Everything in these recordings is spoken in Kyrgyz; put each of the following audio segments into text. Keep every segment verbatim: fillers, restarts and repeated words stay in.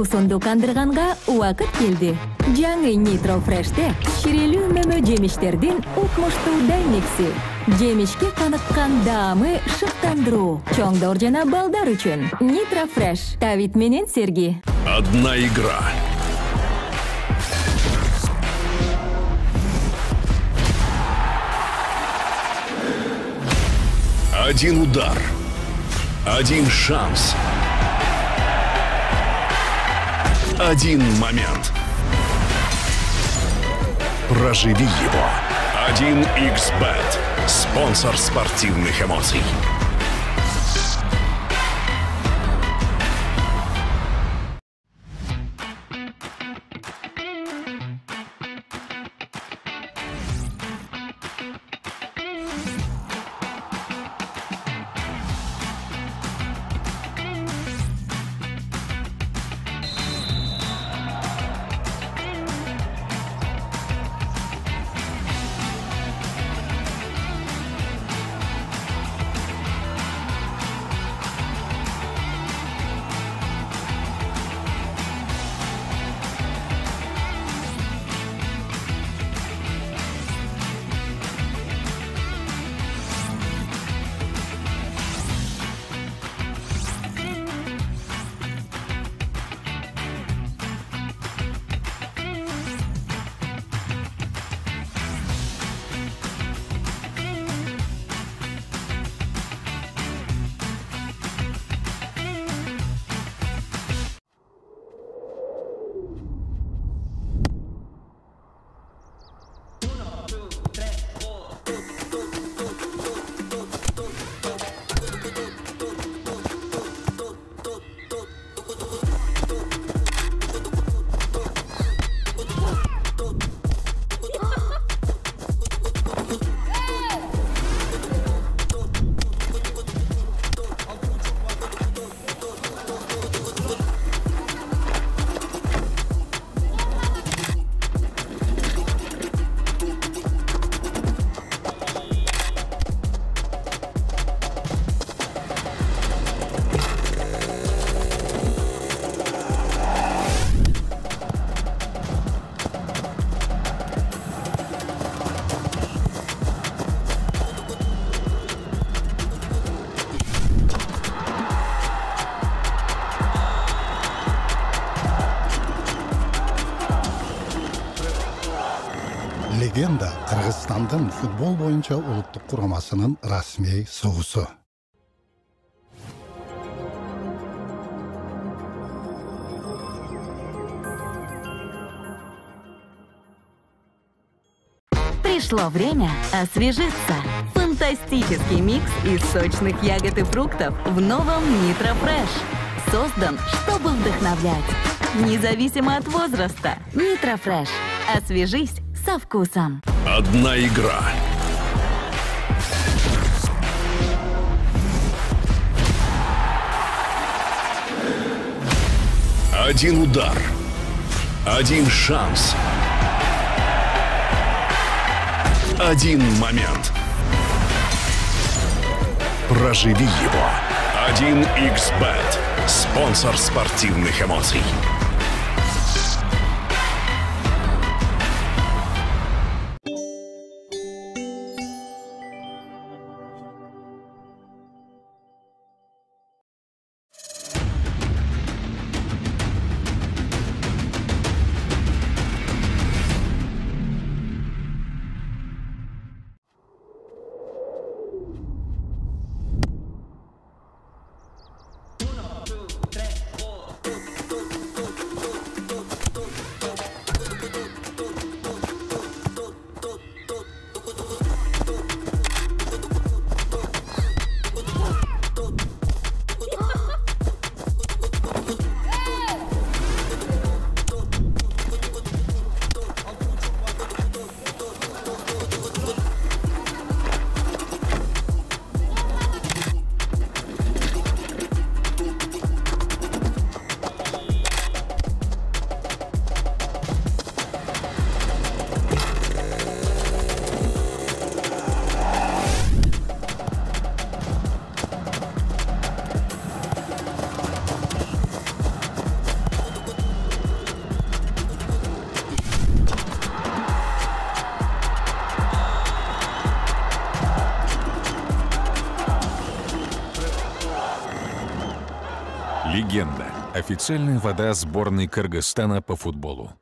суусунду кандырганга убакыт келди. Жаңы Nitro Fresh'те ширелүү мөмө жемиштердин укмуштуудай микси. Жемишке каныккан даамы шыктандыруу. Чоңдор жана балдар үчүн. Nitro Fresh. Давид менен Серги. Одна игра. Один удар. Один шанс. Один момент. Проживи его. один икс бет. Спонсор спортивных эмоций. Легенда Кыргызстандын футбол боюнча улуттук курамасынын расмий суусу. Пришло время освежиться. Фантастический микс из сочных ягод и фруктов в новом Nitro Fresh. Создан, чтобы вдохновлять. Независимо от возраста. Nitro Fresh. Освежись со вкусом. Одна игра. Один удар. Один шанс. Один момент. Проживи его. один икс бет. Спонсор спортивных эмоций. Официальная вода сборной Кыргызстана по футболу.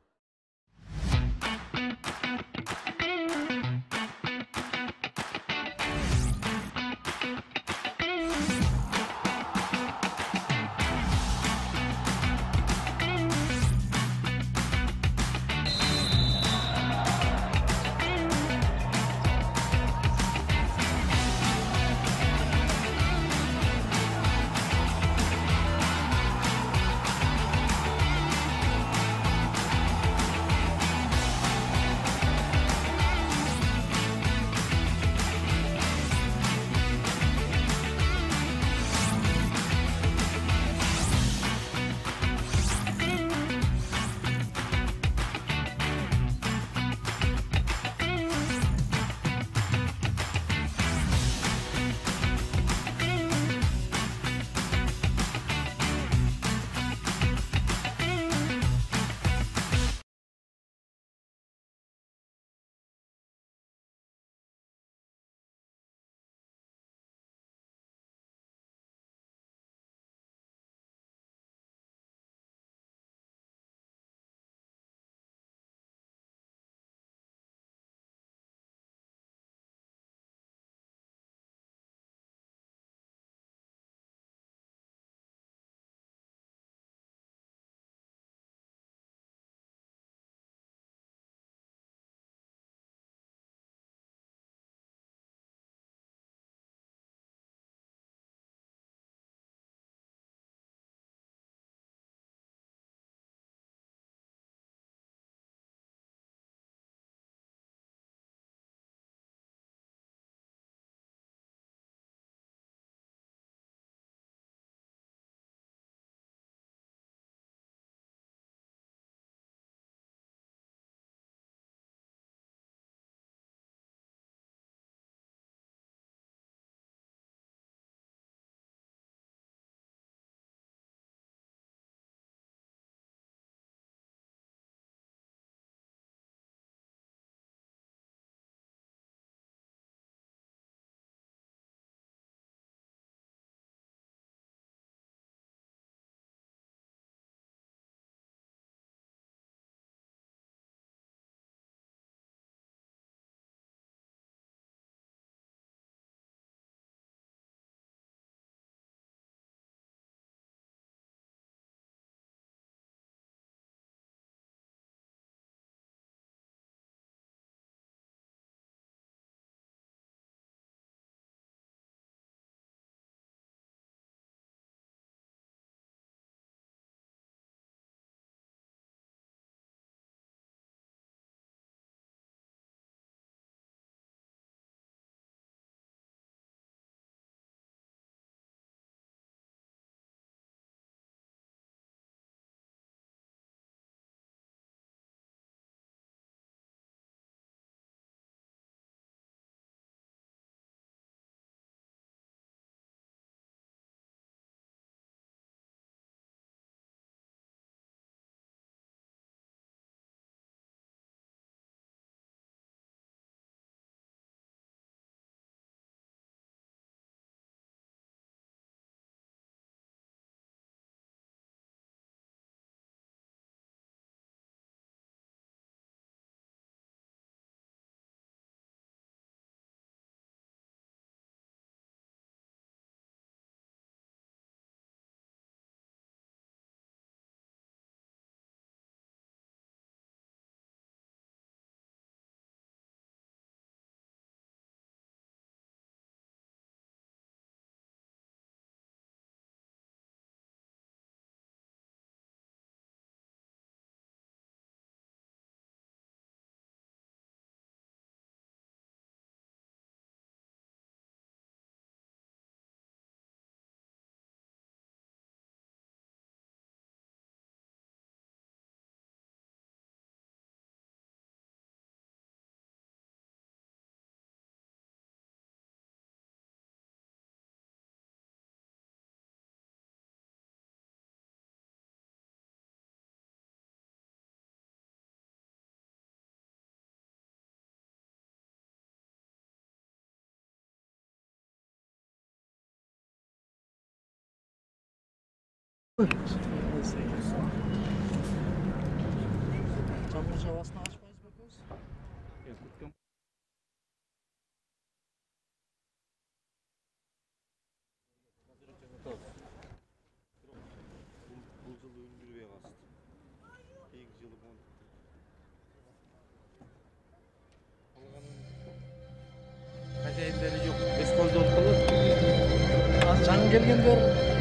Жаңы келгендер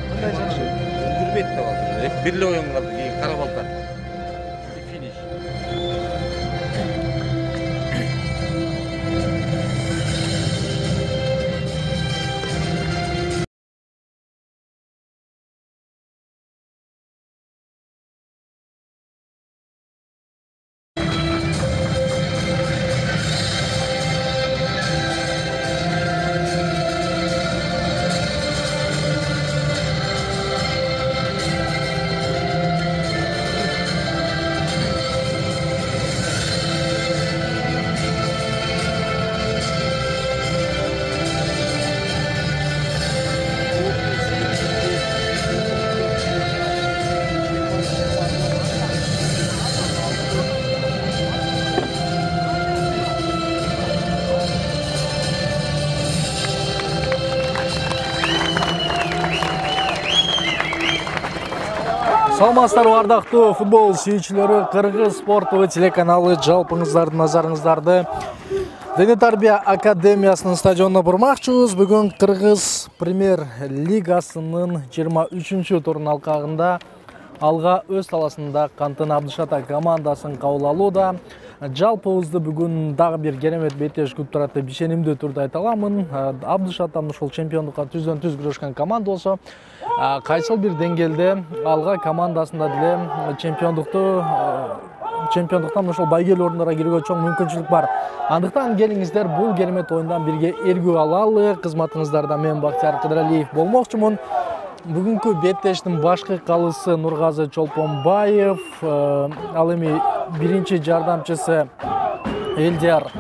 кандай жакшы үндүрбейт деп алды. Бир эле оюн калды, кийин карап алды. Финиш. Саламатсыздарбы ардактуу футбол сүйүүчүлөрү, Кыргыз спорттуу телеканалы жалпыңыздардын назарыңыздарды Дене тарбия академиясынын стадионуна бурмакчыбыз. Бүгүн Кыргыз премьер лигасынын жыйырма үчүнчү турунун алкагында алга өз таласында Кантын Абдышата командасын кабыл алууда. Жалпыбызды бүгүн дагы бир керемет беттеш күтүп турат деп ишенимдүү түрдө айта аламын. Абдышата ушул чемпиондукка түздөн түз күрөшкөн команда болсо, кайсыл бир деңгээлде алга командасында деле чемпиондукту чемпиондуктан ошол байгелүү орундарга кирүүгө чоң мүмкүнчүлүк бар. Андыктан келиңиздер бул керемет оюндан бирге эргүү алалы. Кызматыңыздарда мен Бактияр Кыдыралиев болмокчумун. Бүгүнкү беттештин башкы калысы Нургазы Чолпонбаев, ал эми биринчи жардамчысы Элдияр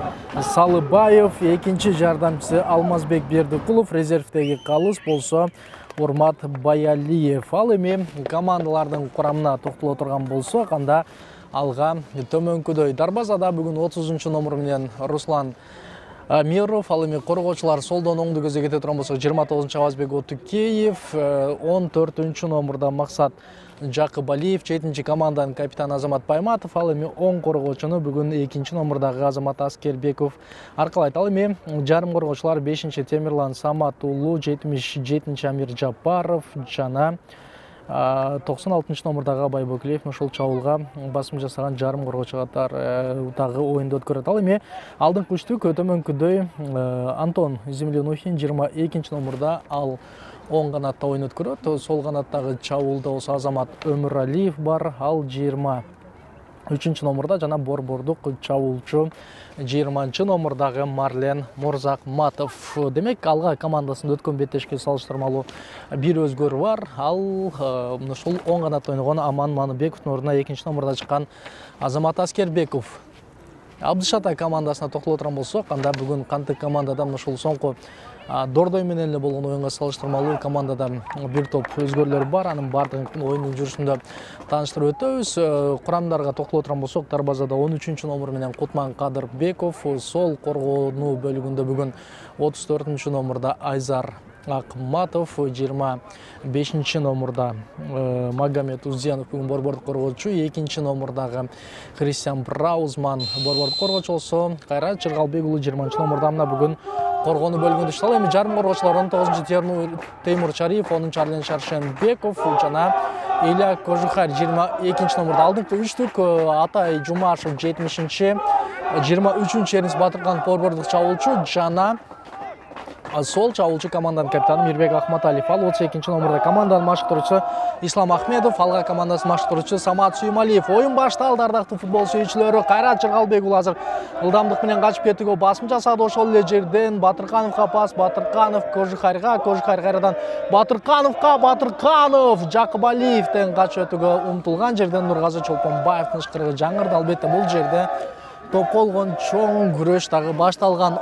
Салыбаев, экинчи жардамчысы Алмазбек Бердикулов, резервдеги калыс болсо Урмат Баялиев. Ал эми командалардын курамына токтоло турган болсок, анда алга төмөнкүдөй дарбазада бүгүн отузунчу номер менен Руслан Миров, ал эми коргоочулар солдон оңду көзгө кете турган болсо жыйырма тогузунчу Авазбек Отукеев, он төртүнчү номерда Максат Жакыбалиев, жетинчи команданын капитаны Азамат Байматов, ал эми оң коргоочуну бүгүн экинчи номердагы Азамат Аскербеков аркалайт. Ал эми жарым коргоочулар бешинчи Темирлан Саматуулу, жетимиш жетинчи Амир Жапаров жана токсон алтынчы номердагы Абай Бөкелиев ушул чабуулга басым жасаган жарым коргоочу катары дагы оюнду өткөрөт. Ал эми алдыңкы үчтүк төмөнкүдөй Антон Землянухин жыйырма экинчи номерда ал оң канатта оюн өткөрөт. Сол канаттагы чабуулда болсо Азамат Өмүралиев бар, ал жыйырма үчүнчү номерда жана борбордук чабуулчу жыйырманчы номердагы Марлен Мурзакматов. Демек, алга командасында өткөн беттешке салыштырмалуу бир өзгөрүү бар. Ал ушул оң канатта ойногон Аман Маныбековдун ордуна экинчи номерда чыккан Азамат Аскербеков. Абдышата командасына токтоло турган болсок, анда бүгүн кантип командада ушул соңку Дордой менен эле болгон оюнга салыштырмалуу командада бир топ өзгөрүүлөр бар. Анын бардыгын оюндун жүрүшүндө тааныштырып өтөбүз. Курамдарга токтоло турган болсок, дарбазада он үчүнчү номер менен Кутман Кадырбеков, сол коргоонуу бөлүгүндө бүгүн отуз төртүнчү номерда Айзар Акматов, жыйырма бешинчи номерда Магомед Узденов бүгүн борбордук коргоочу, экинчи номердагы Кристиан Браузман борбордук коргоочу болсо, Кайрат Чыргалбек уулу жыйырманчы номерда мына бүгүн коргоонуу бөлүгүндө иштеп, эми жарым коргоочулар он тогузунчу Теймур Чариев, онунчу Арлен Шаршенбеков жана Илья Кожухарь жыйырма экинчи номерда. Алдыңкы үчтүк Атай Жумашев жетимишинчи, жыйырма үчүнчү Эрнис Батырканов борбордук чабуулчу жана сол чабуулчу команданын капитаны Мирбек Ахматалиев. Ал отуз экинчи номерда команданын машыктыруучусу Ислам Ахмедов, алга командасынын машыктыруучусу Самат Сүймалиев. Оюн башталды ардактуу футбол сүйүүчүлөрү. Кайрат Чыргалбек уулу азыр ылдамдык менен качып кетүүгө басым жасады. Ошол эле жерден Батыркановго пас, Батырканов Кожухарьга, Кожухарь кайрадан Батыркановго, Батырканов Жакыбалиевден качып өтүүгө умтулган жерден Нургазы Чолпонбаевдин ышкырыгы жаңырды. Албетте бул жерде топ болгон чоң күрөш дагы башталган.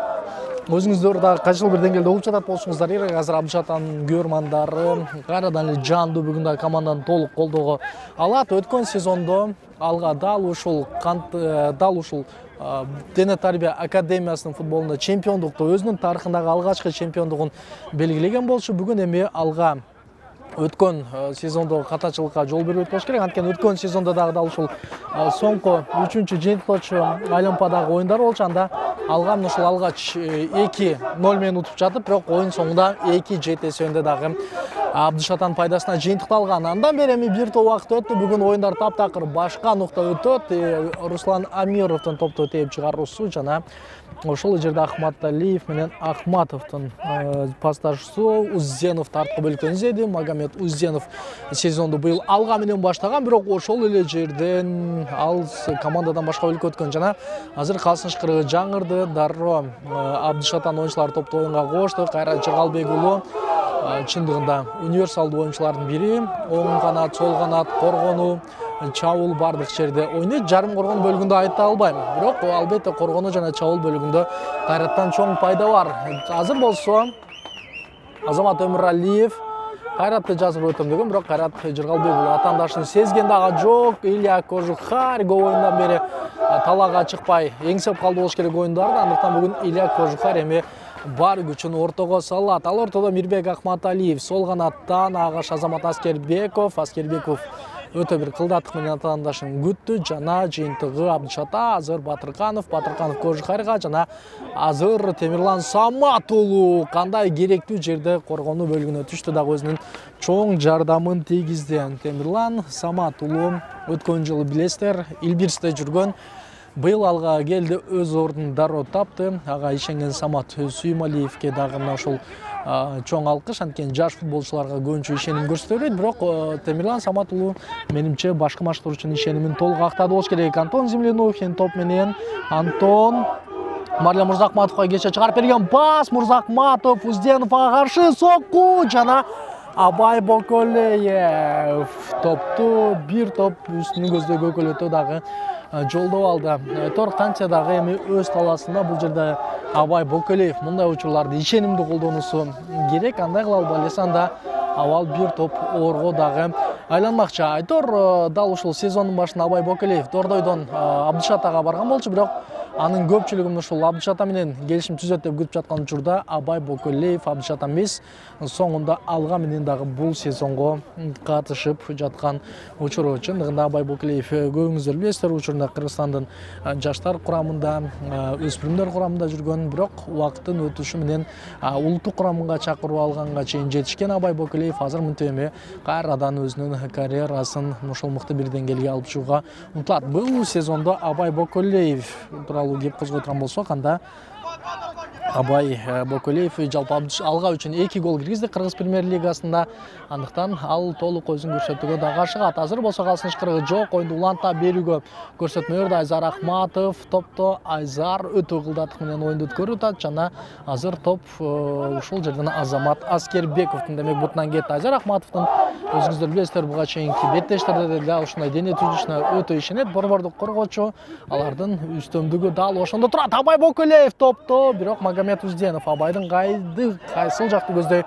өзүңүздөр дагы кайсыл бир деңгээлде угуп жатат болсоңуздар керек. Азыр Абдышатанын көрмандары кайрадан эле жандуу бүгүн дагы команданы толук колдоого алат. Өткөн сезондо алга дал ушул дал ушул Дене тарбия академиясынын футболунда чемпиондукту, өзүнүн тарыхындагы алгачкы чемпиондугун белгилеген болчу. Бүгүн эми алга өткөн сезондогу катачылыкка жол бербейт болуш керек. Анткени өткөн сезондо дагы дал ушул соңку үчүнчү жыйынтыктоочу Олимпиадагы оюндар болчу. Анда алга ушул алгач эки ноль менен утуп жатып, бирок оюн соңунда эки жети эсебинде дагы Абдышатан пайдасына жыйынтыкталган. Андан бери эми бир топ убакыт өттү. Бүгүн оюндар таптакыр башка нукта өтөт. Руслан Амировдун топту тээп чыгаруусу жана ошол жерде Ахматалиев менен Ахматовдун пасташуусу Узденов тарткы бөлүккө изеди. Магомед Узденов сезонду быйыл алга менен баштаган, бирок ошол эле жерден ал командадан башка бөлүккө өткөн жана азыр калсыныч кырыгы жаңырды. Дароо Абдышатан оюнчулары топту оюнга кошто. Кайрат Жыргалбек уулу чындыгында универсалдуу оюнчулардын бири. Оң канат, сол канат, коргонуу, чабуул бардык жерде ойнойт. Жарым коргон бөлүгүндө айта албайм, бирок албетте коргонуу жана чабуул бөлүгүндө Кайраттан чоң пайда бар. Азыр болсо Азамат Өмүралиев Кайратты жазып өтөм деген, бирок Кайрат Жыргалбек уулу атаандашын сезген дагы жок. Илья Кожухарь көп оюндан бери талаага чыкпай эңсеп калды болуш керек оюндарды. Андыктан бүгүн Илья Кожухарь эми бар күчүн ортого салат. Ал ортодо Мирбек Ахматалиев, сол канаттан агаш Азамат Аскербеков. Аскербеков өтө бир кылдаттык менен атаандашын күттү. Жана жыйынтыгы Абдышата азыр Батырканов, Батырканов Кожухарьга жана азыр Темирлан Самат уулу кандай керектүү жерде коргонуу бөлүгүнө түштү, дагы өзүнүн чоң жардамын тийгизди. Темирлан Самат уулу өткөн жылы билесиздер Илбирсте жүргөн, быйыл алга келди, өз ордун дароо тапты. Ага ишенген Самат Сүймалиевке дагы мына ошол чоң алкыш. Анткени жаш футболчуларга көбүнчө ишеним көрсөтөбөйт, бирок Темирлан Самат уулу менимче башкы матчтар үчүн ишенимин толук актады болуш керек. Антон Землянухин топ менен. Антон Марля Мурзакматовго кече чыгарып берген пас. Мурзакматов Узденовго каршы сокку жана Абай Боколеев топту бир топ үстүнүн көздөй көкөлөтө дагы жолдоп алды. Тор канча дагы эми өз талаасында бул жерде Абай Боколеев мындай учурларды ишенимдүү колдонуусу керек. Андай кыла албай элесе анда абал бир топ оорго дагы айланмакчы. Айтор дал ушул сезондун башында Абай Боколеев Дордойдон Абдышатага барган болчу, бирок анын көпчүлүгүн ушул Абдышата менен келишим түзөт деп күтүп жаткан учурда Абай Боколеев Абдышата эмес, соңунда алга менен дагы бул сезонго катышып жаткан учуру. Чындыгында Абай Боколеев көбүңүздөр билесиздер, учурунда Кыргызстандын жаштар курамында, өспүрүмдөр курамында жүргөн, бирок убакыттын өтүшү менен улуттук курамга чакырып алганга чейин жетишкен Абай Боколеев азыр мынтип эми кайрадан өзүнүн карьерасын ушул мыкты бир деңгээлге алып чыгууга умтулат. Бул сезондо Абай Боколеев тууралуу кеп козгой турган болсок, анда Абай Боколеев жалпы алга үчүн эки гол киргизди Кыргыз премьер-лигасында. Андыктан ал толук өзүн көрсөтүүгө дагы ашыгат. Азыр болсо калсыныч кырыгы жок, оюнду уланта берүүгө көрсөтмө берди. Айзар Ахматов топто. Айзар өтө кылдаттык менен оюнду өткөрүп атат жана азыр топ ушул жерден Азамат Аскербековдун демек бутунан кетти. Айзар Ахматовдун өзүңүздөр билесиздер буга чейинки беттештерде дал ушундай дене түзүлүшүнө өтө ишенет. Борбордук коргоочу, алардын үстөмдүгү дал ошондо турат. Абай Боколеев топто, бирок Магомед Узденов Абайдын кайды кайсыл жакты көздөй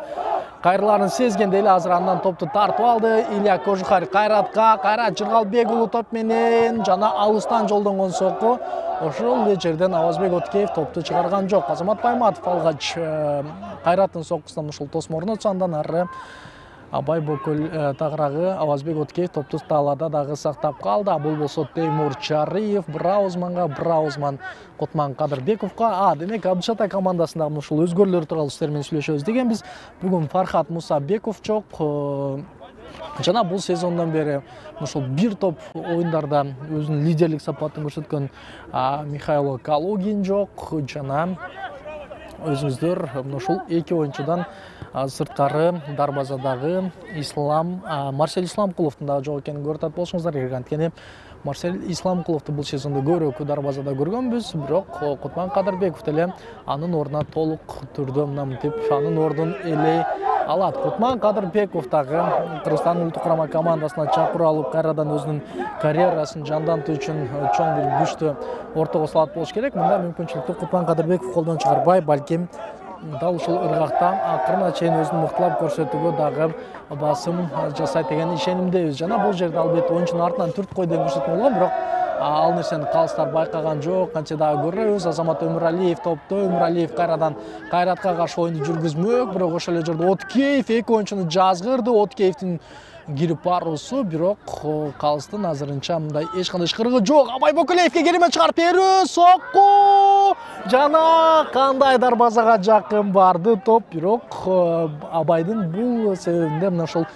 кайрыларын сезгенде эле азыр андан топту тартып алды. Илья Кожухарь Кайратка, Кайрат Жыргалбек уулу топ менен жана алыстан жолдонгон сокку. Ошол эле жерден Авазбек Откеев топту чыгарган жок. Азамат Байматов алгач Кайраттын соккусунан ушул тосморун өтсө, андан ары Абай Боколеев тагыраагы Авазбек Откеев топту талаада дагы сактап калды. Бул болсо Теймур Чарыев Браузманга, Браузман Котман Кадырбековго. А, демек Абдышата командасындагы ушул өзгөрүүлөр тууралуу сиздер менен сүйлөшөбүз дегенбиз. Бүгүн Фархат Мусабеков жок. Жана бул сезондон бери ушул бир топ оюндарда өзүнүн лидерлик сапатын көрсөткөн Михаил Калугин жок. Жана өзүңүздөр ушул эки оюнчудан сырткары дарбазадагы Ислам Марсель Исламкуловдун дагы жок экенин көрүп атат болсоңуздар керек. Анткени Марсель Исламкуловду бул сезондо көбүрөөк дарбазада көргөнбүз, бирок Котман Кадырбеков деле анын ордуна толук түрдө мына мынтип анын ордун элей алат. Кутман Кадырбеков дагы Кыргызстан улуттук курама командасына чакыруу алып, кайрадан өзүнүн карьерасын жандантуу үчүн чоң бир күчтү ортого салат болуш керек. Мындай мүмкүнчүлүктү Кутман Кадырбеков колдон чыгарбай, балким дал ушул ыргакта акырына чейин өзүн мыктылап көрсөтүүгө дагы басым жасайт деген ишенимдебиз. Жана бул жерде албетте оюнчунун артынан түрткөй деген көрсөтмө болгон, бирок ал нерсени калыстар байкаган жок. Кантсе дагы көрөбүз, Азамат Өмүралиев топто, Өмүралиев кайрадан Кайратка каршы оюнду жүргүзмөк, бирок ошол эле жерде Откеев эки оюнчуну жазгырды. Откеевдин кирип баруусу, бирок калыстын азырынча мындай эч кандай ышкырыгы жок. Абай Бөкөлеевге керемет чыгарып берүү, сокку жана кандай дарбазага жакын барды топ, бирок Абайдын бул себебинде мына ошол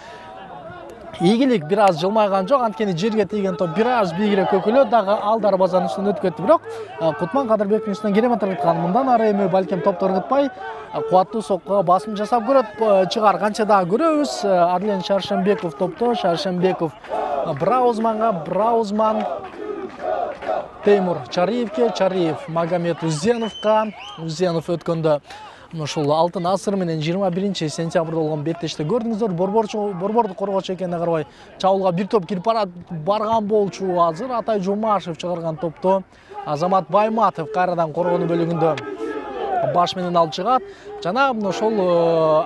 ийгилик бир аз жылмайган жок. Анткени жерге тийген топ бир аз бийигирээк көкөлөт, дагы ал дарбазанын үстүнөн өтүп кетти. Бирок Кутман Кадырбековдун үстүнөн керемет ыргыткан. Мындан ары эми балким топту ыргытпай, кубаттуу соккуга басым жасап көрөт чыгар. Канча дагы көрөбүз. Арлен Шаршембеков топто, Шаршембеков Браузманга, Браузман Теймур Чариевке, Чариев Магомед Узеновго. Узенов өткөндө ушул алтын асыр менен жыйырма биринчи сентябрда болгон беттеште көрдүңүздөр. Борборчу борборду коргоочу экенине карабай чабуулга бир топ кирип барат барган болчу. Азыр Атай Жумашев чыгарган топто Азамат Байматов кайрадан коргонуу бөлүгүндө баш менен алып чыгат. Жана ошол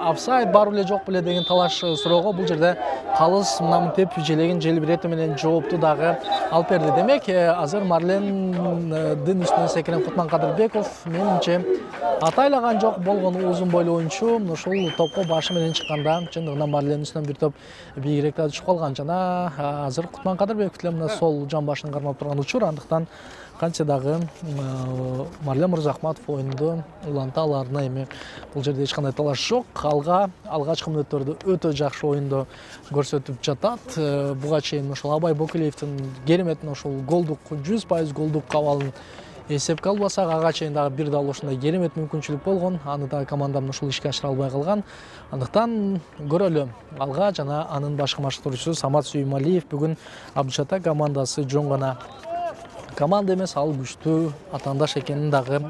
офсайд бар беле жок беле деген талаш суроого бул жерде калыс мынамынтип желегин желбиретүү менен жоопту дагы алып берди. Демек, азыр Марлендин үстүнөн секирен Кутман Кадырбеков менимче атайлаган жок болгон узун бойлуу оюнчу. Ушул топко башы менен чыкканда чындыгынан Марлендин үстүнөн бир топ бийигирээк да түшүп калган. Жана азыр Кутман Кадырбеков деле мына сол жан башын кармап турган учур. Андыктан канча дагы Марлен Мырзахматов оюнду уланта аларына эми бул жерде эч кандай талаш жок. Алга алгачкы мүнөттөрдө өтө жакшы оюнду көрсөтүп жатат. Буга чейин ошол Абай Бөкөлеевдин керемет ошол голдук жүз пайыз голдук кабалын эсепке албасак, ага чейин дагы бир дал ушундай керемет мүмкүнчүлүк болгон. Аны дагы командам ушул ишке ашыра албай калган. Андыктан көрөлү алга. Жана анын башкы машыктыруучусу Самат Сүймалиев бүгүн Абдышата командасы жөн гана команда эмес, ал күчтүү атаандаш экенин дагы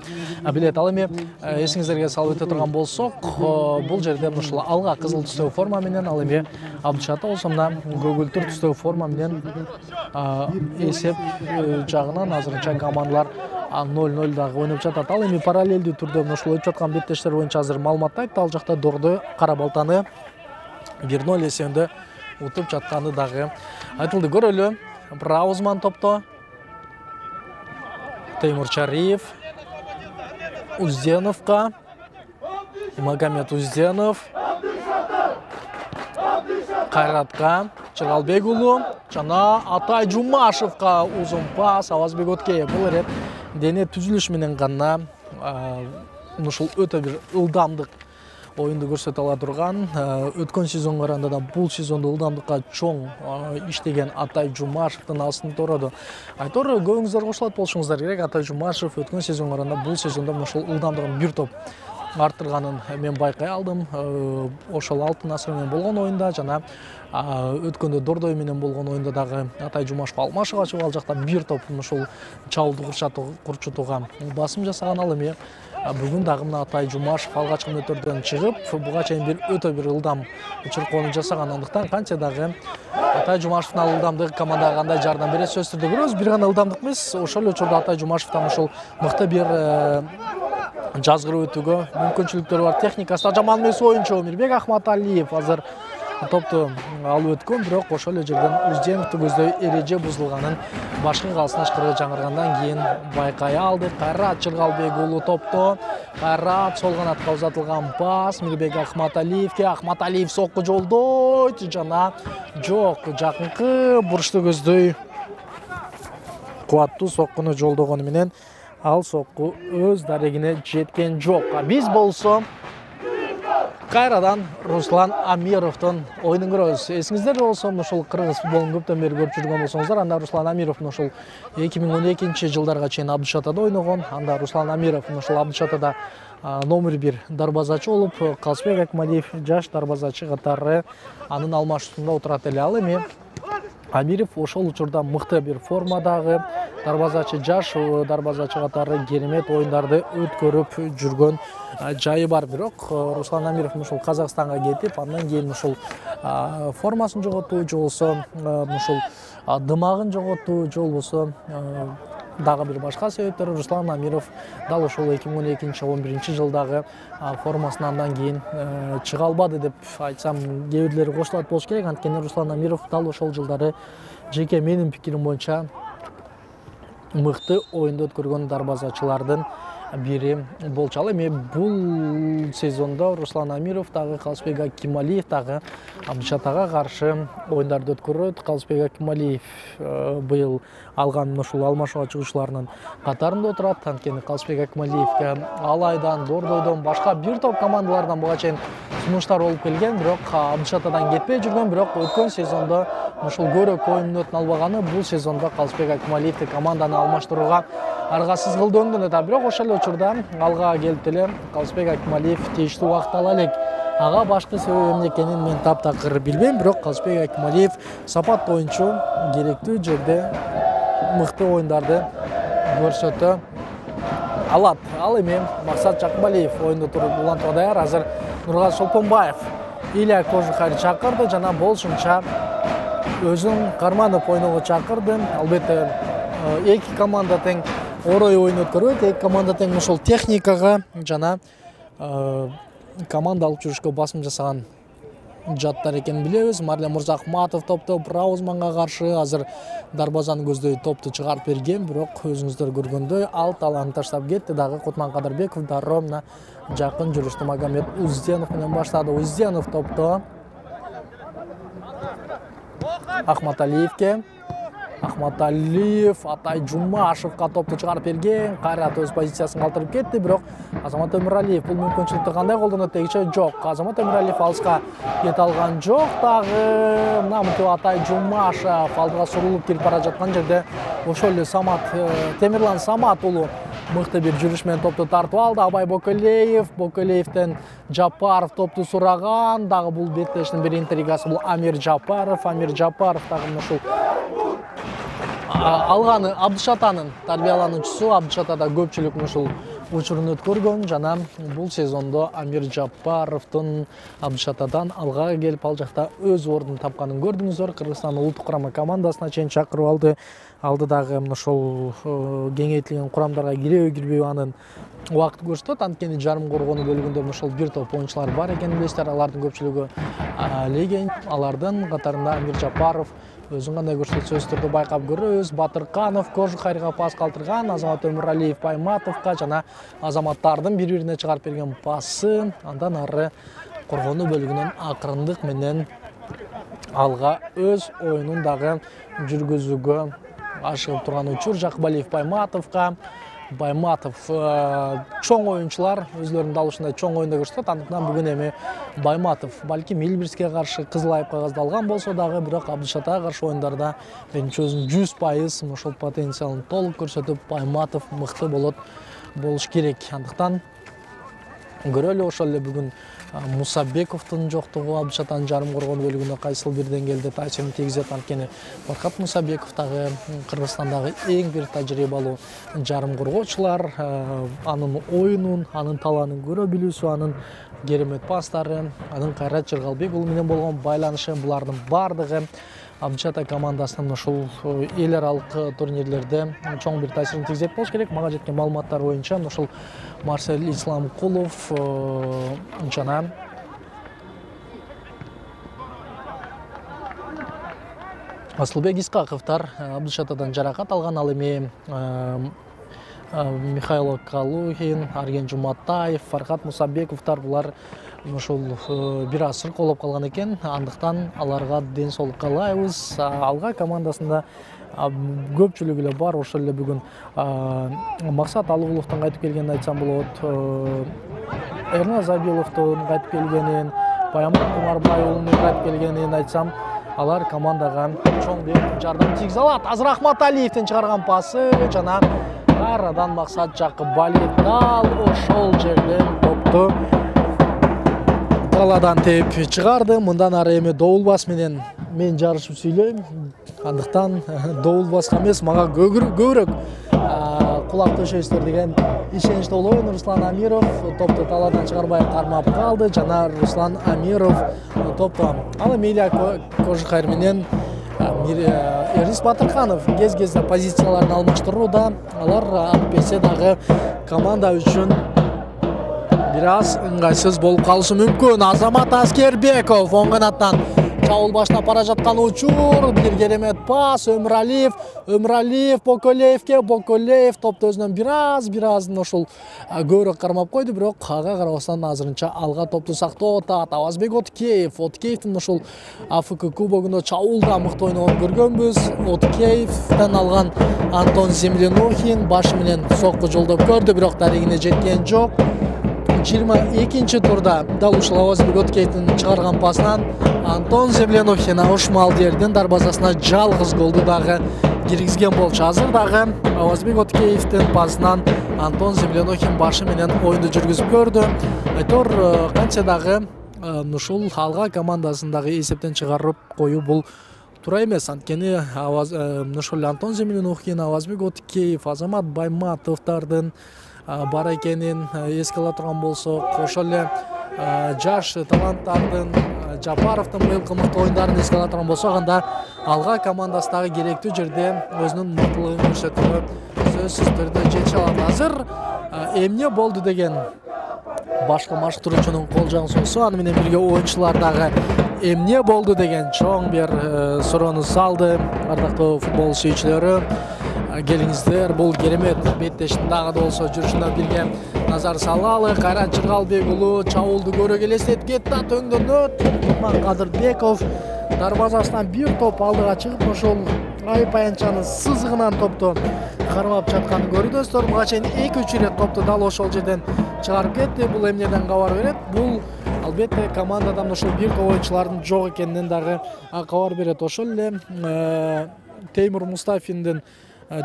билет. Ал эми эсиңиздерге салып өтө турган болсок, бул жерде ушул алга кызыл түстөгү форма менен, ал эми Абдышата болсо мына көгүлтүр түстөгү форма менен эсеп жагынан азырынча командалар ноль ноль дагы ойноп жатат. Ал эми параллелдүү түрдө ушул өтүп жаткан беттештер боюнча азыр маалыматты айтты. Ал жакта Дордой Кара Балтаны бир ноль эсебинде утуп жатканы дагы айтылды. Көрөлү. Браузман топто, Теймур Чариев Узденовго, Магомед Узденов Кайратка, Чыралбек уулу жана Атай Жумашевго узун пас. Авазбек Откеев бул ирет дене түзүлүш менен гана ушул өтө бир ылдамдык оюнду көрсөтө ала турган. Өткөн сезонго караганда да бул сезондо ылдамдыкка чоң иштеген Атай Жумашевдин астын тороду. Айтор көбүңүздөр кошулат болушуңуздар керек. Атай Жумашев өткөн сезонго караганда бул сезондо ошол ылдамдыгын бир топ арттырганын мен байкай алдым. Ошол алтын асыр менен болгон оюнда жана өткөндө Дордой менен болгон оюнда дагы Атай Жумашев алмашыга чыгып ал жакта бир топ ушул чабуулду курчутууга басым жасаган. Ал эми бүгүн дагы мына Атай Жумашев алгачкы мүнөттөрдөн чыгып, буга чейин бир өтө бир ылдам чуркоону жасаган. Андыктан канча дагы Атай Жумашевдин ал ылдамдыгы командага кандай жардам берет сөзсүз түрдө көрөбүз. Бир гана ылдамдык эмес, ошол эле учурда Атай Жумашевден ошол мыкты бир жазгырып өтүүгө мүмкүнчүлүктөрү бар. Техникасы да жаман эмес оюнчу Мирбек Ахматалиев азыр топту алып өткөн, бирок ошол эле жерден Узденовду көздөй эреже бузулганын башкы калсын ышкырыгы жаңыргандан кийин байкай алдык. Кайрат Чыргалбек уулу топто, Кайрат сол канатка узатылган пас Мирбек Ахматалиевге. Ахматалиев сокку жолдойт жана жок, жакынкы бурчту көздөй кубаттуу соккуну жолдогону менен ал сокку өз дарегине жеткен жок. Биз болсо кайрадан Руслан Амировдун оюнун көрөбүз. Эсиңиздерде болсо ошол кыргыз футболун көптөн бери көрүп жүргөн болсоңуздар, анда Руслан Амировдун ошол эки миң он экинчи жылдарга чейин Абдышатада ойногон. Анда Руслан Амиров ошол Абдышатада номер бир дарбазачы болуп, Калысбек Акмалиев жаш дарбазачы катары анын алмашуусунда отурат эле. Ал эми Амиров ошол учурда мыкты бир формадагы дарбазачы, жаш дарбазачы катары керемет оюндарды өткөрүп жүргөн жайы бар. Бирок Руслан Амиров ушул Казакстанга кетип, андан кийин ушул формасын жоготту, же болбосо ушул дымагын жоготту, же болбосо дагы бир башка себептер. Руслан Амиров дал ошол эки миң он экинчи он биринчи жылдагы формасын андан кийин чыга албады деп айтсам кээ бирлери кошулат болуш керек. Анткени Руслан Амиров дал ошол жылдары жеке менин пикирим боюнча мыкты оюнду өткөргөн дарбазачылардын бири болчу. Ал эми бул сезондо Руслан Амиров дагы Калысбек Акималиев дагы Абдышатага каршы оюндарды өткөрөт. Калысбек Акималиев быйыл алган ушул алмашууга чыгуучуларынын катарында отурат. Анткени Калысбек Акималиевке Алайдан, Дордойдон башка бир топ командалардан буга чейин сунуштар болуп келген, бирок Абдышатадан кетпей жүргөн, бирок өткөн сезондо ушул көрөк оюнун өтүн албаганы бул сезондо Калысбек Акималиевди команданы алмаштырууга аргасыз кылды өңдөн да. Бирок ошол эле учурда алга келип эле Калысбек Акималиев тийиштүү убакыт ала элек. Ага башкы себеби эмне экенин мен таптакыр билбейм, бирок Калысбек Акималиев сапаттуу оюнчу, керектүү жерде мыкты оюндарды көрсөтө алат. Ал эми Максат Жакыбалиев оюнду туруп улантууга даяр. Азыр Нургазы Шолпонбаев Илья Кожухарь чакырды жана болушунча өзүн карманып ойноого чакырды. Албетте эки команда тең орой оюн өткөрөт, эки команда тең ошол техникага жана команда алып жүрүшкө басым жасаган жаттар экенин билебиз. Марлен Мурзахматов топто Браузманга каршы азыр дарбазаны көздөй топту чыгарып берген, бирок өзүңүздөр көргөндөй ал таланты таштап кетти. Дагы Кутман Кадырбеков дароо мына жакын жүрүштү Магомед Узденов менен баштады. Узденов топто Ахматалиевке, Ахматалиев Атай Жумашевка топту чыгарып берген, кайра өз позициясын калтырып кетти, бирок Азамат Өмүралиев бул мүмкүнчүлүктү кандай колдонот дегиче жок. Азамат Өмүралиев алыска кете алган жок. Дагы мынамынтип Атай Жумашев алдыга сурулуп кирип бара жаткан жерде ошол эле Самат Темирлан Самат уулу мыкты бир жүрүш менен топту тартып алды. Абай Бокелеев, Бокелеевден Жапаров топту сураган. Дагы бул беттештин бир интригасы бул Амир Жапаров. Амир Жапаров дагы ушул алганы Абдышатанын тарбиялануучусу. Абдышатада көпчүлүк ушул учурун өткөргөн жана бул сезондо Амир Жапаровдун Абдышатадан алга келип ал жакта өз ордун тапканын көрдүңүздөр. Кыргызстан улуттук курама командасына чейин чакырып алды. Алды дагы ошол кеңейтилген курамдарга киребей кирбейби анын убакыт көрсөтөт. Анткени жарым коргонуу бөлүгүндө ошол бир топ оюнчулар бар экенин билесиздер. Алардын көпчүлүгү леген. Алардын катарында Амир Жапаров өзүн кандай көрсөтсө өз түрдө байкап көрөбүз. Батырканов Кожухарьга пас калтырган, Азамат Өмүралиев Байматовго жана азаматтардын бири-бирине чыгарып берген пасы. Андан ары коргонуу бөлүгүнөн акырындык менен алга өз оюнун дагы жүргүзүүгө ашыгып турган учур. Жакыбалиев Байматовго. Байматов чоң оюнчулар өзлөрүнүн далышында чоң оюнда көрсөтөт. Андыктан бүгүн эми Байматов балким Илбирске каршы кызыл айып кагазды алган болсо дагы, бирок Абдышатага каршы оюндарда менимче өзүнүн жүз пайыз ошол потенциалын толук көрсөтүп, Байматов мыкты болот болуш керек. Андыктан көрөлү ошол эле бүгүн Мусабековдун жоктугу Абдышатанын жарым коргонуу бөлүгүндө кайсыл бир деңгээлде таасирин тийгизет. Анткени Фаркат Мусабеков дагы Кыргызстандагы эң бир тажрыйбалуу жарым коргоочулар. Анын оюнун, анын талаанын көрө билүүсү, анын керемет пастары, анын Кайрат Жыргалбек уулу менен болгон байланышы, булардын бардыгы Абдышата командасынын ушул эл аралык турнирлерде чоң бир таасирин тийгизет болуш керек. Мага жеткен маалыматтар боюнча ушул Марсель Исламкулов жана Асылбек Исқақовтар Абдышатадан жаракат алган. Ал эми Михаил Калухин, Арген Жуматаев, Фархат Мусабековтар булар ошол бир аз сыркоолоп калган экен. Андыктан аларга ден соолук каалайбыз. Алга командасында көпчүлүгү эле бар. Ошол эле бүгүн Максат Алууловдун кайтып келгенин айтсам болот. Эрназ Абиловдун кайтып келгенин, Баямат Кумарбай уулунун кайтып келгенин айтсам, алар командага чоң бир жардам тийгизе алат. Азыр Ахматалиевдин чыгарган пасы жана кайрадан Максат Жакыбалиев дал ошол жерден топту таладан теп чыгарды. Мындан ары эми добулбас менен мен жарышып сүйлөйм. Андыктан добул баска эмес, мага көбүрөөк кулак төшөйсүздөр деген ишеничте болобун. Руслан Амиров топту талаадан чыгарбай кармап калды. Жана Руслан Амиров топту ал Эмилия Кожухайр менен Эрис Батырханов кез-кезде позицияларын алмаштырууда. Алар алып берсе дагы команда үчүн бир аз ыңгайсыз болуп калышы мүмкүн. Азамат Аскербеков оң канаттан чабуул баштап бара жаткан учур, бир керемет пас. Өмүралиев, Өмүралиев Боколеевке, Боколеев топту өзүнөн бир аз, бир аз ошол көбүрөөк кармап койду, бирок ага карабастан азырынча алга топту сактоо атат. Авазбек Откеев, Откеевдин ошол АФК кубогунда чабуулда мыкты ойногонун көргөнбүз. Откеевден алган Антон Землянухин башы менен сокку жолдоп көрдү, бирок дарегине жеткен жок. жыйырма экинчи турда дал ушул Авазбек Откеевдин чыгарган пасынан Антон Землянухин ушмал жерден дарбазасына жалгыз голду дагы киргизген болчу. Азыр дагы Авазбек Откеевдин пасынан Антон Землянухин башы менен оюнду жүргүзүп көрдү. Айтор канча дагы ушул алга командасын дагы эсептен чыгарып коюу бул туура эмес. Анткени ушул Антон Землянухин, Авазбек Откеев, Азамат Байматовдардын бар экенин эске ала турган болсок, ошол эле жаш таланттардын Жапаровдун быйылкы мыкты оюндарын эске ала турган болсок, анда алга командасы дагы керектүү жерде өзүнүн мыктылыгын көрсөтүүгө сөзсүз түрдө жете алат. Азыр эмне болду деген башкы машыктыруучунун кол жаңсоосу, аны менен бирге оюнчулар дагы эмне болду деген чоң бир суроону салды. Ардактуу футбол сүйүүчүлөрү, келиңиздер, бул керемет беттештин дагы да болсо жүрүшүнө бирге назар салалы. Кайрат Жыргалбек уулу чабуулду көрө элестетип кетти. Өңдөнөт Кадырбеков дарбазасынан бир топ алдыга чыгып, ошол айып аянчанын сызыгынан топту кармап жатканын көрдүңүздөр. Буга чейин эки үч ирет топту дал ошол жерден чыгарып кетти. Бул эмнеден кабар берет? Бул албетте командадан ошол бир топ оюнчулардын жок экенинен дагы кабар берет. Ошол эле Теймур Мустафиндин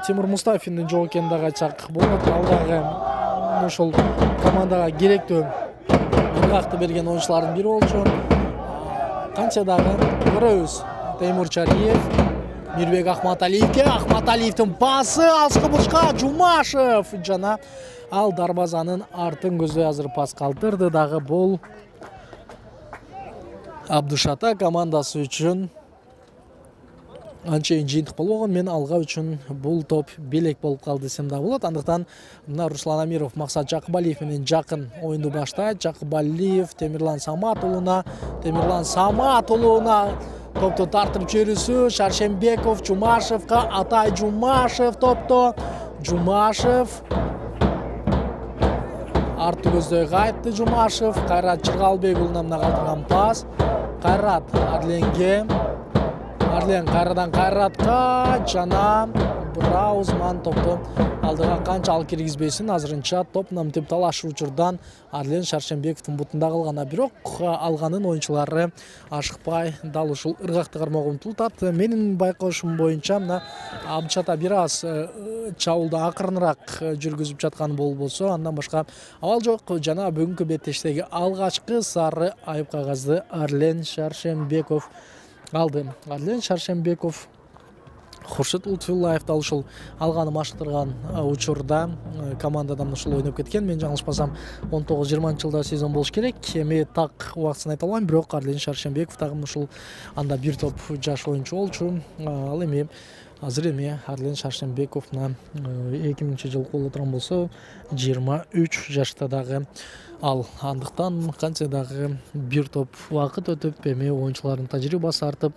Тимур Мустафиндин жок экенин дагы айтсак болот. Ал дагы ошол командага керектүү ыргакты берген оюнчулардын бири болчу. Канча дагы көрөбүз. Теймур Чариев, Мирбек Ахматалиевке, Ахматалиевдин пасы алыскы бурчка Жумашев жана ал дарбазанын артын көздөй азыр пас калтырды. Дагы бул Абдушата командасы үчүн анчейин жыйынтык болбогон. Мен алга үчүн бул топ белек болуп калды десем да болот. Андыктан мына Руслан Амиров Максат Жакыбалиев менен жакын оюнду баштайт. Жакыбалиев Темирлан Саматуулуна, Темирлан Саматуулуна топту тартып жиберүүсү. Шаршембеков Жумашевка, Атай Жумашев топту. Жумашев арты көздөй кайтты. Жумашев Кайрат Жыргалбек уулуна мына калтырган пас. Кайрат Арленге, Арлен кайрадан Кайратка жана Браузман топту алдыга канчалык киргизбесин. Азырынча топ намтип талашуу учурдан Арлен Шаршембековдун бутунда калган, бирок алганын оюнчулары ашыкпай дал ушул ыргакты кармоого умтулат. Менин байкоошум боюнча мына Абдушата бир аз чабуулду акырыныраак жүргүзүп жаткан болбосо, андан башка абал жок. Жана бүгүнкү беттештеги алгачкы сары айып кагазды Арлен Шаршембеков алды. Арлен Шаршембеков Хуршит Лутфуллаев дал ушул алганы машыктырган учурда командадан ушул ойноп кеткен. Мен жаңылышпасам он тогуз жыйырманчы жылда сезон болуш керек. Эми так убактысын айта албайм, бирок Арлен Шаршембеков дагы ушул анда бир топ жаш оюнчу болчу. Ал эми азыр эми Арлен Шаршембеков мына эки миңинчи жылы боло турган болсо жыйырма үч жашта дагы ал. Андыктан канча дагы бир топ убакыт өтүп, эми оюнчулардын тажрыйбасы артып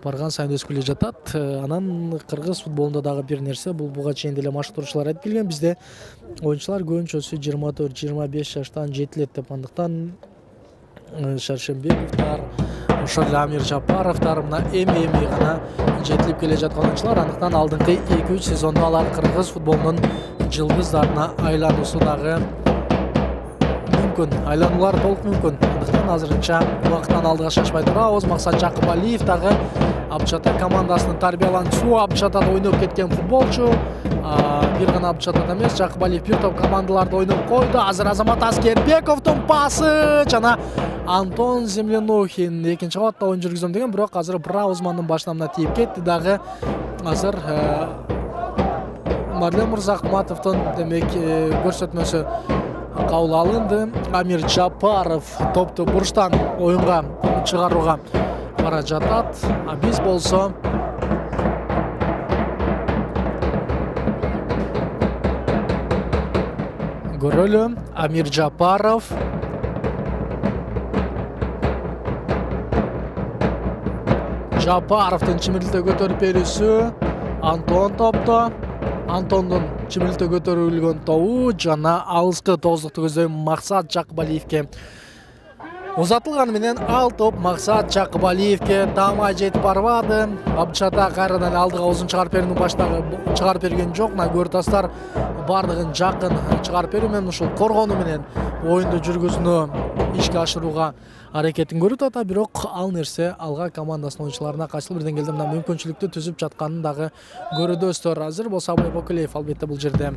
барган сайын өсүп келе жатат. Анан кыргыз футболунда дагы бир нерсе, бул буга чейин деле машыктыруучулар айтып келген, бизде оюнчулар көбүнчөсү жыйырма төрт жыйырма беш жаштан жетилет деп. Андыктан Шаршембековдор, ошол эле Амир Жапаровдор мына эми-эми гана жетилип келе жаткан оюнчулар. Андыктан алдыңкы эки үч сезондо алар кыргыз футболунун жылдыздарына айлануусу дагы мүмкүн, айлануулар толук мүмкүн. Андыктан азырынча убакыттан алдыга шашпай турабыз. Максат Жакыбалиев дагы Абдчата командасынын тарбиялануучусу, Абдчатада ойноп кеткен футболчу. Бир гана Абдчатада эмес, Жакыбалиев бир топ командаларда ойноп койду. Азыр Азамат Аскербековдун пасы жана Антон Землянухин экинчи кабатта оюн жүргүзөм деген, бирок азыр Браузмандын башынамына тийип кетти дагы. Азыр Марлен Мырзахматовдун демек көрсөтмөсү кабыл алынды. Амир Жапаров топту бурчтан оюнга чыгарууга бара жатат. А биз болсо көрөлү. Амир Жапаров Жапаровдун чимирилте көтөрүп берүүсү. Антон топто. Антондун чимирилте көтөрүлгөн тобу жана алыскы тоздукту көздөйм Максат Жакыбалиевке узатылганы менен ал топ Максат Жакыбалиевке таамай жетип барбады. Абдчата кайрадан алдыга узун чыгарып берүүнү баштагы чыгарып берген жок. Көртастар бардыгын жакын чыгарып берүү менен ушул коргонуу менен оюнду жүргүзүүнү ишке ашырууга аракетин көрүп атат, бирок ал нерсе алга командасынын оюнчуларына кайсыл бир деңгээлде мына мүмкүнчүлүктү түзүп жатканын дагы көрөдөсүздөр. Азыр болсо Абай Бокулеев албетте бул жерде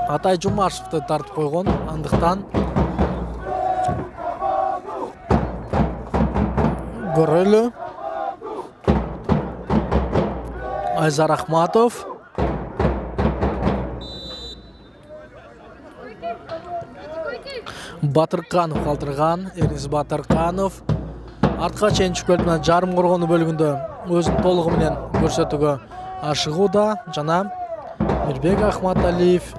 Атай Жумашевди тартып койгон, андыктан көрөлү. Айзар Ахматов Батырканов калтырган. Эрис Батырканов артка чейин чүкөлүп менен жарым коргонуу бөлүгүндө өзүн толугу менен көрсөтүүгө ашыгууда. Жана Мирбек Ахматалиев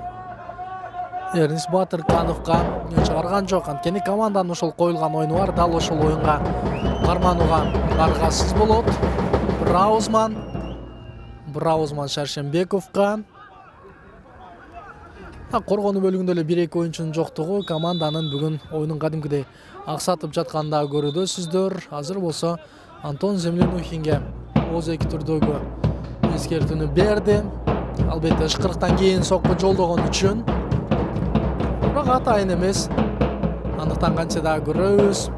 Эрис Батыркановго чыгарган жок. Анткени команданын ошол коюлган оюну бар, дал ошол оюнга карманууга аргасыз болот. Браузман Браузман Шаршембековго. Коргонуу бөлүгүндө эле бир эки оюнчунун жоктугу команданын бүгүн оюнун кадимкидей аксатып жатканын дагы көрөдөсүздөр. Азыр болсо Антон Землянухинге оз эки түрдөгү эскертүүнү берди. Албетте ышкырыктан кийин сокку жолдогон үчүн. Бирок атайын эмес. Андыктан канча дагы көрөбүз.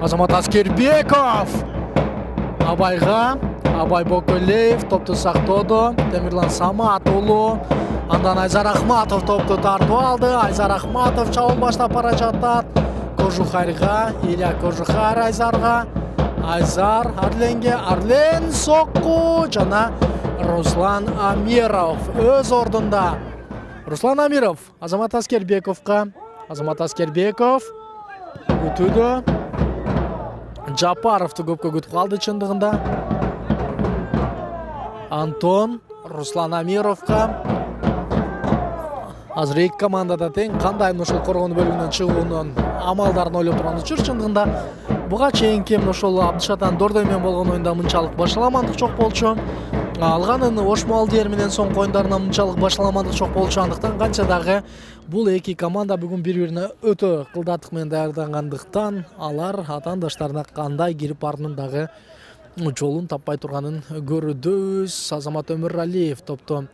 Азамат Аскербеков Абайга, Абай Бокулеев топту сактоодо. Темирлан Самат уулу. Андан Айзар Ахматов топту тартып алды. Айзар Ахматов чабуул баштап бара жатат. Кожухарга, Илья Кожухар Айзарга. Айзар Арленге, Арлен сокку жана Руслан Амиров өз ордунда. Руслан Амиров Азамат Аскербековго. Азамат Аскербеков күтүүдө. Жапаровду көпкө күтүп калды чындыгында. Антон Руслан Амировго. Азыр эки командада тең, кандай ошол коргонуу бөлүгүнөн чыгуунун амалдарын ойлоп турган учур. Чындыгында буга чейинки ошол Абдчатанын Дордой менен болгон оюнда мынчалык башаламандык жок болчу. Алганын Ош Малдиер менен соңку оюндарында мынчалык башаламандык жок болчу. Андыктан канча дагы бул эки команда бүгүн бири-бирине өтө кылдаттык менен даярдангандыктан алар атаандаштарына кандай кирип баруунун дагы жолун таппай турганын көрөдөбүз. Азамат Өмүралиев топту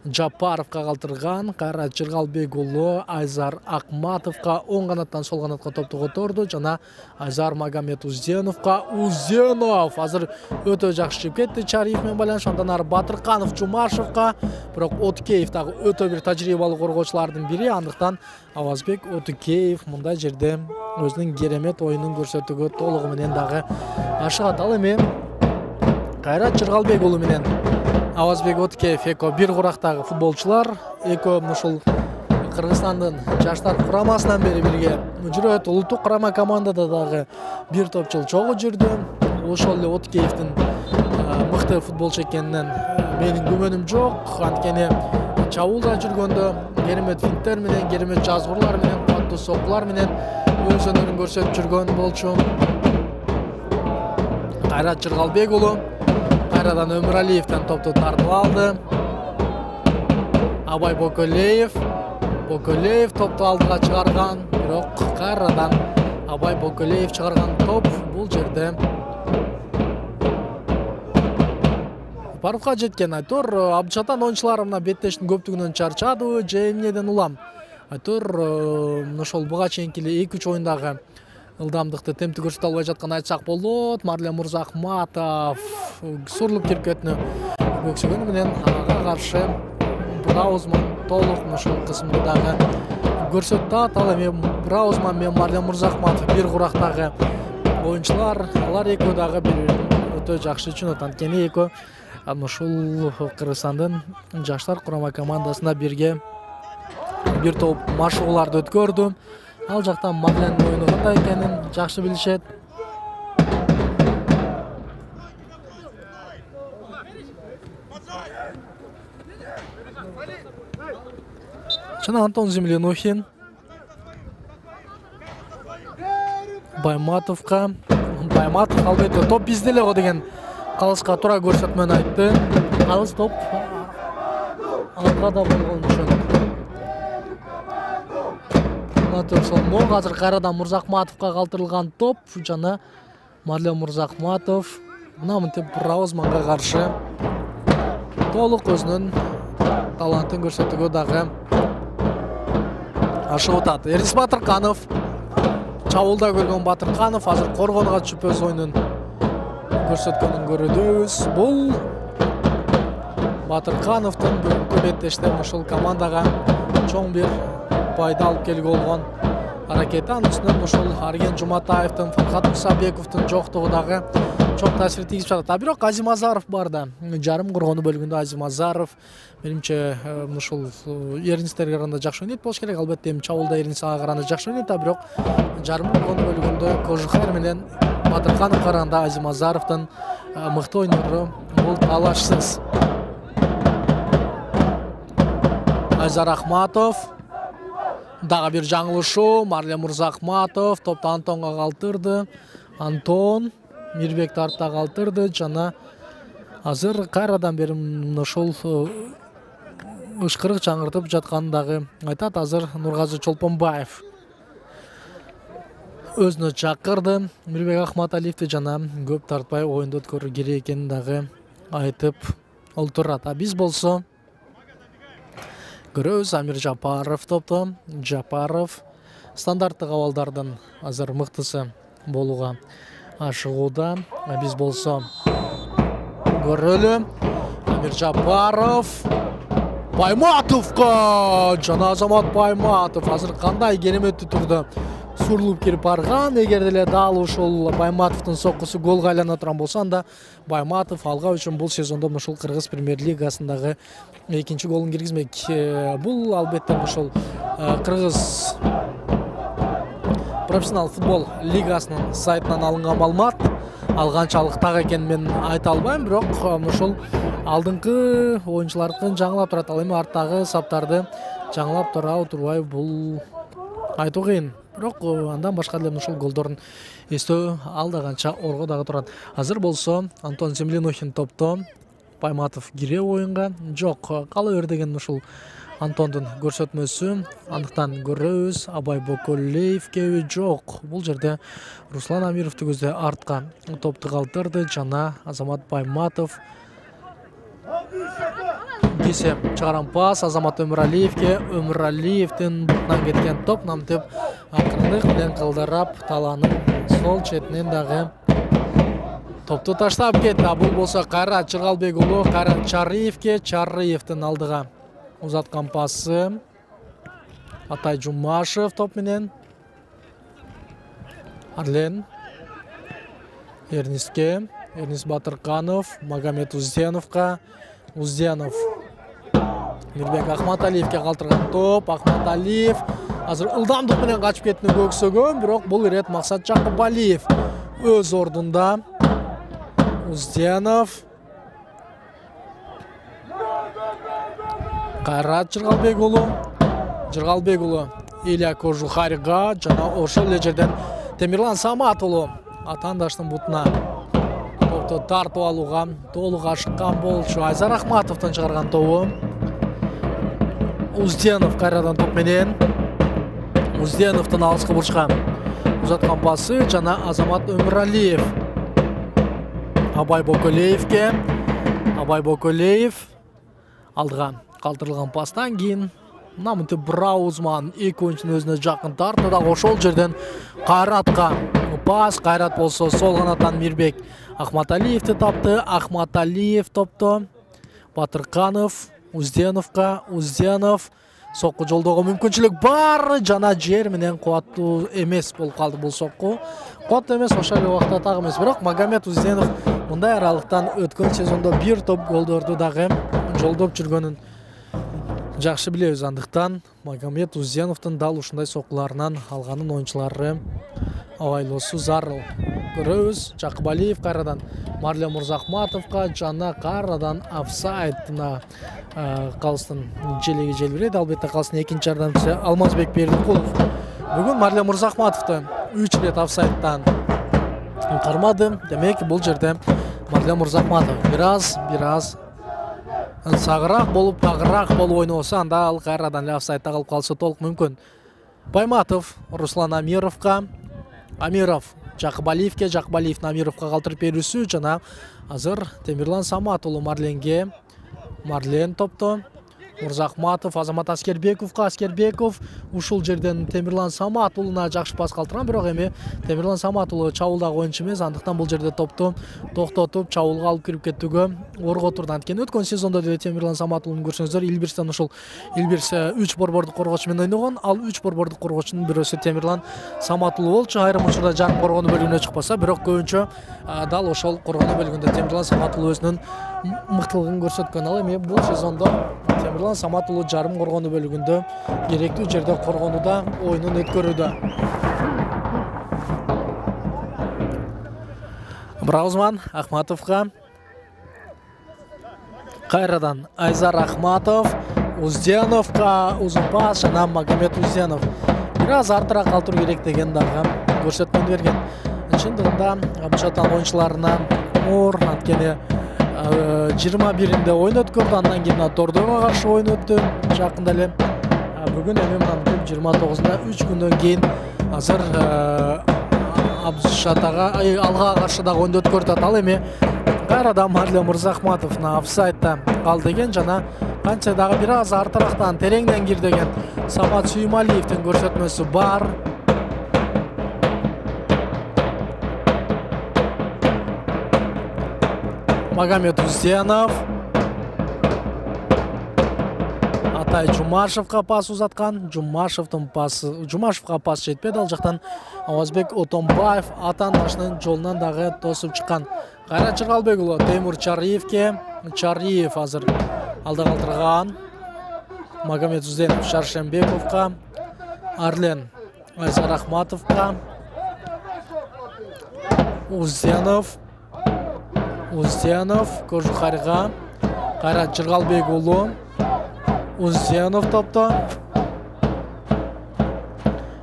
Жапаровго калтырган. Кайра Жыргалбек уулу Айзар Акматовго оң канаттан сол канатка топту которду жана Айзар Магомед Узденовго. Узденов азыр өтө жакшы чыгып кетти Чариев менен байланыш. Андан ары Батырканов Жумашевго. Бирок Отукеев дагы өтө бир тажрыйбалуу коргоочулардын бири. Андыктан Авазбек Отукеев мындай жерде өзүнүн керемет оюнун көрсөтүүгө толугу менен дагы ашыгат. Ал эми Кайра Жыргалбек уулу менен Авазбек Отукеев эко бир курактагы футболчулар. Эко ушул Кыргызстандын жаштар курамасынан бери бирге жүрөт. Улуттук курама командада дагы бир топ жыл чогуу жүрдү. Ошол эле Отукеевдин мыкты футболчу экенинен менин күмөнүм жок. Анткени чабуулда жүргөндө керемет финттер менен, керемет жазгырлар менен, каттуу соккулар менен өз өнөрүн көрсөтүп жүргөн болчу. Кайрат Жыргалбек уулу кайрадан Өмүралиевден топту тартып алды. Абай Бокулеев. Бокулеев топту алдыга чыгарган, бирок кайрадан Абай Бокулеев чыгарган топ бул жерде Паровго жеткен. Айтор Абдчатан оюнчулары мына беттештин көптүгүнөн чарчады же эмнеден улам. Айтор ошол буга чейинки эле эки үч оюндагы ылдамдыкты темпти көрсөтө албай жаткан айтсак болот. Марлен Мырзахматов сурулуп кирип кетүүнү көксөгөнү менен ага каршы Браузман толук ушул кысымды дагы көрсөттү. Ал эми Браузман менен Марлен Мырзахматов бир курактагы оюнчулар. Алар экөө дагы бири-бирин өтө жакшы түшүнөт. Анткени экөө ушул Кыргызстандын жаштар курама командасында бирге бир топ машыгууларды өткөрдү. Ал жактан Марлендин оюну кандай экенин жакшы билишет. Жана Антон Землянухин Байматовго. Байматов албетте топ бизде эле го деген калыска туура көрсөтмөнү айтты. Калыс топ алга да болгон үчүн. Ошол азыр кайрадан Мырзахматовго калтырылган топ жана Марлен Мырзахматов мына мынтип Браузманга каршы толук өзүнүн талантын көрсөтүүгө дагы ашып атат. Эрис Батырканов чабуулда көргөн Батырканов азыр коргонуга түшүп өз оюнун көрсөткөнүн көрөбүз. Бул Батыркановдун бүгүнкү беттештен ушул командага чоң бир пайда алып келүүгө болгон аракети. Анын үстүнөн ушул Арген Жуматаевдин, Фархат Мусабековдун жоктугу дагы чоң таасир тийгизип жатат. А бирок Азим Азаров бар да. Жарым коргонуу бөлүгүндө Азим Азаров менимче ушул Эрнистерге караганда жакшы ойнойт болуш керек. Албетте эми чабуулда Эрнис ага караганда жакшы ойнойт, а бирок жарым коргонуу бөлүгүндө Кожухар менен Батыркановго караганда Азим Азаровдун мыкты ойнору бул талашсыз. Айзар Ахматов дагы бир жаңылышуу. Марлен Мырзахматов топту Антонго калтырды. Антон Мирбекти артта калтырды жана азыр кайрадан бери ушул ышкырык чаңыртып жатканын дагы айтат. Азыр Нургазы Чолпонбаев өзүнө чакырды Мирбек Ахматалиевди жана көп тартпай оюнду өткөрүү керек экенин дагы айтып олтурат. А биз болсо көрөбүз Амир Жапаров топту. Жапаров стандарттык абалдардын азыр мыктысы болууга ашыгууда. А биз болсо көрөлү. Амир Жапаров Байматовго жана Азамат Байматов азыр кандай кереметтүү түрдө сурулуп кирип барган. Эгер деле дал ушул Байматовдун соккусу голго айлана турган болсо, анда Байматов алга үчүн бул сезондо ушул Кыргыз премьер-лигасындагы экинчи голун киргизмек. Бул албетте ушул Кыргыз профессионал футбол лигасынын сайтынан алынган маалымат. Ал канчалык так экенин мен айта албайм, бирок ушул алдыңкы оюнчулардын жаңылап турат. Ал эми арттагы саптарды жаңылап турабы турбайбы бул айтуу кыйын. Бирок андан башка деле ушул голдорун эстөө ал да канча орго дагы турат. Азыр болсо Антон Землянухин топту. Байматов кире оюнга жок. Кала бер деген ушул Антондун көрсөтмөсү. Андыктан көрөбүз. Абай Боколеевке жок. Бул жерде Руслан Амировду көздөй артка топту калтырды жана Азамат Байматов кесе чыгаран пас Азамат Өмүралиевке. Өмүралиевдин бутунан кеткен топ намтеп акырындык менен кылдырап таланын сол четинен дагы топту таштап кетти. Бул болсо Кайрат Чыргалбек уулу Кайрат Чарыевке. Чарыевдин алдыга узаткан пасы. Атай Жумашев топ менен. Арлен Эрниске. Эрнис Батырканов Магомед Узденовго. Узденов Мирбек Ахматалиевке калтырган топ. Ахматалиев азыр ылдамдык менен качып кетүүнү көксөгөн, бирок бул ирет Максат Жакыбалиев өз ордунда. Узденов Кайрат Жыргалбек уулу Жыргалбек уулу Илья Кожухарга жана ошол эле жерден Темирлан Самат уулу атаандаштын бутуна топту тартып алууга толук ашыккан болчу. Айзар Ахматовдун чыгарган тобу. Узденов кайрадан топ менен. Узденовдун алыскы бурчка узаткан пасы жана Азамат Өмүралиев Абай Боколеевке. Абай Боколеев алдыга калтырылган пастан кийин Намынты Браузман эки ойунчунун өзүнө жакын тартты да ошол жерден Кайратка пас. Кайрат болсо сол канаттан Мирбек Ахматалиевди тапты. Ахматалиев топту Батырканов Узденовго. Узденов сокку жолдоого мүмкүнчүлүк бар. Жана жер менен кубаттуу эмес болуп калды бул сокку. Кубаттуу эмес, ошол эле убакта так эмес. Бирок Магомед Узденов мындай аралыктан өткөн сезондо бир топ голдорду дагы жолдоп жүргөнүн жакшы билебиз. Андыктан Магомед Узденовдун дал ушундай соккуларынан алганын оюнчулары абайлоосу зарыл. Көрөбүз. Жакыбалиев кайрадан Марлен Мурзахматовго жана кайрадан офсайдына калыстын желеги желбирейт. Албетте калыстын экинчи жардамчысы Алмазбек Бердикулов бүгүн Марлен Мурзахматовду үч рет офсайдтан кармады. Демек бул жерде Марлен Мурзахматов бир аз бир аз сагыраак болуп, агыраак болуп ойносо, анда ал кайрадан эле офсайдта калып калса толук мүмкүн. Байматов Руслан Амировго. Амиров Жакыбалиевге. Жакыбалиев Амировго калтырып берүүсү жана азыр Темирлан Самат уулу Марленге. Марлен топту Мурзахматов Азамат Аскербековго. Аскербеков ушул жерден Темирлан Самат уулуна жакшы пас калтырган, бирок эми Темирлан Самат уулу чабуулдагы оюнчу эмес, андыктан бул жерде топту токтотуп чабуулга алып кирип кетүүгө орготурду. Анткени өткөн сезондо деле Темирлан Самат уулун көрсөңүздөр, Илбирстен ушул Илбирс үч борбордук коргоочу менен ойногон. Ал үч борбордук коргоочунун бирөөсү Темирлан Самат уулу болчу. Айрым учурда жарым коргонуу бөлүгүнө чыкпаса, бирок көбүнчө дал ошол коргонуу бөлүгүндө Темирлан Самат уулу өзүнүн мыктылыгын көрсөткөн. Ал эми бул сезондо Темирлан Самат уулу жарым коргонуу бөлүгүндө керектүү жерде коргонууда оюнун өткөрүүдө. Браузман Ахматовго. Кайрадан Айзар Ахматов Узденовго узун пас жана Магомед Узденов бир аз артыраак калтыруу керек деген дагы көрсөтмө берген. Чындыгында Абдышатан оюнчуларына оор, анткени жыйырма биринде оюн өткөрдү, андан кийин Тордойго каршы оюн өттү жакында эле. Бүгүн эми мына жыйырма тогузунда үч күндөн кийин азыр Абдышатага алга каршы дагы оюн өткөрүп. Ал эми кайрадан Марлен Мурзахматовна офсайдта калды экен жана канча дагы бир аз артырактан тереңден кир деген Самат Сүймалиевдин көрсөтмөсү бар. Магомед Узденов Атай Жумашевго пас узаткан. Жумашевдин пасы Жумашевго пас жетпеди. Ал жактан Авазбек Отонбаев Атан башынын жолунан дагы тосуп чыккан. Кайрат Чыргалбек уулу Теймур Чариевге. Чариев азыр алда калтырган. Магомед Узденов Шаршембековго. Арлен Айзар Ахматовго. Узденов Узденов Кожухарга. Кайрат Чыргалбек уулу Узденов топту.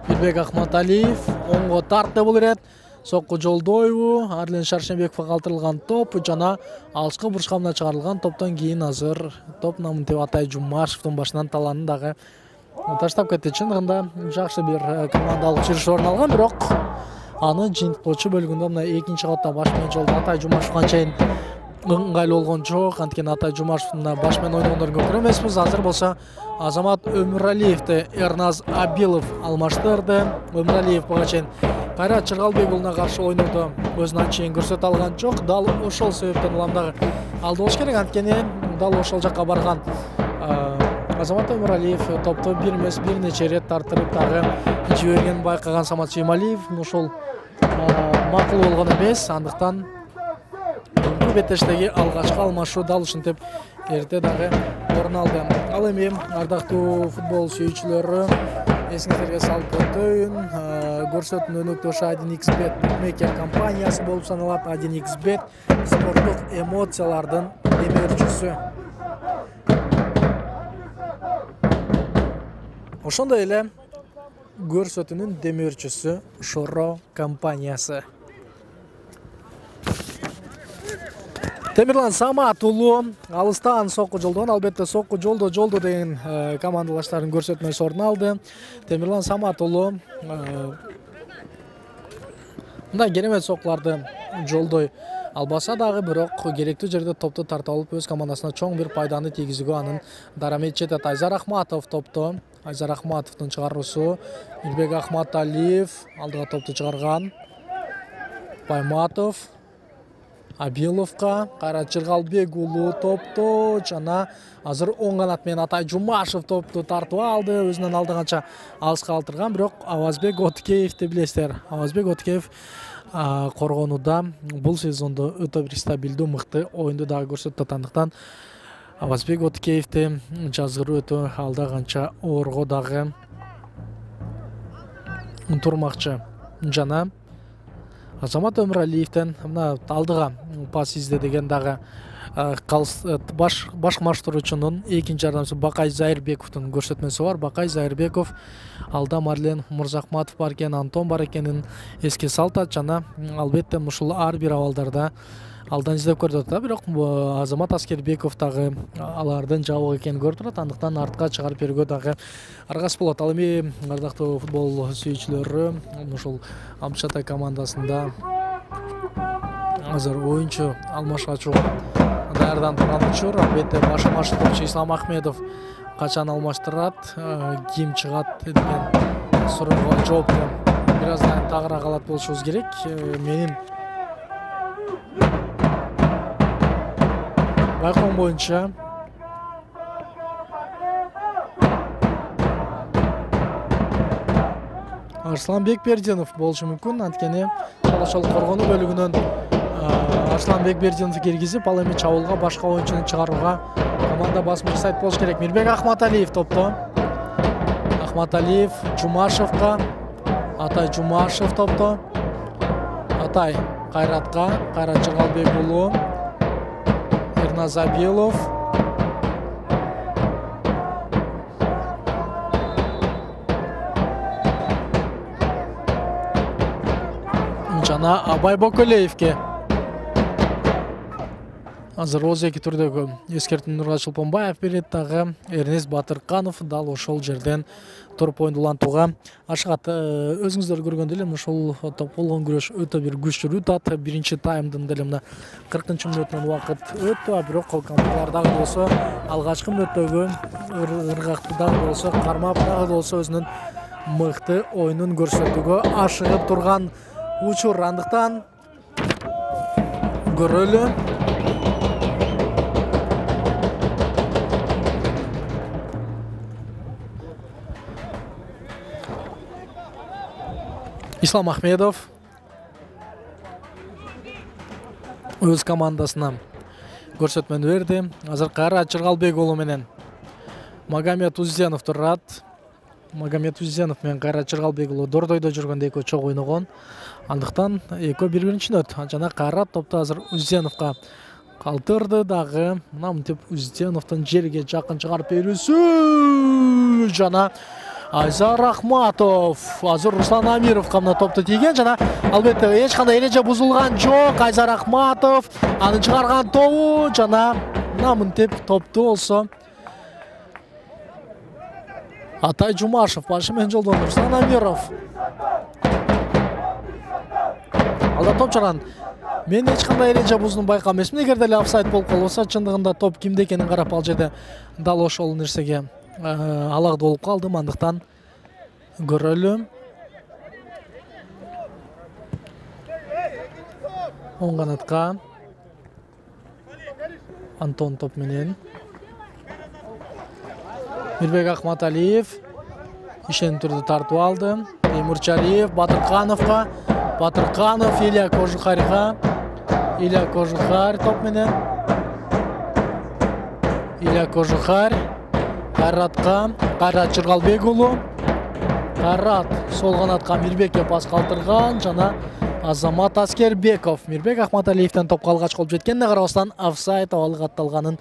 Мирбек Ахматалиев оңго тартты бул ирет. Сокку жолдойбу. Арлен Шаршембековго калтырылган топ жана алыскы бурчка мына чыгарылган топтон кийин азыр топ Намынтеп Атай Жумашевдин башынан таланын дагы таштап кетти. Чындыгында жакшы бир командалык жүрүш орун алган, бирок аны жыйынтыктоочу бөлүгүндө мына экинчи катта баш менен жолдо Атай Жумашев канчайын ыңгайлуу болгон жок. Анткени Атай Жумашевдин баш менен ойногондорун көргөн эмеспиз. Азыр болсо Азамат Өмүралиевди Эрназ Абилов алмаштырды. Өмүралиев буга чейин Кайрат Чыргалбек уулуна каршы ойнодо өзүн анчейин көрсөтө алган жок. Дал ошол себептен улам дагы алды болуш керек. Анткени дал ошол жакка барган Азамат Өмүралиев топту бир эмес бир нече рет тартырып дагы жибергенин байкаган Самат Сүймалиев ошол макул болгон эмес. Андыктан бүгүнкү беттештеги алгачкы алмашуу дал ушинтип эрте дагы орун алды. Ал эми ардактуу футбол сүйүүчүлөрү, эсиңиздерге салып өтөйүн, көрсөтүүнүн өнөктөшү один икс бет букмекер компаниясы болуп саналат. один икс бет спорттук эмоциялардын демөөрчүсү. Ошондой эле көрсөтүүнүн демөөрчүсү Шоро компаниясы. Темирлан Самат уулу алыстан сокку жолдогон. Албетте сокку жолдо жолдо деген командалаштардын көрсөтмөсү орун алды. Темирлан Самат уулу мындай керемет соккуларды жолдой албаса дагы бирок керектүү жерде топту тартып алып өз командасына чоң бир пайданы тийгизүүгө анын дарамети жетет. Айзар Ахматов топто. Айзар Ахматовдун чыгаруусу. Мирбек Ахматалиев алдыга топту чыгарган. Байматов Абиловка, Кайрат Чыргалбек уулу топту жана азыр оң канат менен Атай Жумашев топту тартып алды. Өзүнөн алды канча алыска калтырган, бирок Авазбек Откеевди билесиздер. Авазбек Откеев коргонууда бул сезондо өтө бир стабилдүү, мыкты оюнду дагы көрсөтүп аткандыктан Авазбек Откеевди жазгыруу өтө алда канча орго дагы турмакчы. Жана Азамат Өмүралиевден мына алдыга пас изде деген дагы баш башкармаштыруучунун экинчи жардамчысы Бакай Зайырбековдун көрсөтмөсү бар. Бакай Зайырбеков алда Марлен Мурзахматов бар экен, Антон бар экенин эске салтат жана албетте ушул ар бир абалдарда алдан издеп көрүп атат. Бирок Азамат Аскербеков дагы алардын жабык экенин көрүп турат. Андыктан артка чыгарып берүүгө дагы аргасыз болот. Ал эми ардактуу футбол сүйүүчүлөрү, ушул Амчатай командасында азыр оюнчу алмашкачууга даярданып турган учур. Албетте башкармаштыруучу Ислам Ахмедов качан алмаштырат, ким чыгат деген суроого жоопту бир аздан тагыраак алат болушубуз керек. Менин байкоом боюнча Арслан Бекбердинов болушу мүмкүн. Анткени чала-чал коргонуу бөлүгүнөн Арслан Бекбердинов киргизип, ал эми чабуулга башка оюнчуну чыгарууга команда басым жасайт болуш керек. Мирбек Ахматалиев топто. Ахматалиев Жумашевка, Атай Жумашев топто. Атай Кайратка, Кайрат Чыргалбек уулу, Эрназ Абилов. Жана Абай Боколеевке. Азыр оз эки түрдөгү эскертүүнү Нургал Чолпонбаев берет, дагы Эрнест Батырканов дал ошол жерден туруп оюнду улантууга ашыгат. Өзүңүздөр көргөндөй эле ушул топ болгон күрөш өтө бир күчтүү өтөт. Биринчи таймдын деле мына кыркынчы мүнөтүнөн убакыт өтүп, бирок командалар дагы болсо алгачкы мүнөттөгү ыргакты дагы болсо кармап дагы болсо өзүнүн мыкты оюнун көрсөтүүгө ашыгып турган учур. Андыктан көрөлү. Ислам Ахмедов өз командасына көрсөтмөнү берди. Азыр Кайрат Чыргалбек уулу менен Магомед Узденов турат. Магомед Узденов менен Кайрат Чыргалбек уулу Дордойдо жүргөндө экөө чогуу ойногон. Андыктан экөө бири-биринчи өт. Жана Кайрат топто азыр Узденовго калтырды дагы. Мына мынтип Узденовдун жерге жакын чыгарып берүүсү жана Айзар Ахматов азыр Руслан Амировго мына топту тийген жана албетте эч кандай эреже бузулган жок. Айзар Ахматов аны чыгарган тобу жана мына мынтип топту болсо Атай Жумашев башы менен жолдон Руслан Амиров. Алда топ чыгарган. Мен эч кандай эреже бузууну байкаган эмесмин. Эгер деле офсайд болуп калса, чындыгында топ кимде экенин карап ал жерде дал ошол нерсеге алак болуп калдым. Андыктан көрөлү. Оң канатка Антон топ менен Мирбек Ахматалиев ишен түрдө тартып алды. Теймурчалиев Батыркановго, Батырканов Илья Кожухарьга, Илья Кожухарь топ менен Илья Кожухарь Кайратка, Кайрат Чыргалбек уулу. Кайрат сол канатка Мирбекке пас калтырган жана Азамат Аскербеков Мирбек Ахматалиевден топко алгач колуп жеткенине карабастан офсайд абалы катталганын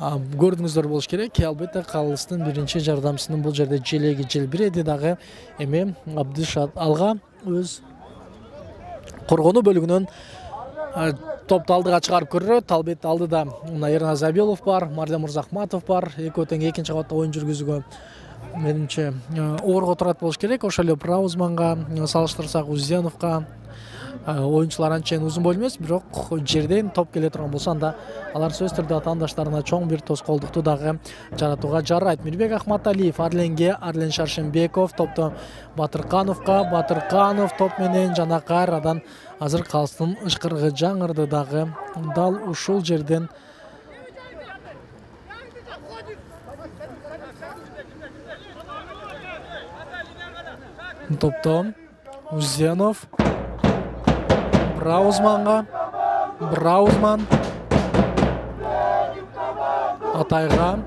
көрдүңүздөр болуш керек. Албетте Калыстын биринчи жардамчысынын бул жерде желеги желбиреди дагы. Эми Абдышат алга өз коргонуу бөлүгүнөн топту алдыга чыгарып көрөт. Албетте алдыда Эрназ Абилов бар, Марлен Мурзахматов бар. Экөө тең экинчи кабатта оюн жүргүзүүгө менимче орго турат болуш керек. Ошол эле Праузманга салыштырсак Узденовго оюнчулар анчейин узун бойлуу эмес, бирок жерден топ келе турган болсо анда алар сөзсүз түрдө атаандаштарына чоң бир тоскоолдукту дагы жаратууга жарайт. Мирбек Ахматалиев Арленге, Арлен Шаршенбеков топтон Батыркановго, Батырканов топ менен жана кайрадан азыр калстын ышкырыгы жаңырды дагы дал ушул жерден топтон Узенов Браузманга, Браузман Атайга,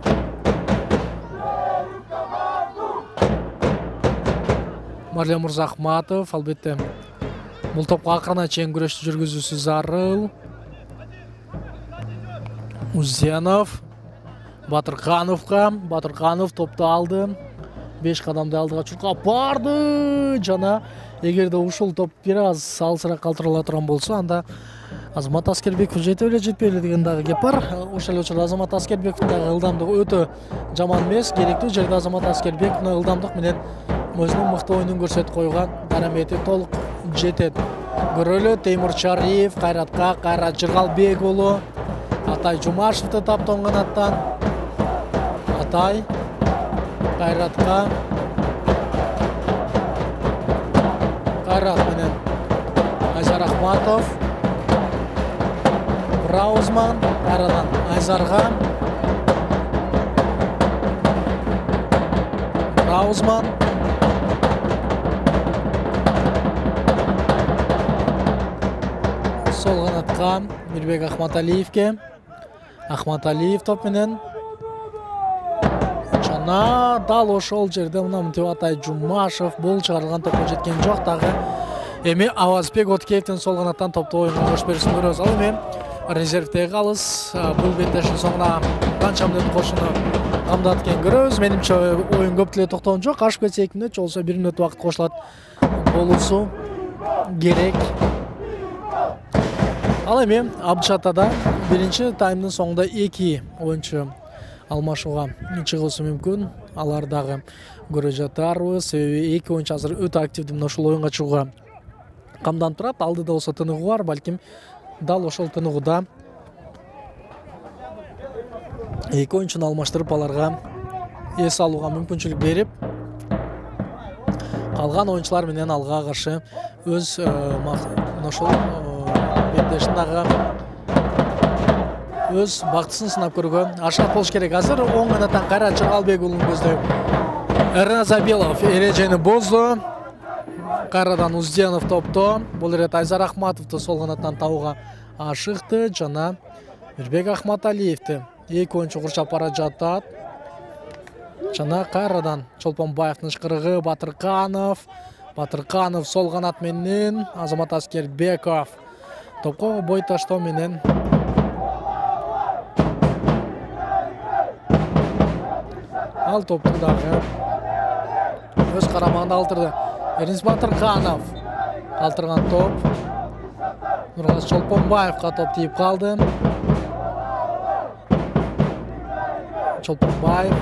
Марлен Мурзахматов, албетте бул топко акырына чейин күрөштү жүргүзүүсү зарыл. Узенов Батыркановго, Батырканов топту алды. беш кадамды алдыга чуркап барды жана эгерде ушул топ бир аз алысыраак калтырыла турган болсо, анда Азамат Аскербеков жете эле жетпей эле деген дагы кеп бар. Ошол эле учурда Азамат Аскербековдун дагы ылдамдыгы өтө жаман эмес. Керектүү жерде Азамат Аскербековдун ылдамдык менен өзүнүн мыкты оюнун көрсөтүп койгон дарамети толук жетет. Көрөлү Теймур Чариев Кайратка, Кайрат Жыргалбек уулу Атай Жумашевди таптон канаттан. Атай Кайратка, Кайрат менен Айзар Ахматов, Браузман, кайрадан Айзарга, Браузман, сол канатка Мирбек Ахматалиевке, Ахматалиев топ менен жана дал ошол жерде мына мынтип Атай Жумашев бул чыгарылган топко жеткен жок дагы. Эми Авазбек Откеевдин сол канаттан топту оюнга кош берүүсүн көрөбүз. Ал эми резервдеги калыс бул беттештин соңуна канча мүнөт кошууну камдат экенин көрөбүз. Менимче оюн көп деле токтогон жок. Ашып кетсе эки мүнөт, болсо бир мүнөт убакыт кошулат болуусу керек. Ал эми Абдышатада биринчи таймдын соңунда эки оюнчу алмашууга чыгуусу мүмкүн. Алар дагы көрө жатарбыз. Себеби эки оюнчу азыр өтө активдүү мына ушул оюнга чыгууга камданып турат. Алдыда болсо тыныгуу бар, балким дал ошол тыныгуда эки оюнчуну алмаштырып аларга эс алууга мүмкүнчүлүк берип, калган оюнчулар менен алга каршы өз ошол беттешин дагы өз бактысын сынап көргөн ашат болуш керек. Азыр оң канаттан Кайрат Жыргалбек уулун көздөйт. Эрназабилов эрежени бозду. Кайрадан Узденов топто. Бул ирет Айзар Ахматовду сол канаттан табууга ашыкты жана Мирбек Ахматалиевди эки оюнчу курчап бара жатат. Жана кайрадан Чолпонбаевдин ышкырыгы Батырканов. Батырканов сол канат менен Азамат Аскербеков топко бой таштоо менен ал топту дагы өз карамагында калтырды. Эрнис Батырканов калтырган топ Нургаз Чолпонбаевга топ тийип калды. Чолпонбаев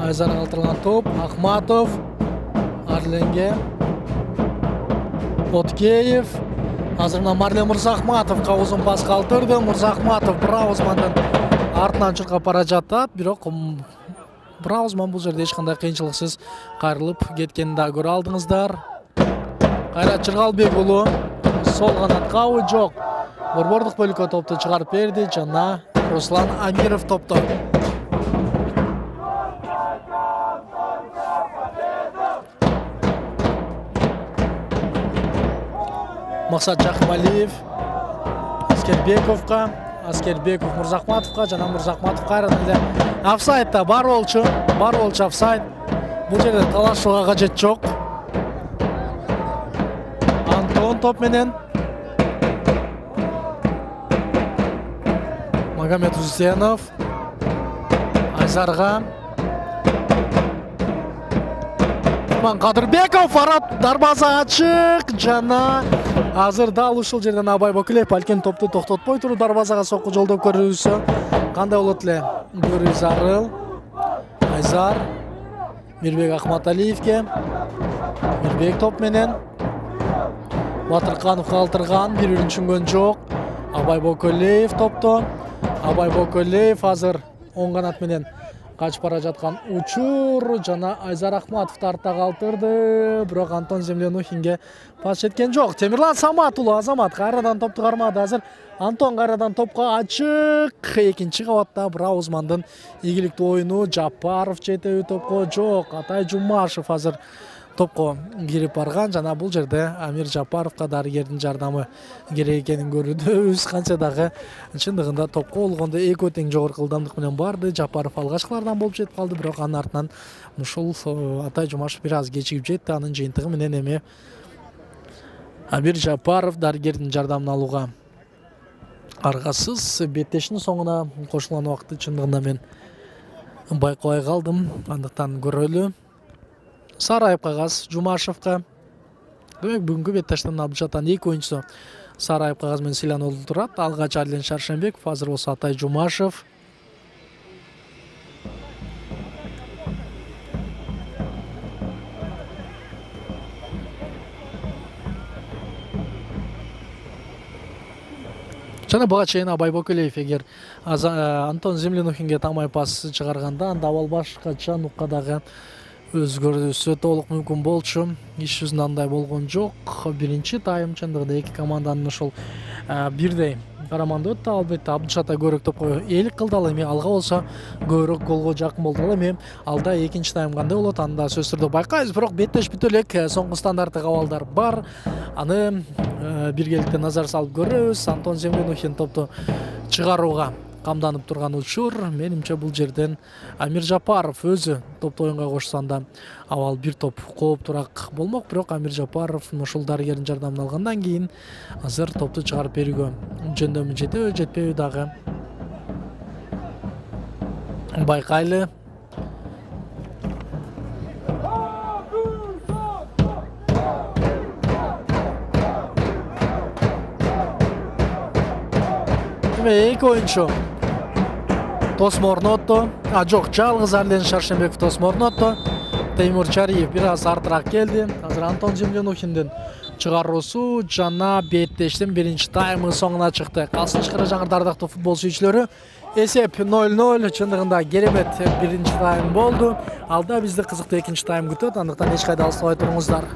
Айзар калтырган топ Ахматов Арленге, Откеев азыр Марлен Мурзахматовго узун пас калтырды. Мурзахматов Браузмандын артынан чуркап бара жатат, бирок Браузман бул жерде эч кандай кыйынчылыксыз кайрылып кеткенин да көрө алдыңыздар. Кайрат Жыргалбек уулу сол канатка ой жок. Борбордук бөлүккө топту чыгарып берди жана Руслан Амиров топто. Максат Жакмалиев Аскербековго, Аскербеков Мурзахматовго жана Мурзахматов кайрадан эле офсайдда бар болчу, бар болчу офсайд. Бул жерде талашууга кажет жок. Антон топ менен Магомед Узенов Айзарга, Кадырбеков арат дарбаза ачык жана Азыр дал ушул жерден Абай Бокулев балким топту токтотпой туруп дарбазага сокку жолдоп көрүүсү кандай болот эле? Гөрү Зарыл, Айзар, Мирбек Акматалиевке. Мирбек топ менен Батырканов калтырган, бири-бирин түшүнгөн жок. Абай Бокулев топто. Абай Бокулев азыр оң канат менен качып бара жаткан учур жана Айзар Ахматовду артта калтырды. Бирок Антон Землянухинге пас жеткен жок. Темирлан Самат уулу Азамат кайрадан топту кармады. Азыр Антон кайрадан топко ачык. Экинчи кабатта Браво Узмандын ийгиликтүү оюну. Жапаров жетеби топко жок. Атай Жумашев азыр топко кирип барган жана бул жерде Амир Жапаровго дарыгердин жардамы керек экенин көрүүбүз. Канча дагы чындыгында топко болгондо экөө тең жогорку ылдамдык менен барды. Жапаров алгачкылардан болуп жетип калды, бирок анын артынан ушул Атай Жумашев бир аз кечигип жетти. Анын жыйынтыгы менен эми Амир Жапаров дарыгердин жардамын алууга аргасыз. Беттештин соңуна кошулган убакытты чындыгында мен байкабай калдым. Андыктан көрөлү. Сарайып кагаз Жумашевка. Демек бүгүнкү беттештен алып жаткан эки оюнчусу Сарайып кагаз менен Силанол турат. Алгач Арлен Шаршенбеков, азыр болсо Атай Жумашев. Жана буга чейин Абай Бокулев эгер Антон Землянухинге тамай пас чыгарганда анда абал башкача нукка дагы өзгөрүүсү толук мүмкүн болчу. Иш жүзүндө андай болгон жок. Биринчи тайм чындыгында эки команданын ошол бирдей караманда өттү. Албетте Абдыш Атай көбүрөөк топко ээлик кылды. Ал эми алга болсо көбүрөөк голго жакын болду. Ал эми алда экинчи тайм кандай болот аны да сөзсүз түрдө байкайбыз. Бирок беттеш бүтө элек. Соңку стандарттык абалдар бар. Аны биргеликте назар салып көрөбүз. Антон Землянухин топту чыгарууга камданып турган учур. Менимче бул жерден Амир Жапаров өзү топту оюнга кошсондо абал бир топ кооптураак болмок. Бирок Амир Жапаров ушул дарыгердин жардамын алгандан кийин азыр топту чыгарып берүүгө жөндөмү жетеби жетпеби дагы байкайлы. Эки оюнчу тосмо орнотту. А жок, жалгыз Арлен Шаршенбеков тосмо орнотту. Теймур Чариев бир аз артыраак келди. Азыр Антон Землянухиндин чыгаруусу жана беттештин биринчи таймы соңуна чыкты. Калсын чыкара жаңырды ардактуу футбол сүйүүчүлөрү. Эсеп ноль ноль. Чындыгында керемет биринчи тайм болду. Алда бизди кызыктуу экинчи тайм күтөт. Андыктан эч кайда алыстабай туруңуздар.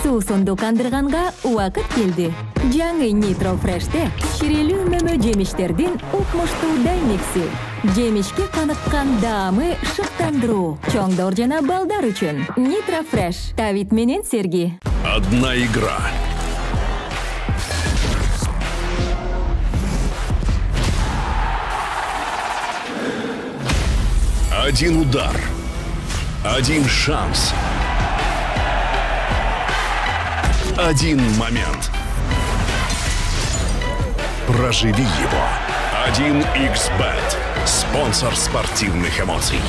Суусунду кандырганга убакыт келди. Жаңы Nitro Fresh'те ширелүү мөмө жемиштердин укмуштуудай микси. Жемишке каныккан даамы шыктандыруу. Чоңдор жана балдар үчүн. Nitro Fresh. Давид менен Серги. Одна игра. Один удар. Один шанс. Один момент. Проживи его. один икс бет. Спонсор спортивных эмоций.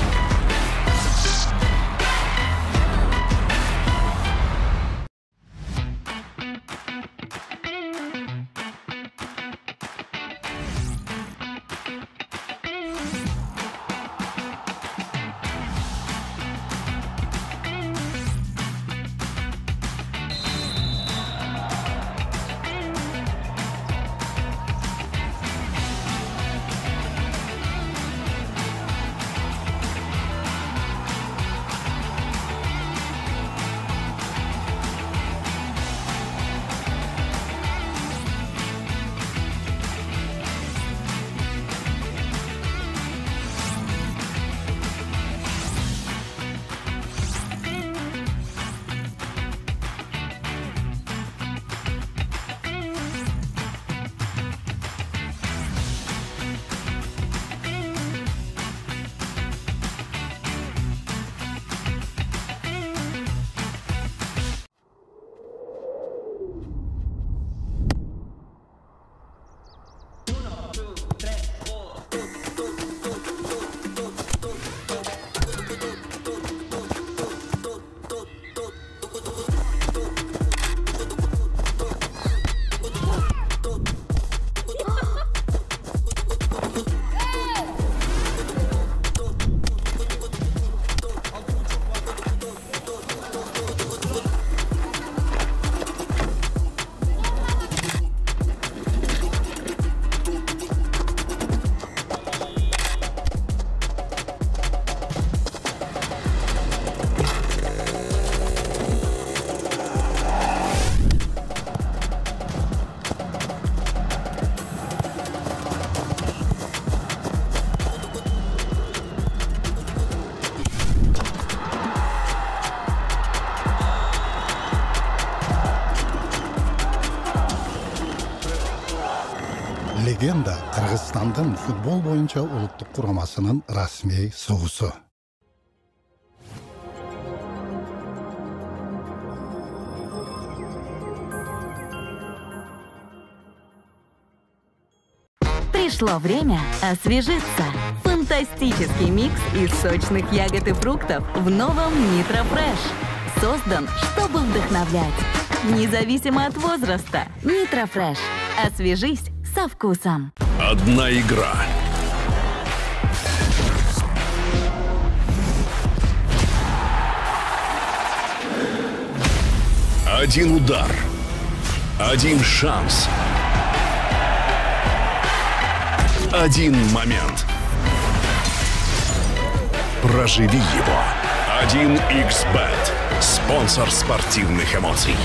Легенда Кыргызстандын футбол боюнча улуттук курамасынын расмий суусу. Пришло время освежиться. Фантастический микс из сочных ягод и фруктов в новом Nitro Fresh. Создан, чтобы вдохновлять. Независимо от возраста. Nitro Fresh. Освежись со вкусом. Одна игра. Один удар. Один шанс. Один момент. Проживи его. один икс бет. Спонсор спортивных эмоций.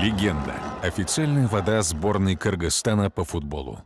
Легенда. Официальная вода сборной Кыргызстана по футболу.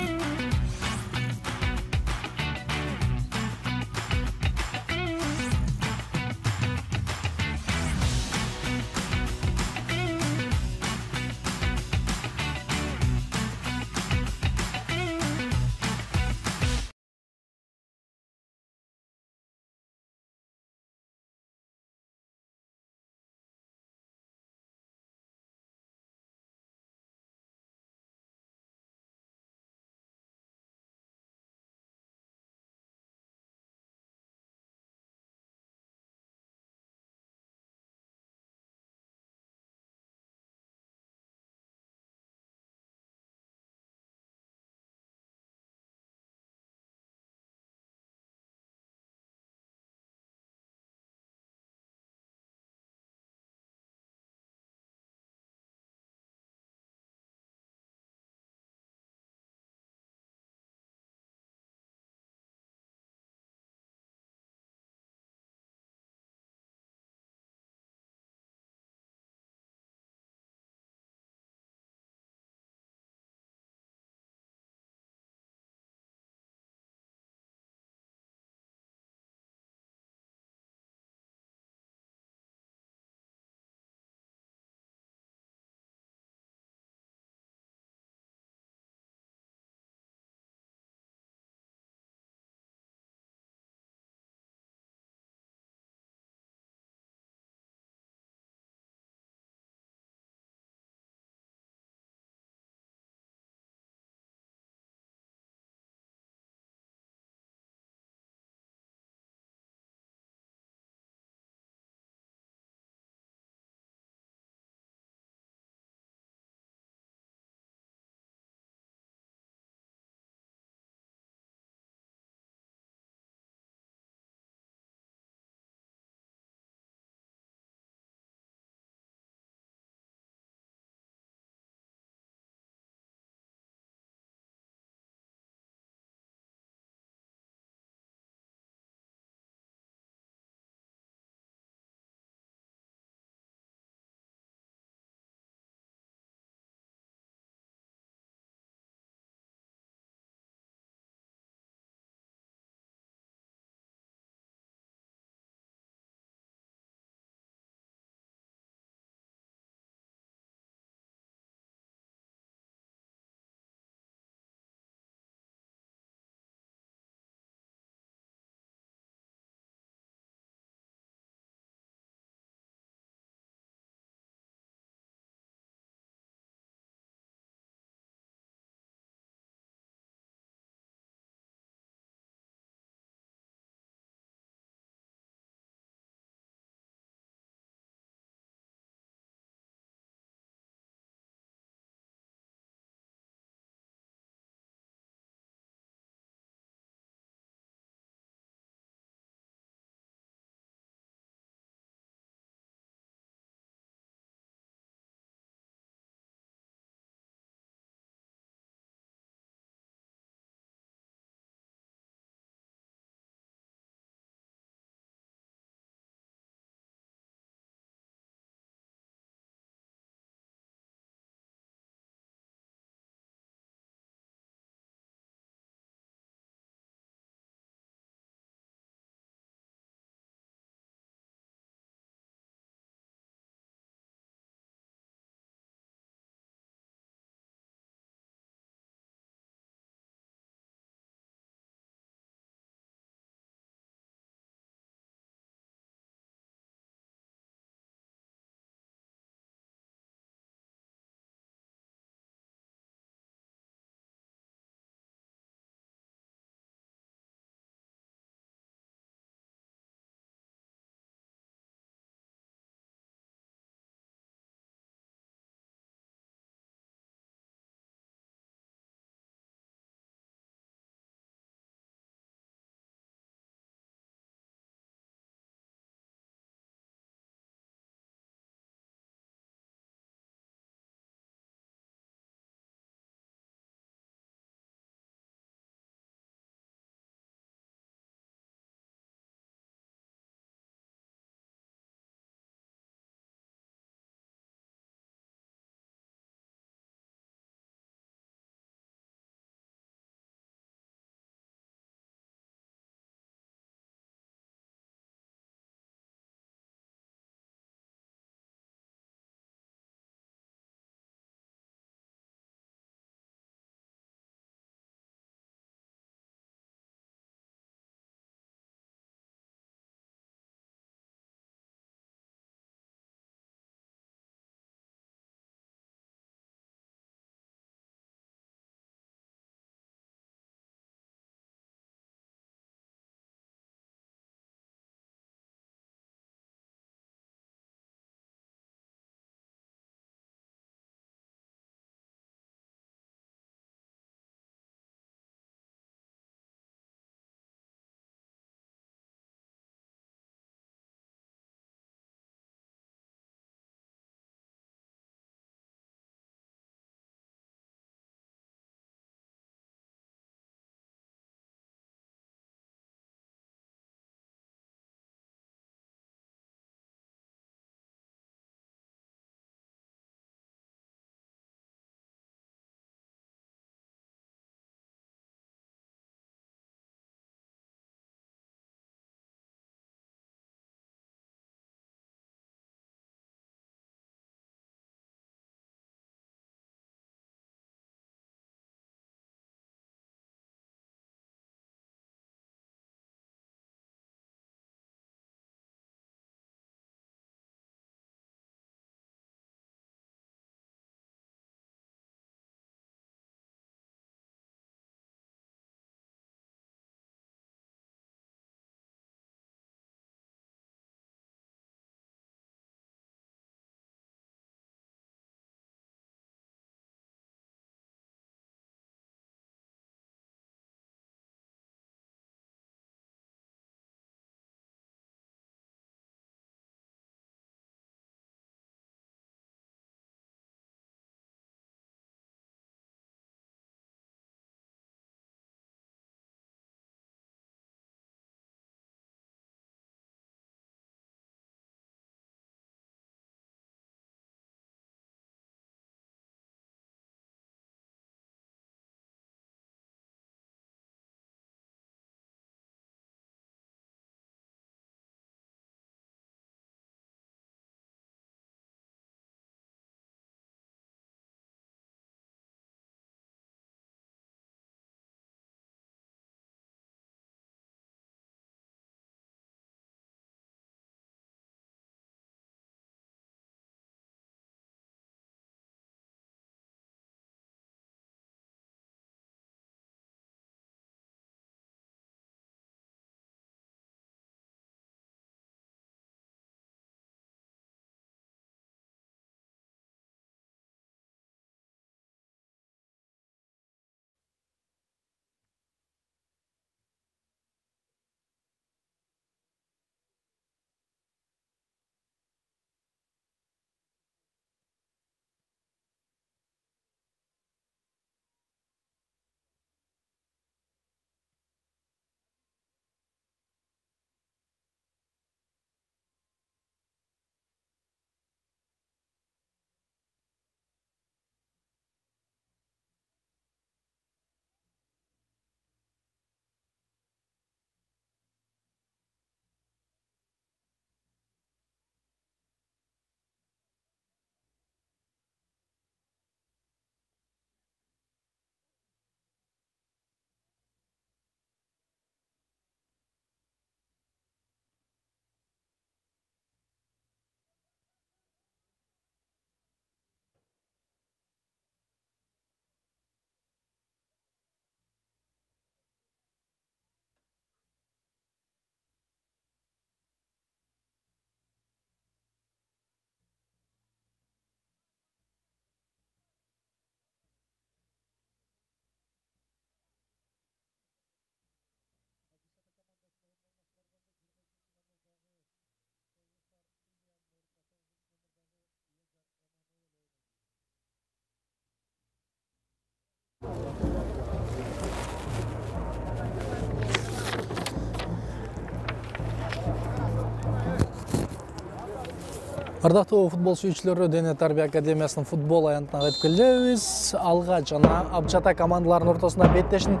Ардактуу футбол сүйүүчүлөрү, Дене тарбия академиясынын футбол аянтына кайтып келебиз. Алга жана Абчата командаларынын ортосунда беттештин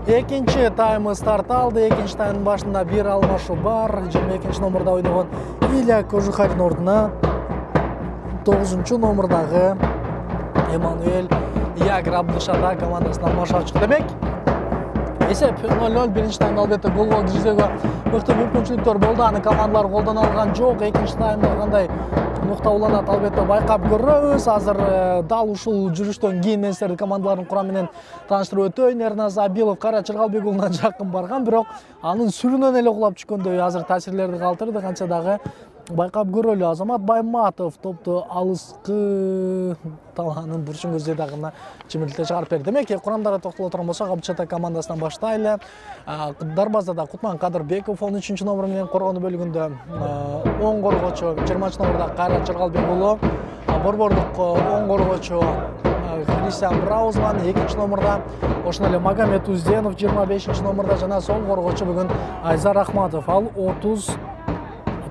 экинчи таймы старт алды. Экинчи таймдын башында бир алмашуу бар. жыйырма экинчи номурда ойногон Илья Кожухарин ордуна тогузунчу номурдагы Эммануэль Ягр Абдышата командасынан алмашып чыкты. Демек, эсеп ноль ноль. Биринчи таймда албетте голго киргизүүгө мыкты мүмкүнчүлүктөр болду. Аны командалар колдоно алган жок. Экинчи таймда кандай нукта уланат албетте байкап көрөбүз. Азыр дал ушул жүрүштөн кийин мен силерди командалардын курамы менен тааныштырып өтөйүн. Эрназ Абилов Кайрат Чыргалбек уулуна жакын барган, бирок анын сүрүнөн эле кулап түшкөндөй азыр таасирлерди калтырды. Канча дагы байкап көрөлү. Азамат Байматов топту алыскы талаанын бурчун көздөй дагы чимирилте чыгарып берди. Демек, курамдарга токтоло турган болсок, Абчата командасынан баштайлы. Дарбазада Кутман Кадырбеков он үчүнчү номер менен коргонуу бөлүгүндө оң коргоочу жыйырманчы номурда Кайрат Чыргалбек уулу, борбордук оң коргоочу Христиан Браузман экинчи номурда, ошондой эле Магомед Узденов жыйырма бешинчи номурда жана сол коргоочу бүгүн Айзар Ахматов, ал отуз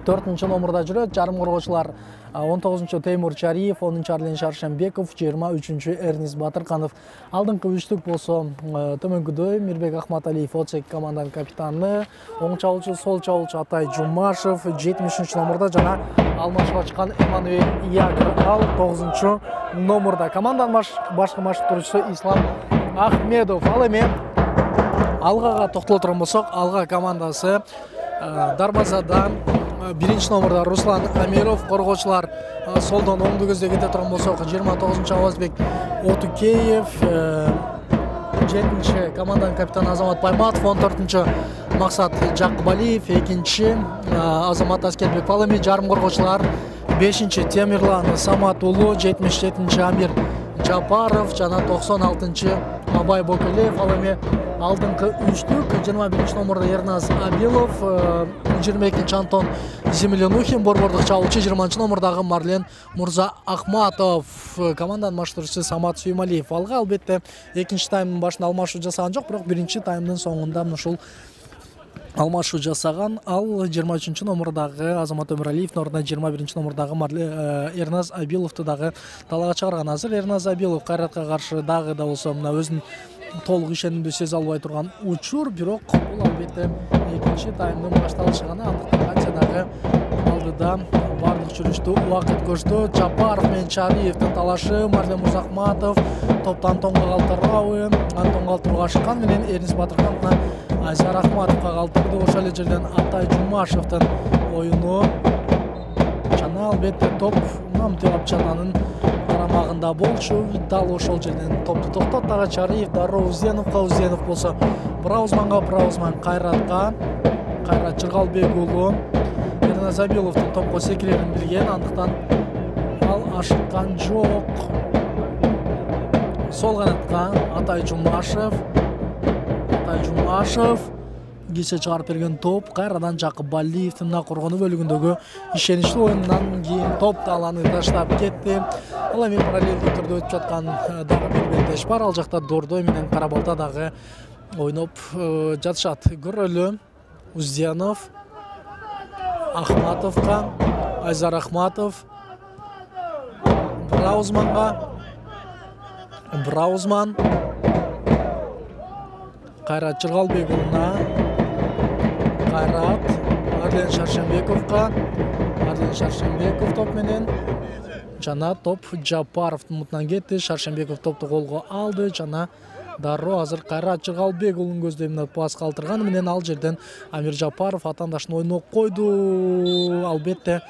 төртүнчү номурда жүрөт. Жарым коргоочулар он тогузунчу Теймур Чариев, онунчу Арлен Шаршембеков, жыйырма үчүнчү Эрнис Батырканов. Алдыңкы үчтүк болсо төмөнкүдөй Мирбек Ахматалиев Оцек команданын капитаны, оң чабуулчу, сол чабуулчу Атай Жумашев жетимиш үчүнчү номурда жана алмашууга чыккан Эммануэль Ягр, ал тогузунчу номурда. Команданын башкы машыктыруучусу Ислам Ахмедов. Ал эми алгага токтоло турган болсок, алга командасы дарбазадан биринчи номурда Руслан Амиров, коргоочулар солдон оңду көздөй кете турган болсок, жыйырма тогузунчу Авазбек Отукеев, жетинчи команданын капитаны Азамат Байматов, он төртүнчү Максат Жакыбалиев, экинчи Азамат Аскербек. Ал эми жарым коргоочулар бешинчи Темирлан Самат уулу, жетимиш жетинчи Амир Жапаров жана токсон алтынчы Абай Бокелеев. Ал эми алдыңкы үчтүк жыйырма биринчи номурда Эрназ Абилов, жыйырма экинчи Антон Землянухин, борбордук чабуулчу жыйырманчы номурдагы Марлен Мурза Ахматов, команданын машыктыруучусу Самат Сүймалиев. Алга албетте экинчи таймдын башында алмашуу жасаган жок, бирок биринчи таймдын соңунда ушул алмашуу жасаган. Ал жыйырма үчүнчү номурдагы Азамат Өмүралиевдин ордуна жыйырма биринчи номурдагы Эрназ Абиловду дагы талаага чыгарган. Азыр Эрназ Абилов Кайратка каршы дагы да болсо мына өзүнүн толук ишенимдүү сезе албай турган учур, бирок бул албетте экинчи таймдын башталышы гана. Андыктан канча дагы алдыда бардык жүрүштү убакыт көрсөтөт. Жапаров менен Чариевдин талашы, Марлен Мурзахматов топту Антонго калтырабы, Антон калтырууга ашыккан менен Эрнис Батыркановна Айзар Ахматовго калтырды. Ошол эле жерден Атай Жумашевдин оюну жана албетте топ Намты Абчананын карамагында болчу. Дал ошол жерден топту токтоттагы Чариев дароо Узденовго, Узденов болсо Браузманга, Браузман Кайратка, Кайрат Чыргалбек уулу Эрназ Абиловдун топко секирерин билген, андыктан ал ашыккан жок. Сол канатка Атай Жумашев, Атай Жумашев кече чыгарып берген топ кайрадан Жакыбалиевдин коргонуу бөлүгүндөгү ишеничтүү оюнунан кийин топ таланы таштап кетти. Ал эми параллелдик түрдө өтүп жаткан дагы бир беттеш бар. Ал жакта Дордой менен Карабалта дагы ойноп жатышат. Көрөлү. Узденов Ахматовго, Айзар Ахматов Браузманга, Браузман Кайрат Чыргалбек уулуна, Кайрат Арлен Шаршембековго, Арлен Шаршембеков топ менен жана топ Жапаровдун мутунан кетти. Шаршембеков топту колго алды жана дароо азыр Кайрат Чыргалбек уулунун көздөй мына пас калтырганы менен ал жерден Амир Жапаров атаандашын ойноп койду. Албетте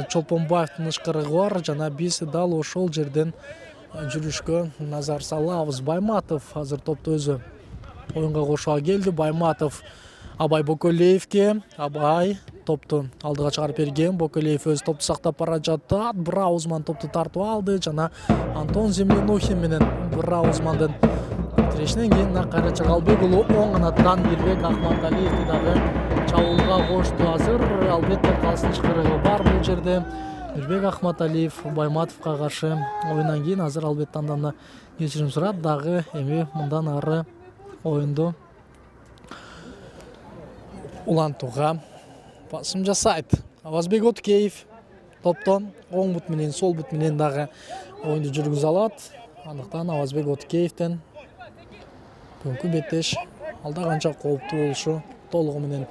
Чолпонбаевдин ышкырыгы бар жана биз дал ошол жерден жүрүшкө назар салабыз. Байматов азыр топту өзү оюнга кошууга келди. Байматов Абай Бокелеевге, Абай топту алдыга чыгарып берген. Бокелеев өз топту сактап бара жатат. Браузман топту тартып алды жана Антон Землянухин менен Браузмандын тирешинен кийин Кайрат Чыргалбек уулу оң канаттан Мирбек Ахматалиевди дагы чабуулга кошту. Азыр албетте калсын ышкырыгы бар бул жерде. Мирбек Ахматалиев Байматовго каршы оюндан кийин азыр албетте андан кечирим сурат, дагы эми мындан ары оюнду улантууга басым жасайт. Авазбек Отукеев топтон оң бут менен сол бут менен дагы оюнду жүргүзө алат. Андыктан Авазбек Отикеевден бүгүнкү беттеш алда канча кооптуу болушу толугу менен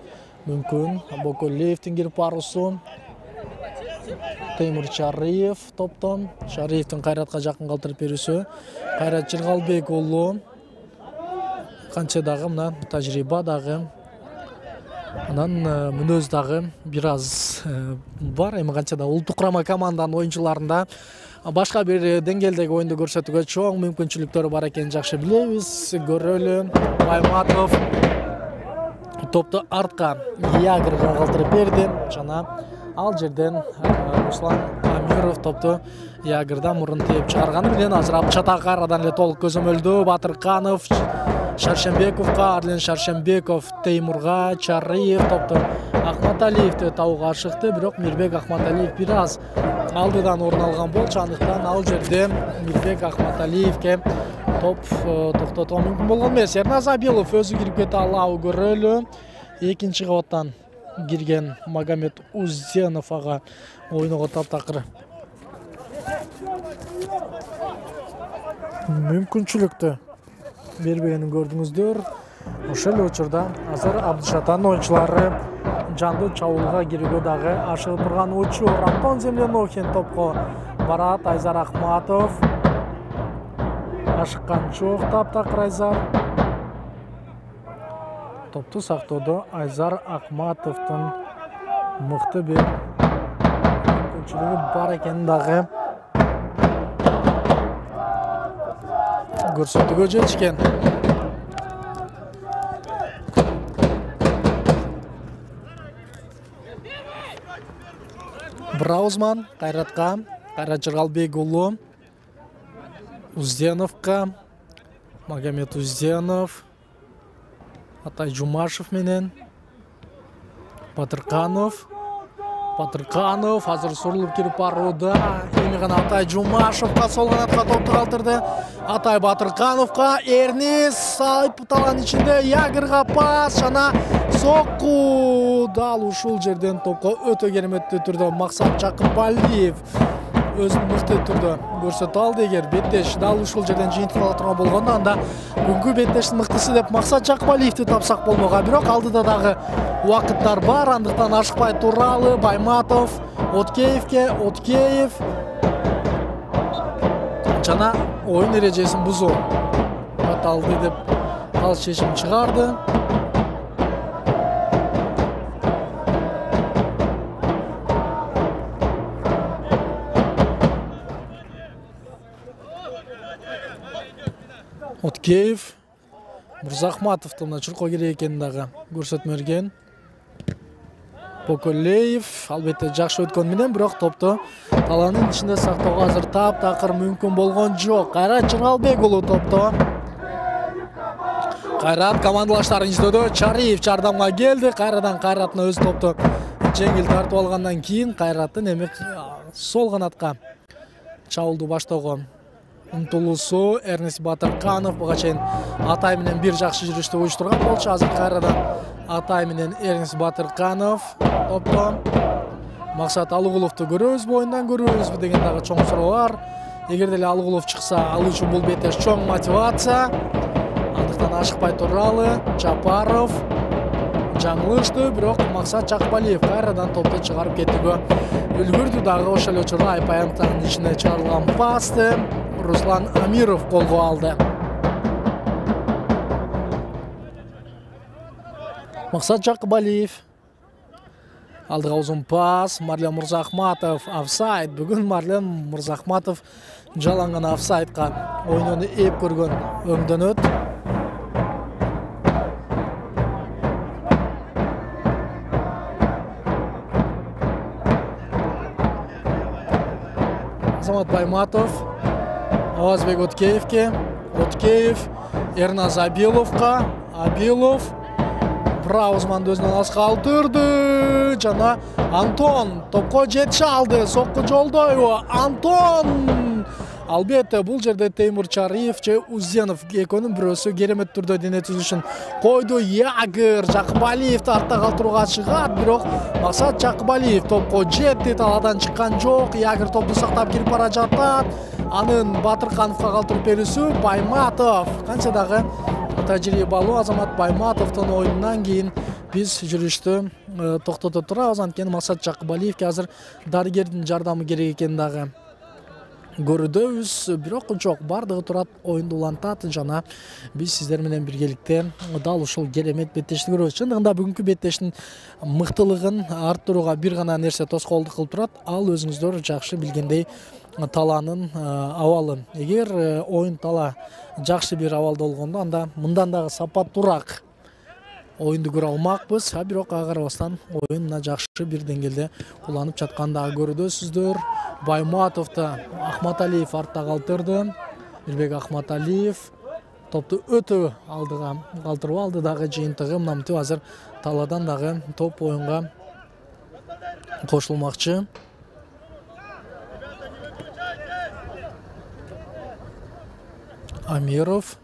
мүмкүн. Боколеевдин кирип баруусу. Теймур Чарыев топтон. Чарыевдин Кайратка жакын калтырып берүүсү. Кайрат Жыргалбек уулу. Канча дагы мына тажрыйба дагы. Анан мүнөз дагы бир аз бар. Эми канча да улуттук курама команданын оюнчуларында башка бир деңгээлдеги оюнду көрсөтүүгө чоң мүмкүнчүлүктөрү бар экенин жакшы билебиз. Көрөлү. Байматов топту артка Ягырга калтырып берди. Жана ал жерден Руслан Амиров топту Ягырдан мурун тээп чыгарганы менен азыр Абчатак арадан эле толук көзөмөлдөө. Батырканов Шаршембековго, Арлен Шаршембеков Теймурга, Чарыев топту Акматалиевди табууга ашыкты, бирок Мирбек Акматалиев бир аз алдыдан орун алган болчу. Андыктан ал жерде Мирбек Акматалиевге топ токтотууга мүмкүн болгон эмес. Эрназ Абилов өзү кирип кете алабы көрөлү. Экинчи кабаттан кирген Магомед Узденов ага оюнуга таптакыр мүмкүнчүлүктү бербегенин көрдүңүздөр. Ошол эле учурда азыр Абдышатан оюнчулары жандуу чабуулга кирүүгө дагы ашыгып турган учур. Антон Землянохин топко барат. Айзар Акматов ашыккан жок. Таптакыр Айзар топту сактоодо Айзар Акматовдун мыкты бир мүмкүнчүлүгү бар экенин дагы көрсөтүүгө жетишкен. Браузман Кайратка, Кайрат Жыргалбек уулу Узденовго, Магомед Узденов, Атай Жумашев менен Батырканов. Батырканов азыр сурулуп кирип барууда. Эми гана Атай Жумашевга сол канатка топту калтырды. Атай Батыркановго, Эрнис айыпталган ичинде Ягырга пас жана сокку. Дал ушул жерден топко өтө кереметтүү түрдө Максат Жакыпалиев өзүн мыкты түрдө көрсөтө алды. Эгер беттеш дал ушул жерден жыйынтык ала турган болгондо анда бүгүнкү беттештин мыктысы деп Максат Жакыпалиевди тапсак болмок. Бирок алдыда дагы убакыттар бар, андыктан ашыкпай туралы. Байматов Откеевге, Откеев жана оюн эрежесин бузуу аталды деп ал чечим чыгарды. Откеев Мурзахматовду мына чуркоо керек экенин дагы көрсөтмө берген. Боколеев албетте жакшы өткөн менен бирок топту талаанын ичинде сактоого азыр таптакыр мүмкүн болгон жок. Кайрат Жыргалбек уулу топту. Кайрат командалаштарын издөөдө. Чарыев жардамга келди. Кайрадан Кайраттын өз топту жеңил тартып алгандан кийин Кайраттын эми сол канатка чабуулду баштоого умтулуусу. Эрнис Батырканов буга чейин Атай менен бир жакшы жүрүштү уюштурган болчу. Азыр кайрадан Атай менен Эрнис Батырканов топтон. Максат Алыгуловду көрөбүзбү, оюндан көрөбүзбү деген дагы чоң суроо бар. Эгер деле Алыгулов чыкса, ал үчүн бул беттеш чоң мотивация. Андыктан ашыкпай туралы. Жапаров жаңылышты, бирок Максат Жакыпалиев кайрадан топту чыгарып кетүүгө үлгүрдү дагы. Ошол эле учурда Айпаянтанын ичине чыгарылган пасты Руслан Амиров колго алды. Максат Жакыпалиев алдыга узун пас. Марлен Мурзахматов офсайд. Бүгүн Марлен Мурзахматов жалаңган офсайдка оюнуну эп көргөн өңдөнөт. Азамат Байматов Авазбек Откеевге, Откеев Эрназ Абиловго, Абилов Браузманды өзүнөн алыска калтырды жана Антон топко жетише алды. Сокку жолдойбу? Антон Албетте бул жерде Теймур Чариев же Узенов экөөнүн бирөөсү керемет түрдө дене түзүшүн койду. Ягыр Жакыбалиевди артта калтырууга чыгат, бирок максат Жакыбалиев топко жетти, талаадан чыккан жок. Ягыр топту сактап кирип бара жатат. Анын Батыркановго калтырып берүүсү Байматов. Канча дагы тажрыйбалуу Азамат Байматовдун оюнунан кийин биз жүрүштү токтото турабыз. Анткени максат Жакыбалиевге азыр дарыгердин жардамы керек экенин дагы көрүүдөбүз. Бирок жок, бардыгы турат, оюнду улантат жана биз сиздер менен биргеликте дал ушул керемет беттешти көрөбүз. Чындыгында бүгүнкү беттештин мыктылыгын арттырууга бир гана нерсе тоскоолдук кылып турат. Ал өзүңүздөр жакшы билгендей талаанын абалы. Эгер оюн тала жакшы бир абалда болгондо, анда мындан дагы сапаттуураак оюнду көрө алмакпыз. А бирок ага карабастан оюн мына жакшы бир деңгээлде уланып жатканын дагы көрүүдөсүздөр. Байматовду Ахматалиев артта калтырды. Мирбек Ахматалиев топту өтө алдыга калтырып алды. Дагы жыйынтыгы мынамтип азыр талаадан дагы топ оюнга кошулмакчы. Амиров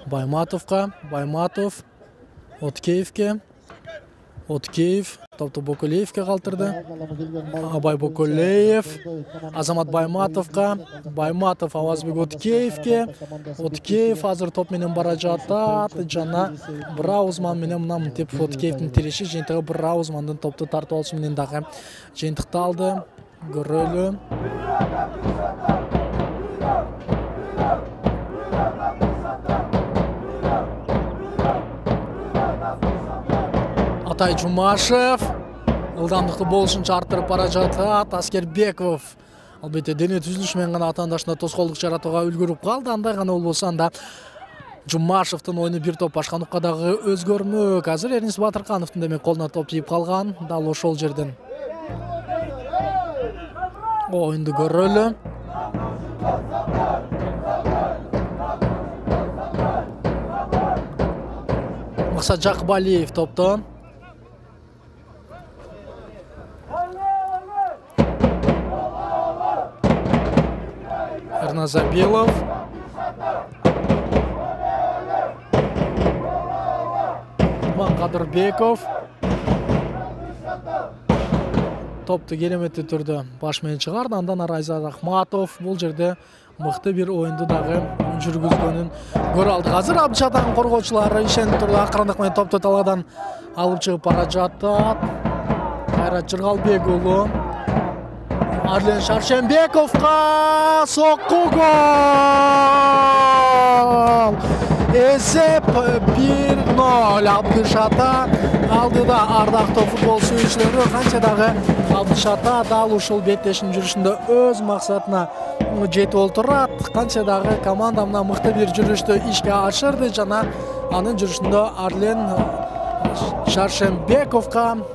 Байматовго, Байматов Откеевке, Откеев топту Бокулеевке калтырды. Абай Бокулеев Азамат Байматовго, Байматов Авазбек Откеевке. Откеев азыр топ менен бара жатат жана Браузман менен мынамтип Откеевдин тиреши жыйынтыгы Браузмандын топту тартып алышы менен дагы жыйынтыкталды. Көрөлү. Атай Жумашев ылдамдыкты болушунча арттырып бара жатат. Аскербеков албетте дене түзүлүшү менен гана атаандашына тоскоолдук жаратууга үлгүрүп калды. Андай гана болбосо анда Жумашевдин оюну бир топ башкандыкка дагы өзгөрмөк. Азыр Эрнис Батыркановдун демек колуна топ тийип калган. Дал ошол жерден оюнду көрөлү. Максат Жакыбалиев топтон. Эрназабилов. Кадырбеков. Топту кереметти түрдө баш менен чыгарды. Андан ары Айзат Ахматов бул жерде мыкты бир оюнду дагы жүргүзгөнүн көрө алдык. Азыр Абдыжатан коргоочулары ишенип турду. Акырындык менен топту талаадан алып чыгып бара жатат. Кайрат Жыргалбек уулу Арлен Шаршенбековго сокку гол. Эсеп бир ноль. Абдыжата алдыда. Ардактуу футбол сүйүүчүлөрү, канча дагы Абдыжата дал ушул беттештин жүрүшүндө өз максатына жетип олтурат. Канча дагы команда мына мыкты бир жүрүштү ишке ашырды жана анын жүрүшүндө Арлен Шаршенбековго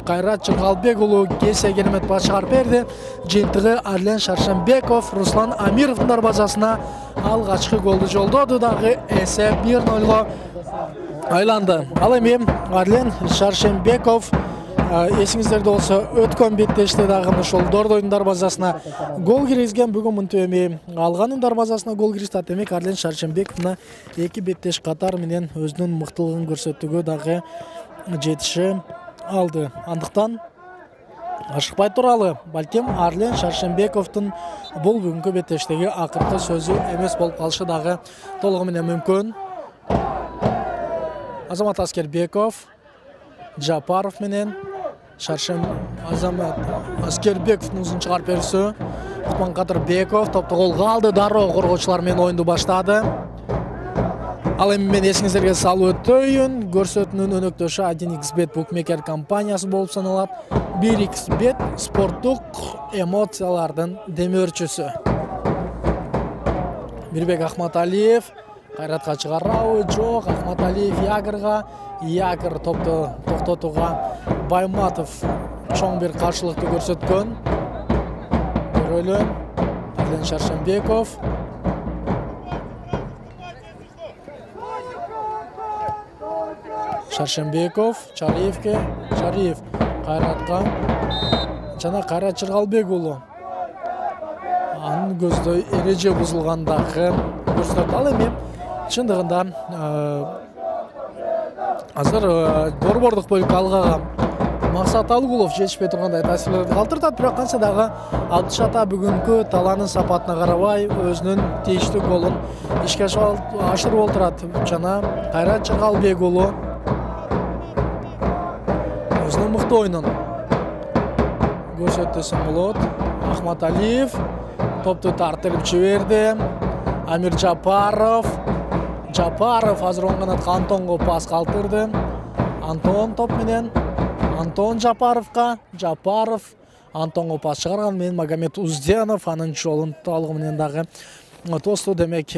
Кайрат Жыргалбек уулу кесе керемет баш чыгарып берди. Жыйынтыгы Арлен Шаршенбеков Руслан Амировдун дарбазасына алгачкы голду жолдоду. Дагы эсеп бир нольго айланды. Ал эми Арлен Шаршенбеков эсиңиздерде болсо өткөн беттеште дагы ошол Дордойдун дарбазасына гол киргизген. Бүгүн мынтип эми алганын дарбазасына гол киргизди. Демек Арлен Шаршенбековна эки беттеш катар менен өзүнүн мыктылыгын көрсөтүүгө дагы жетиши алды. Андыктан ашыкпай туралы. Балким Арлен Шаршенбековдун бул бүгүнкү беттештеги акыркы сөзү эмес болуп калышы дагы толугу менен мүмкүн. Азамат Аскербеков Жапаров менен Шаршен Азамат Аскербековдун узун чыгарып берүүсү. Кутман Кадырбеков топту колго алды. Дароо коргоочулар менен оюнду баштады. Ал эми мен эсиңиздерге салып өтөйүн. Көрсөтүүнүн өнөктөшү один икс бет букмекер компаниясы болуп саналат. бир икс бет спорттук эмоциялардын демөөрчүсү. Мирбек Ахматалиев Кайратка чыгарабы? Жок. Ахматалиев Ягырга. Ягыр топту токтотууга Байматов чоң бир каршылыкты көрсөткөн. Көрөлү. Арлен Шаршенбеков. Шаршенбеков Чариевке. Чариев Кайратка. Жана Кайрат Жыргалбек уулу анын көздөй эреже бузулгандагы көрсөтөт. Ал эми чындыгында азыр борбордук бөлүккө алгага Максат Алгулов жетишпей тургандай таасирлерди калтыртат, бирок канча дагы Абдыш Ата бүгүнкү талаанын сапатына карабай өзүнүн тийиштүү голун ишке ашырып олтурат. Жана Кайрат Чыргалбек уулу өзүнүн мыкты оюнун көрсөттү десем болот. Ахматалиев топту тартырып жиберди. Амир Жапаров Жапаров азыр оң канатка Антонго пас калтырды. Антон топ менен Антон Жапаровка. Жапаров Антонго пас чыгарган менен Магомед Узденов анын жолун талгы менен дагы тосту. Демек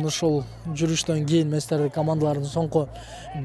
ушул жүрүштөн кийин мен сиздерди командалардын соңку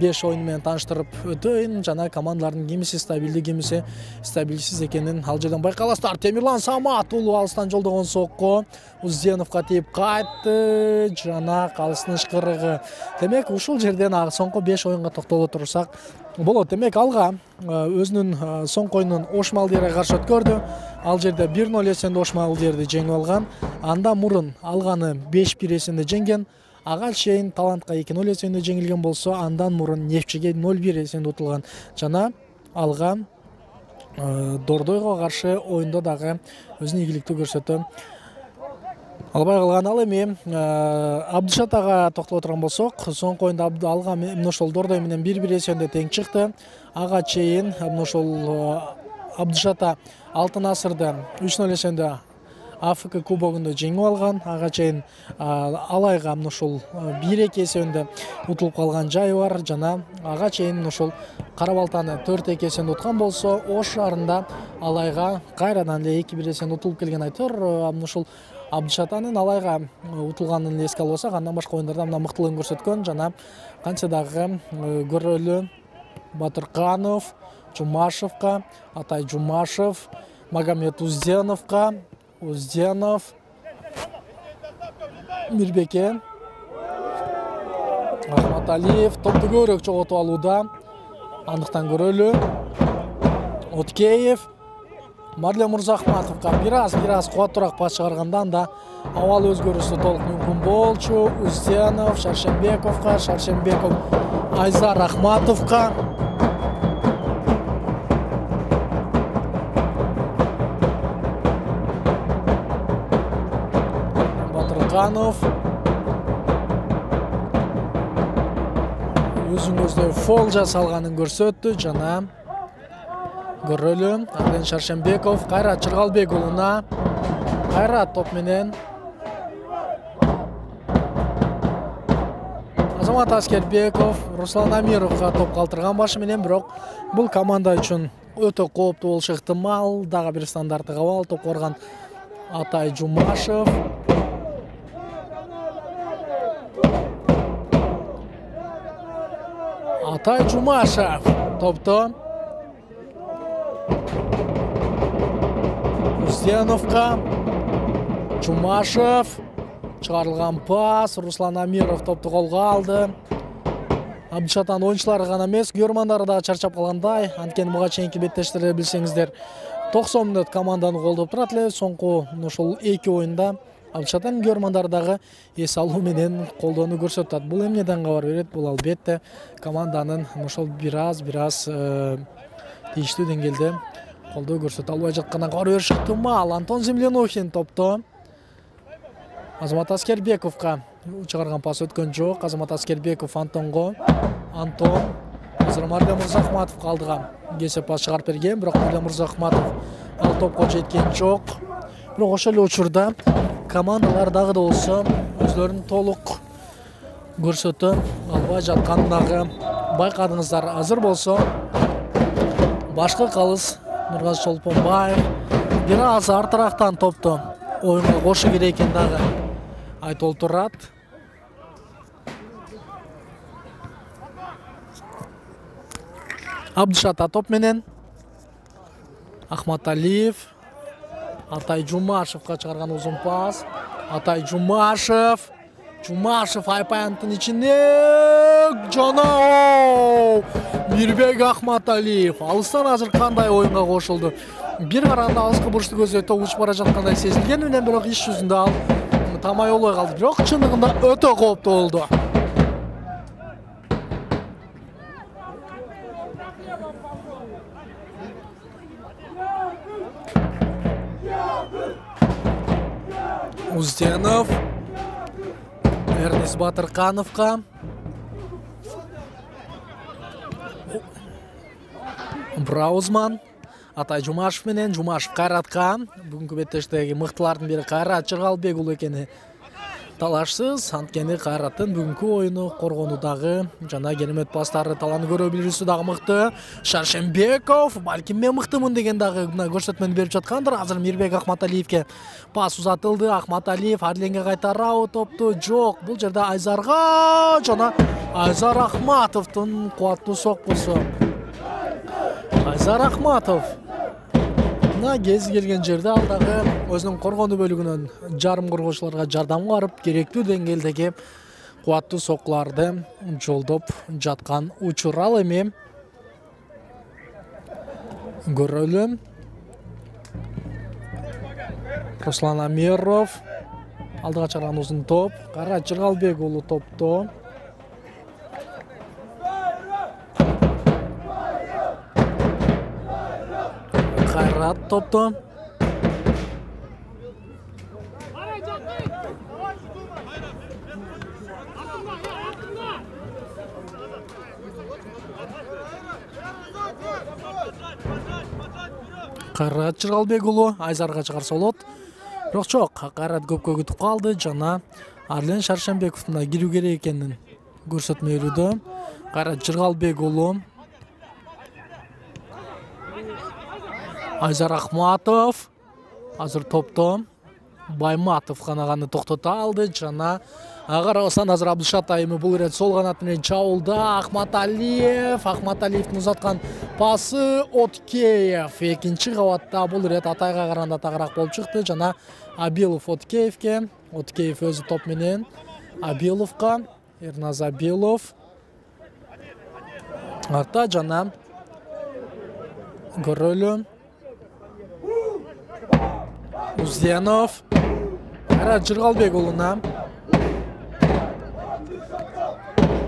беш оюну менен тааныштырып өтөйүн. Жана командалардын кимиси стабилдүү, кимиси стабилсиз экенин ал жерден байкаласыздар. Темирлан Самат уулу алыстан жолдогон сокко Узденовго тийип кайтты. Жана калыстын ышкырыгы. Демек ушул жерден соңку беш оюнга токтоло турсак болот. Демек алга өзүнүн соңку оюнун Ош Малдиерге каршы өткөрдү. Ал жерде бир ноль эсенде Ош Малдиерди жеңип алган. Андан мурун алганы беш бир эсенде жеңген. Ага чейин Талантка эки ноль эсенде жеңилген болсо, андан мурун Нефчиге ноль бир эсенде утулган. Жана алга Дордойго каршы оюнда дагы өзүнүн ийгиликтүү көрсөтө албай калган. Ал эми Абдыш Атага токтоло турган болсок, соңку оюнда алга ошол Дордой менен бир бир эсенде тең чыкты. Ага чейин ошол Абдыш Ата Алтын Асырды үч ноль эсенде Африка кубогунда жеңип алган. Ага чейин Алайга ушул бир эки эсенде утулуп калган жайы бар. Жана ага чейин ушул Кара Балтаны төрт эки эсенде уткан болсо, Ош шаарында Алайга кайрадан эле эки бир эсенде утулуп келген. Айтор ушул Абдыш Атанын Алайга утулганын эске алсак, андан башка оюндарда мына мыктылыгын көрсөткөн. Жана канча дагы көрөлү Батырканов Жумашевка, Атай Жумашев, Магомед Узденовка, Узденов, Мирбеке, Ахматалиев топту көбүрөөк жоготуп алууда. Андыктан көрөлү Откеев, Марлен Мурзахматовка бир аз бир аз кубаттуураак пас чыгарганда анда абал өзгөрүүсү толук мүмкүн болчу. Узденов Шаршембековка, Шаршембеков Айзар Рахматовка, Батырканов өзүн көздөй фол жасалганын көрсөттү. Жана көрөлү Арден Шаршембеков Кайрат Чыргалбек уулуна. Кайрат топ менен Азамат Аскербеков Руслан Амировго топ калтырган башы менен, бирок бул команда үчүн өтө кооптуу болушу ыктымал. Дагы бир стандарттык абал топ корган Атай Жумашев. Атай Жумашев топто. Узденовка Жумашев чыгарылган пас. Руслан Амиров топту колго алды. Абдыш Атанын оюнчулары гана эмес, көрөрмандары да чарчап калгандай. Анткени буга чейинки беттештерди билсеңиздер, токсон мүнөт команданы колдоп турат эле. Соңку ошол эки оюнда Абдыш Атанын көрөрмандары дагы эс алуу менен колдоону көрсөтөт. Бул эмнеден кабар берет? Бул албетте команданын ошол бир аз бир аз тийиштүү деңгээлде колдоо көрсөтө албай жаткандан кабар бериши ыктымал. Антон Землянухин топто. Азамат Аскербековго чыгарган пас өткөн жок. Азамат Аскербеков Антонго. Антон азыр Марлен Мурзахматовго алдыга кесе пас чыгарып берген, бирок Марлен Мурзахматов ал топко жеткен жок. Бирок ошол эле учурда командалар дагы да болсо өзлөрүн толук көрсөтө албай жатканын дагы байкадыңыздар. Азыр болсо башкы калыс Нургазы Чолпонбаев бир аз артырактан топту оюнга кошу керек экени дагы айтылып турат. Абдыш Ата топ менен Ахматалиев Атай Жумашевга чыгарган узун пас. Атай Жумашев Жумашев Айпаянтын ичинде жана Мирбек Ахматалиев алыстан азыр кандай оюнга кошулду? Бир караганда алыскы бурчту көзөтө учуп бара жаткандай сезилген, менен бирок иш жүзүндө ал тамай болбой калды. Бирок чындыгында өтө кооптуу болду. Узденов Эрнис Батыркановго Браузман Атай Жумашев менен Жумашев Кайратка. Бүгүнкү беттештеги мыктылардын бири Кайрат Жыргалбек уулу экени талашсыз. Анткени Кайраттын бүгүнкү оюну коргонуудагы жана керемет пастары таланы көрө билүүсү дагы мыкты. Шаршембеков балким мен мыктымын деген дагы көрсөтмөнү берип жаткандыр. Азыр Мирбек Ахматалиевке пас узатылды. Ахматалиев Арленге кайтарабы топту? Жок. Бул жерде Айзарга жана Айзар Ахматовдун кубаттуу соккусу. Айзар Ахматов мына кези келген жерде ал дагы өзүнүн коргонуу бөлүгүнөн жарым коргоочуларга жардам барып керектүү деңгээлдеги кубаттуу соккуларды жолдоп жаткан учур. Ал эми көрөлү. Руслан Амиров алдыга чыгарган узун топ. Кайрат Жыргалбек уулу топто. Кайрат топто. Кайрат Жыргалбек уулу Айзарга чыгарса болот. Бирок жок, Кайрат көпкө күтүп калды жана Арлен Шаршембековдун да кирүү керек экенин көрсөтмө берүүдө. Кайрат Жыргалбек уулу Айзар Ахматов азыр топто. Байматов канаганы токтото алды жана карабастан азыр Абдышат айымы бул ирет сол канат менен чабуулда. Ахматалиев Ахматалиевдин узаткан пасы Откеев экинчи кабатта бул ирет Атайга караганда тагыраак болуп чыкты жана Абилов Откеевке. Откеев өзү топ менен Абиловго. Эрназ Абилов артта жана көрөлү. Узденов Кайрат Жыргалбек уулуна.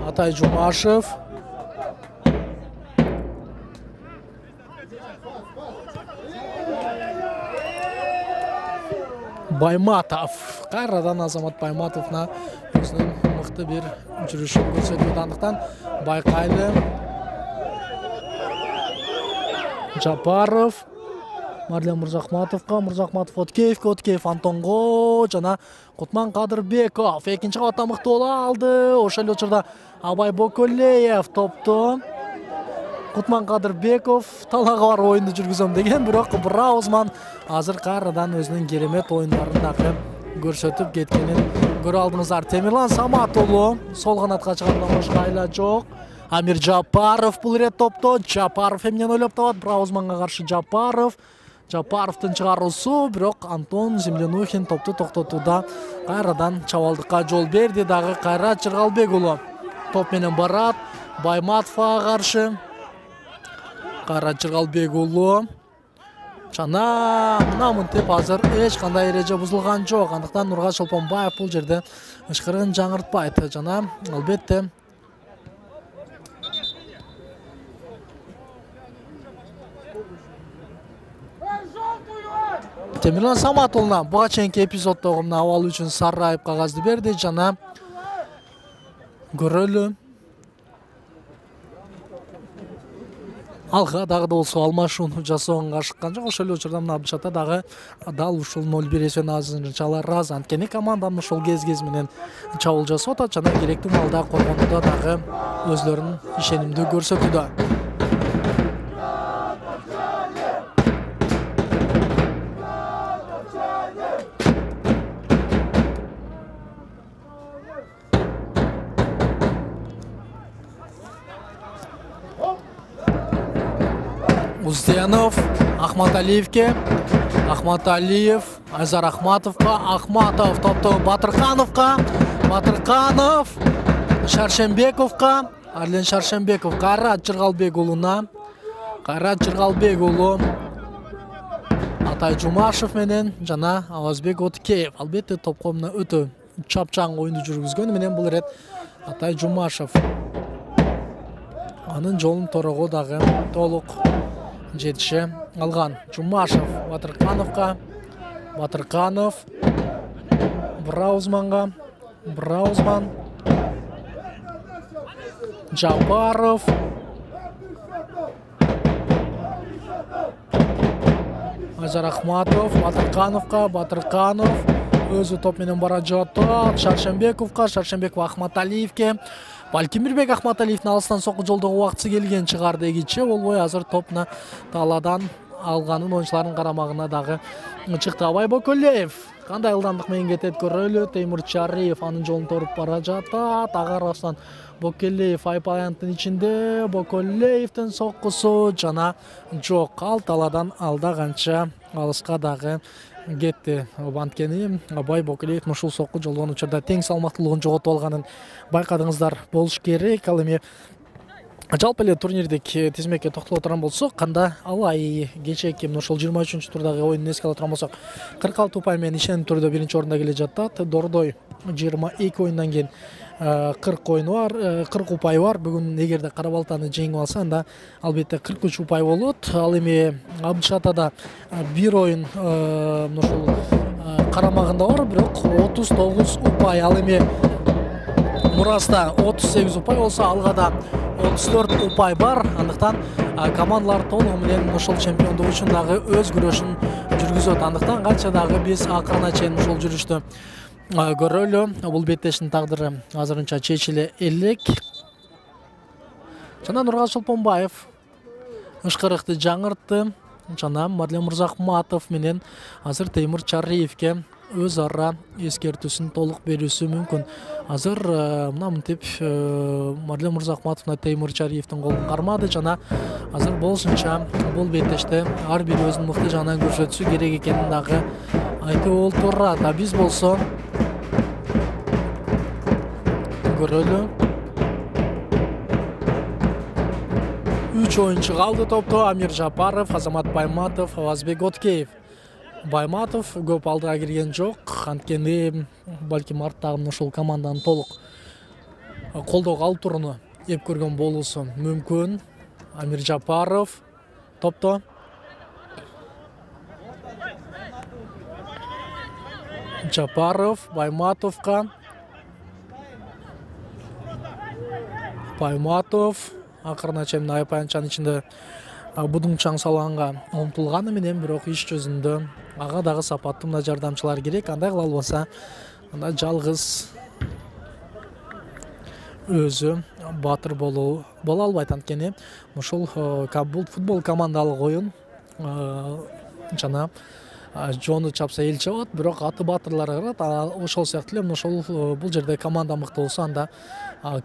Атай Жумашев Байматов. Кайрадан Азамат Байматовна өзүнүн мыкты бир жүрүшүн көрсөтүп андыктан байкайлы. Жапаров Марлен Мырзахматовго, Мырзахматов Откеевке, Откеев Антонго жана Кутман Кадырбеков экинчи кабатта мыкты боло алды. Ошол эле учурда Абай Боколеев топту. Кутман Кадырбеков талага бар оюнду жүргүзөм деген, бирок Браузман азыр кайрадан өзүнүн керемет оюндарын дагы көрсөтүп кеткенин көрө алдыңыздар. Темирлан Самат уулу сол канатка чыгаргандан башка айла жок. Амир Жапаров бул ирет топто. Жапаров эмнени ойлоп табат? Браузманга каршы Жапаров. Жапаровдун чыгаруусу, бирок Антон Землянухин топту токтотууда кайрадан чабалдыкка жол берди. Дагы Кайрат Жыргалбек уулу топ менен барат. Байматовго каршы Кайрат Жыргалбек уулу жана мына мынтип азыр эч кандай эреже бузулган жок. Андыктан Нургат Шолпонбаев бул жерде ышкырын жаңыртпайт жана албетте Темирлан Самат уулуна буга чейинки эпизоддогу мына абал үчүн сары айып кагазды берди жана көрөлү. Алга дагы да болсо алмашууну жасоого ашыккан жок. Ошол эле учурда мына Абдышатта дагы дал ушул ноль бир эсебин азырынчалар аз. Анткени команданын ошол кез-кез менен чабуул жасап атат жана керектүү маалда коргонууда дагы өзлөрүн ишенимдүү көрсөтүүдө. Узденов Ахматалиевке, Ахматалиев Айзар Ахматовго, Ахматов топту Батыркановго, Батырканов Шаршембековго, Арлен Шаршенбеков Кайрат Жыргалбек уулуна. Кайрат Жыргалбек уулу Атай Жумашев менен жана Авазбек Откеев. Албетте топко мына өтө чапчаң оюнду жүргүзгөн менен бул ирет Атай Жумашев. Анын жолун торого дагы толук жетише алган. Жумашев Батыркановго. Батырканов Браузманга. Браузман Жапаров. Ажар Ахматов Батыркановго. Батырканов өзү топ менен бара жатат. Шаршенбековго. Шаршенбеков Ахматалиевке. Балкимирбек Ахматалиевдин алыстан сокку жолдогу убактысы келген чыгар дегиче болбой азыр топуна таладан алганын оюнчулардын карамагына дагы чыкты. Абай Боколеев кандай ылдамдык менен кетет көрөлү. Теймур Чариев анын жолун торуп бара жатат. Ага Раслан Бокелеев айпаянттын ичинде. Боколеевдин соккусу жана жок. Ал таладан алда канча алыска дагы кетти. Анткени Абай Бокелеев ушул сокку жолдогон учурда тең салмактуулугун жоготуп алганын байкадыңыздар болуш керек. Ал эми жалпы эле турнирдик тизмекке токтоло турган болсок, канда алай кечээки ушул жыйырма үчүнчү турдагы оюнун эске ала турган болсок, кырк алты упай менен ишеним түрдө биринчи орунда келе жатат. Дордой жыйырма эки оюндан кийин кырк оюну бар, кырк упайы бар. Бүгүн эгерде Кара Балтаны жеңип алса, анда албетте кырк үч упай болот. Ал эми Абдышатада бир оюн ушул карамагында бар, бирок отуз тогуз упай. Ал эми Мураста отуз сегиз упай болсо, Алгада отуз төрт упай бар. Андыктан командалар толугу менен ушул чемпиондук үчүн дагы өз күрөшүн жүргүзөт. Андыктан канча дагы биз акырына чейин ушул жүрүштү көрөлү. Бул беттештин тагдыры азырынча чечиле элек. Жана Нургал Чолпонбаев ышкырыкты жаңыртты. Жана Мадлен Мырзахматов менен азыр Теймур Чариевке өз ара эскертүүсүн толук берүүсү мүмкүн. Азыр мына мынтип Мадлен Мырзахматовна Теймур Чариевдин колун кармады жана азыр болушунча бул беттеште ар бири өзүнүн мыкты жагынан көрсөтүшү керек экенин дагы айтып олтурат. А биз болсо көрөлү. үч оюнчу калды топто. Амир Жапаров, Азамат Байматов, Авазбек Откеев. Байматов көп алдыга кирген жок. Анткени балким арттагы ушул команданын толук колдоого алып турууну эп көргөн болуусу мүмкүн. Амир Жапаров топто. Жапаров Байматовго. Байматов акырына чейин айпаянчанын ичинде будуңчаң салганга умтулганы менен бирок иш жүзүндө ага дагы сапаттуу мына жардамчылар керек. Андай кыла албаса, анда жалгыз өзү баатыр болуу боло албайт. Анткени ушул бул футбол командалык оюн жана жону чапса эл чабат, бирок аты баатырлар кырат. Ошол сыяктуу эле ушул бул жерде команда мыкты болсо, анда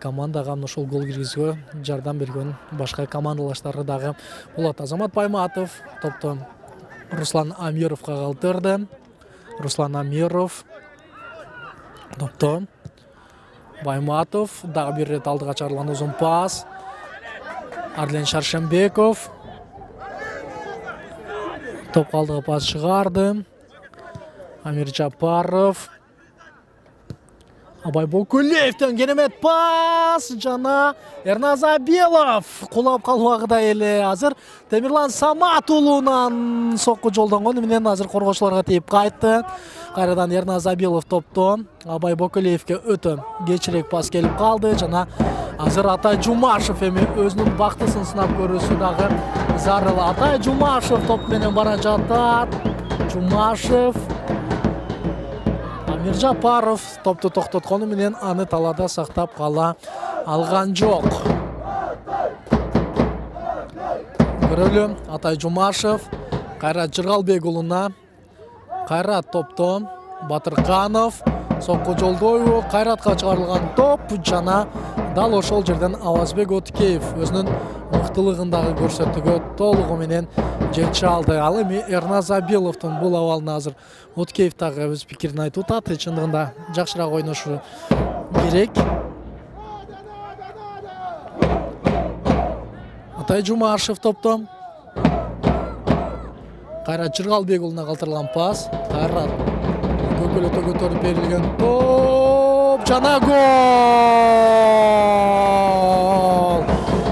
командага ушул гол киргизүүгө жардам берген башка командалаштары дагы болот. Азамат Байматов топто Руслан Амировго калтырды. Руслан Амиров топто. Байматов дагы бир рет алдыга чыгарылган узун пас. Арлен Шаршенбеков топ алдыга пас чыгарды. Амир Жапаров. Абай Бокулеевден керемет пас жана Эрназ Абилов кулап калбагыдай эле. Азыр Темирлан Самат уулунан сокку жолдонгону менен азыр коргоочуларга тийип кайтты. Кайрадан Эрназ Абилов топто. Абай Бокулеевге өтө кечирээк пас келип калды жана азыр Атай Жумашев эми өзүнүн бактысын сынап көрүүсү дагы зарыл. Атай Жумашев топ менен бара жатат. Жумашев Амир Жапаров топту токтоткону менен аны талада сактап кала алган жок. Көрөлү. Атай Жумашев Кайрат Жыргалбек уулуна. Кайрат топто. Батырканов сокку жолдойбу. Кайратка чыгарылган топ жана дал ошол жерден Авазбек Откеев өзүнүн мыктылыгын дагы көрсөтүүгө толугу менен жетише алды. Ал эми Эрназ Абиловдун бул абалына азыр Откеев дагы өз пикирин айтып атат. Чындыгында жакшыраак ойношу керек. Атай Жумашев топтон. Кайрат Жыргалбек уулуна калтырылган пас. Кайрат көкөлөтө көтөрүп берилген топ жана гол.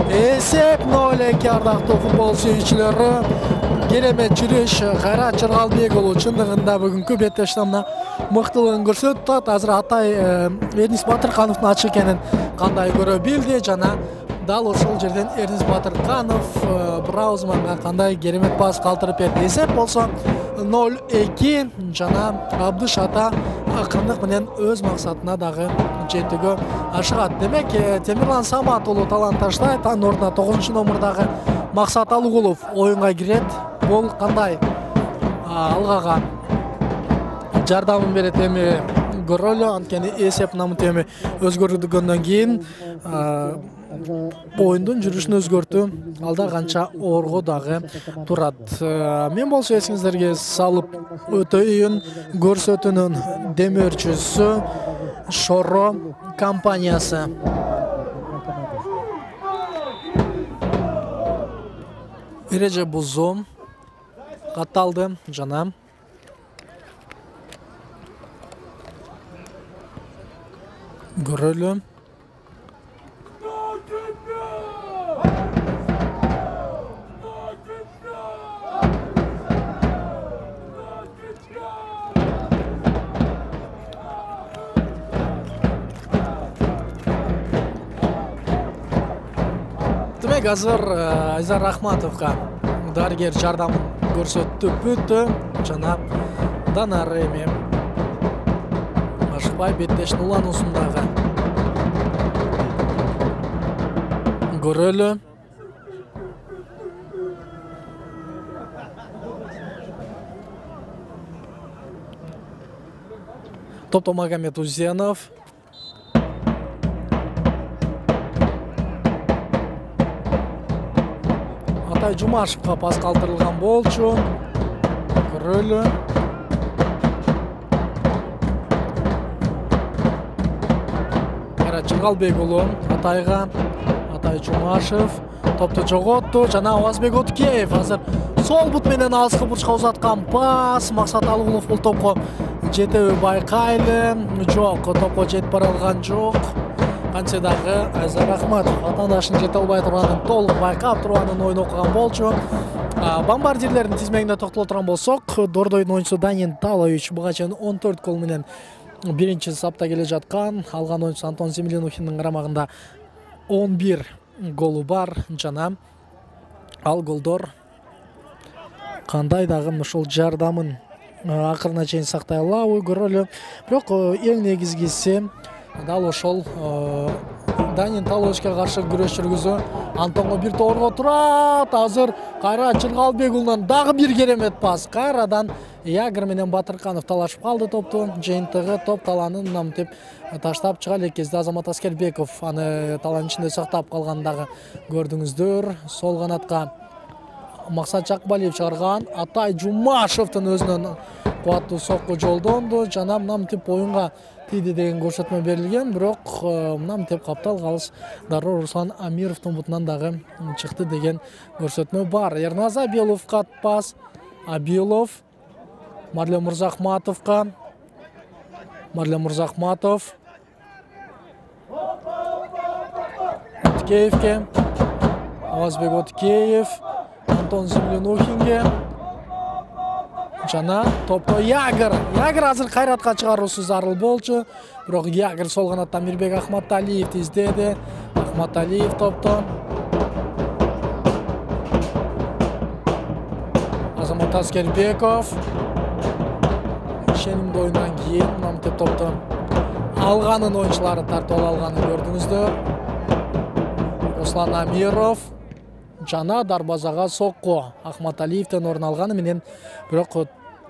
Эсеп ноль эки ардактуу футбол сүйүүчүлөрү. Керемет жүрүш Кайрат Жыргалбек уулу чындыгында бүгүнкү беттештамына мыктылыгын көрсөтүп, азыр Атай Эрнис Батыркановдун ачык экенин кандай көрө билди жана дал ошол жерден Эрнис Батырканов Браузманга кандай керемет пас калтырып берди. Эсеп болсо ноль эки жана Абдыш Ата акырындык менен өз максатына дагы жетүүгө ашыгат. Демек, Темирлан Самат уулу талант таштайт, анын ордуна тогузунчу номурдагы Максат Алыгулов оюнга кирет. Бул кандай алгага жардамын берет эми көрөлү. Анткени эсеп намыт эми өзгөрүлгөндөн кийин оюндун жүрүшүн өзгөртүү алда канча оорго дагы турат. Мен болсо эсиңиздерге салып өтөйүн, көрсөтүүнүн демөөрчүсү Шоро компаниясы. Эреже бузуу катталды жана көрөлү. Демек, азыр Айзар Рахматовго дарыгер жардамын көрсөттү бүттү жана Данар эми ашыкпай беттештин улануусундагы көрөлү. Топто Магомед Узенов. Атай Жумашевга пас калтырылган болчу. Көрөлү. Кайрат Жыргалбек уулу Атайга. Атай Жумашев топту жоготту жана Авазбек Откеев азыр сол бут менен алыскы бурчка узаткан пас. Максат Алыгулов бул топко жетеби байкайлы. Жок, топко жетип бара алган жок. Кантсе дагы Айзар Рахматов атаандашын жете албай турганын толук байкап турганын ойун окуган болчу. Бомбардирлердин тизмегине токтоло турган болсок, Дордойдун оюнчусу Данин Талович буга чейин он төрт гол менен биринчи сапта келе жаткан. Алган оюнчусу Антон Землянухиндин карамагында он бир голу бар жана ал голдор кандай дагы ушул жардамын акырына чейин сактай алабы көрөлү. Бирок эң негизгиси дал ошол Данин Таловичке каршы күрөш жүргүзүү. Антонго бир тоорго турат. Азыр Кайрат Жыргалбек уулунан дагы бир керемет пас. Кайрадан Ягер менен Батырканов талашып калды топту. Жыйынтыгы топ таланын намтеп таштап чыга элек кезде Азамат Аскербеков аны талан ичинде сактап калганын дагы көрдүңүздөр. Сол канатка Максат Жакбалиев чыгарган. Атай Жумашевдин өзүнөн кубаттуу сокку жолдонду жана намтеп оюнга тиди деген көрсөтмө берилген. Бирок намтеп каптал калыс дароо Руслан Амировдун бутунан дагы чыкты деген көрсөтмө бар. Эрназ Абиловго пас. Абилов Марлен Мурзахматовго. Марлен Мурзахматов Откеевге. Авазбек Откеев Антон Землянухинге. Жана топто Ягер. Ягер азыр Кайратка чыгаруусу зарыл болчу. Бирок Ягер сол канаттан Мирбек Ахматалиевди издеди. Ахматалиев топто. Азамат Аскербеков. Ишенимдүү оюндан кийин намтеп топто алганын оюнчулары тартып алганын көрдүңүздөр. Руслан Амиров жана дарбазага сокку Ахматалиевден орун алганы менен бирок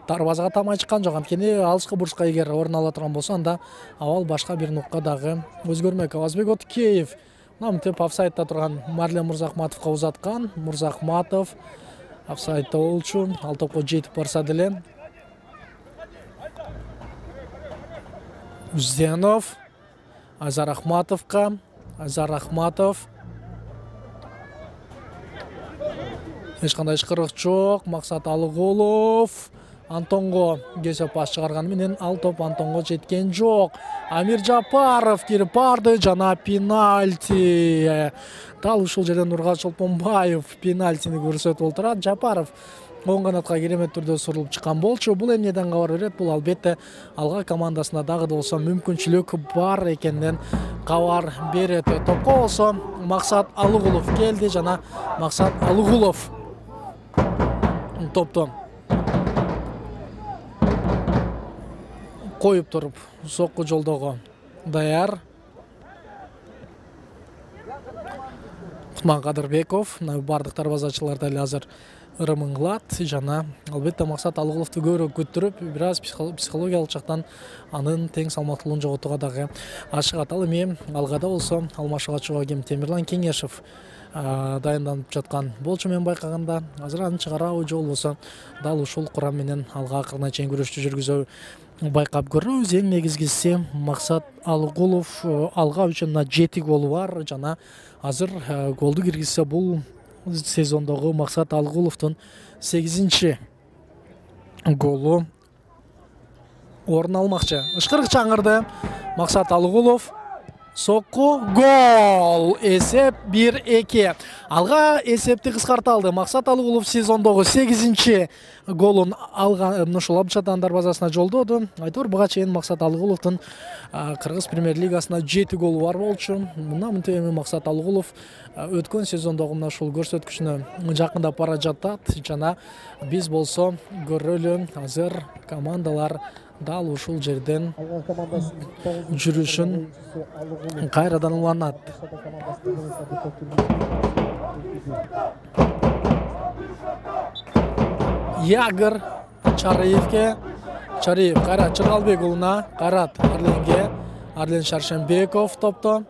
дарбазага тамай чыккан жок. Анткени алыскы бурчка эгер орун ала турган болсо анда абал башка бир нукка дагы өзгөрмөк. Авазбек Откеев намтеп офсайдда турган Марлен Мурзахматовго узаткан. Мурзахматов офсайдда болчу. Ал топко жетип барса деле Узенов Айзар Рахматовго. Айзар Рахматов Эч кандай ышкырык жок. Максат Алыкулов Антонго кесип пас чыгарганы менен ал топ Антонго жеткен жок. Амир Жапаров кирип барды жана пенальти. Дал ушул жерден Нургат Чолпонбаев пенальтини көрсөтүп отурат. Жапаров оң канатка керемет түрдө сурулуп чыккан болчу. Бул эмнеден кабар берет? Бул албетте Алга командасына дагы да болсо мүмкүнчүлүк бар экенинен кабар берет. Топко болсо Максат Алыкулов келди жана Максат Алыкулов топтон коюп туруп сокку жолдого даяр. Кутман Кадырбеков бардык дарбазачылар дали азыр ырымыңлат жана албетте Максат Алыкуловду көбүрөөк күттүрүп, бир аз психологиялык жактан анын тең салмактуулугун жоготууга дагы ашыгат. Ал эми алгада болсо алмашууга чыгуу ким Темирлан Кеңешев дайынданып жаткан болчу. Мен байкаганда азыр аны чыгарабы же болбосо дал ушул курам менен алга акырына чейин күрөштү жүргүзөбү байкап көрөбүз. Эң негизгиси Максат Алыкулов алга үчүн жети голу бар жана азыр голду киргизсе бул сезондогу Максат Алыкуловдун сегизинчи голу орун алмакчы. Ышкырык чаңырды. Максат Алыкулов сокку гол. Эсеп бир эки. Алга эсепти кыскарта алды. Максат Алыкулов сезондогу сегизинчи голун алган, ушул Абчатан дарбазасына жолдоду. Айтор буга чейин Максат Алыкуловдун Кыргыз премьер-лигасында жети голу бар болчу. Мына мынтип эми Максат Алыкулов өткөн сезондогу мына ушул көрсөткүчүнө жакындап бара жатат жана биз болсо көрөлү азыр командалар дал ушул жерден жүрүшүн кайрадан уланат. Ягыр Чараевке, Чараев Кайрат Чыргалбек уулуна, Кайрат Арленге, Арлен Шаршенбеков топто.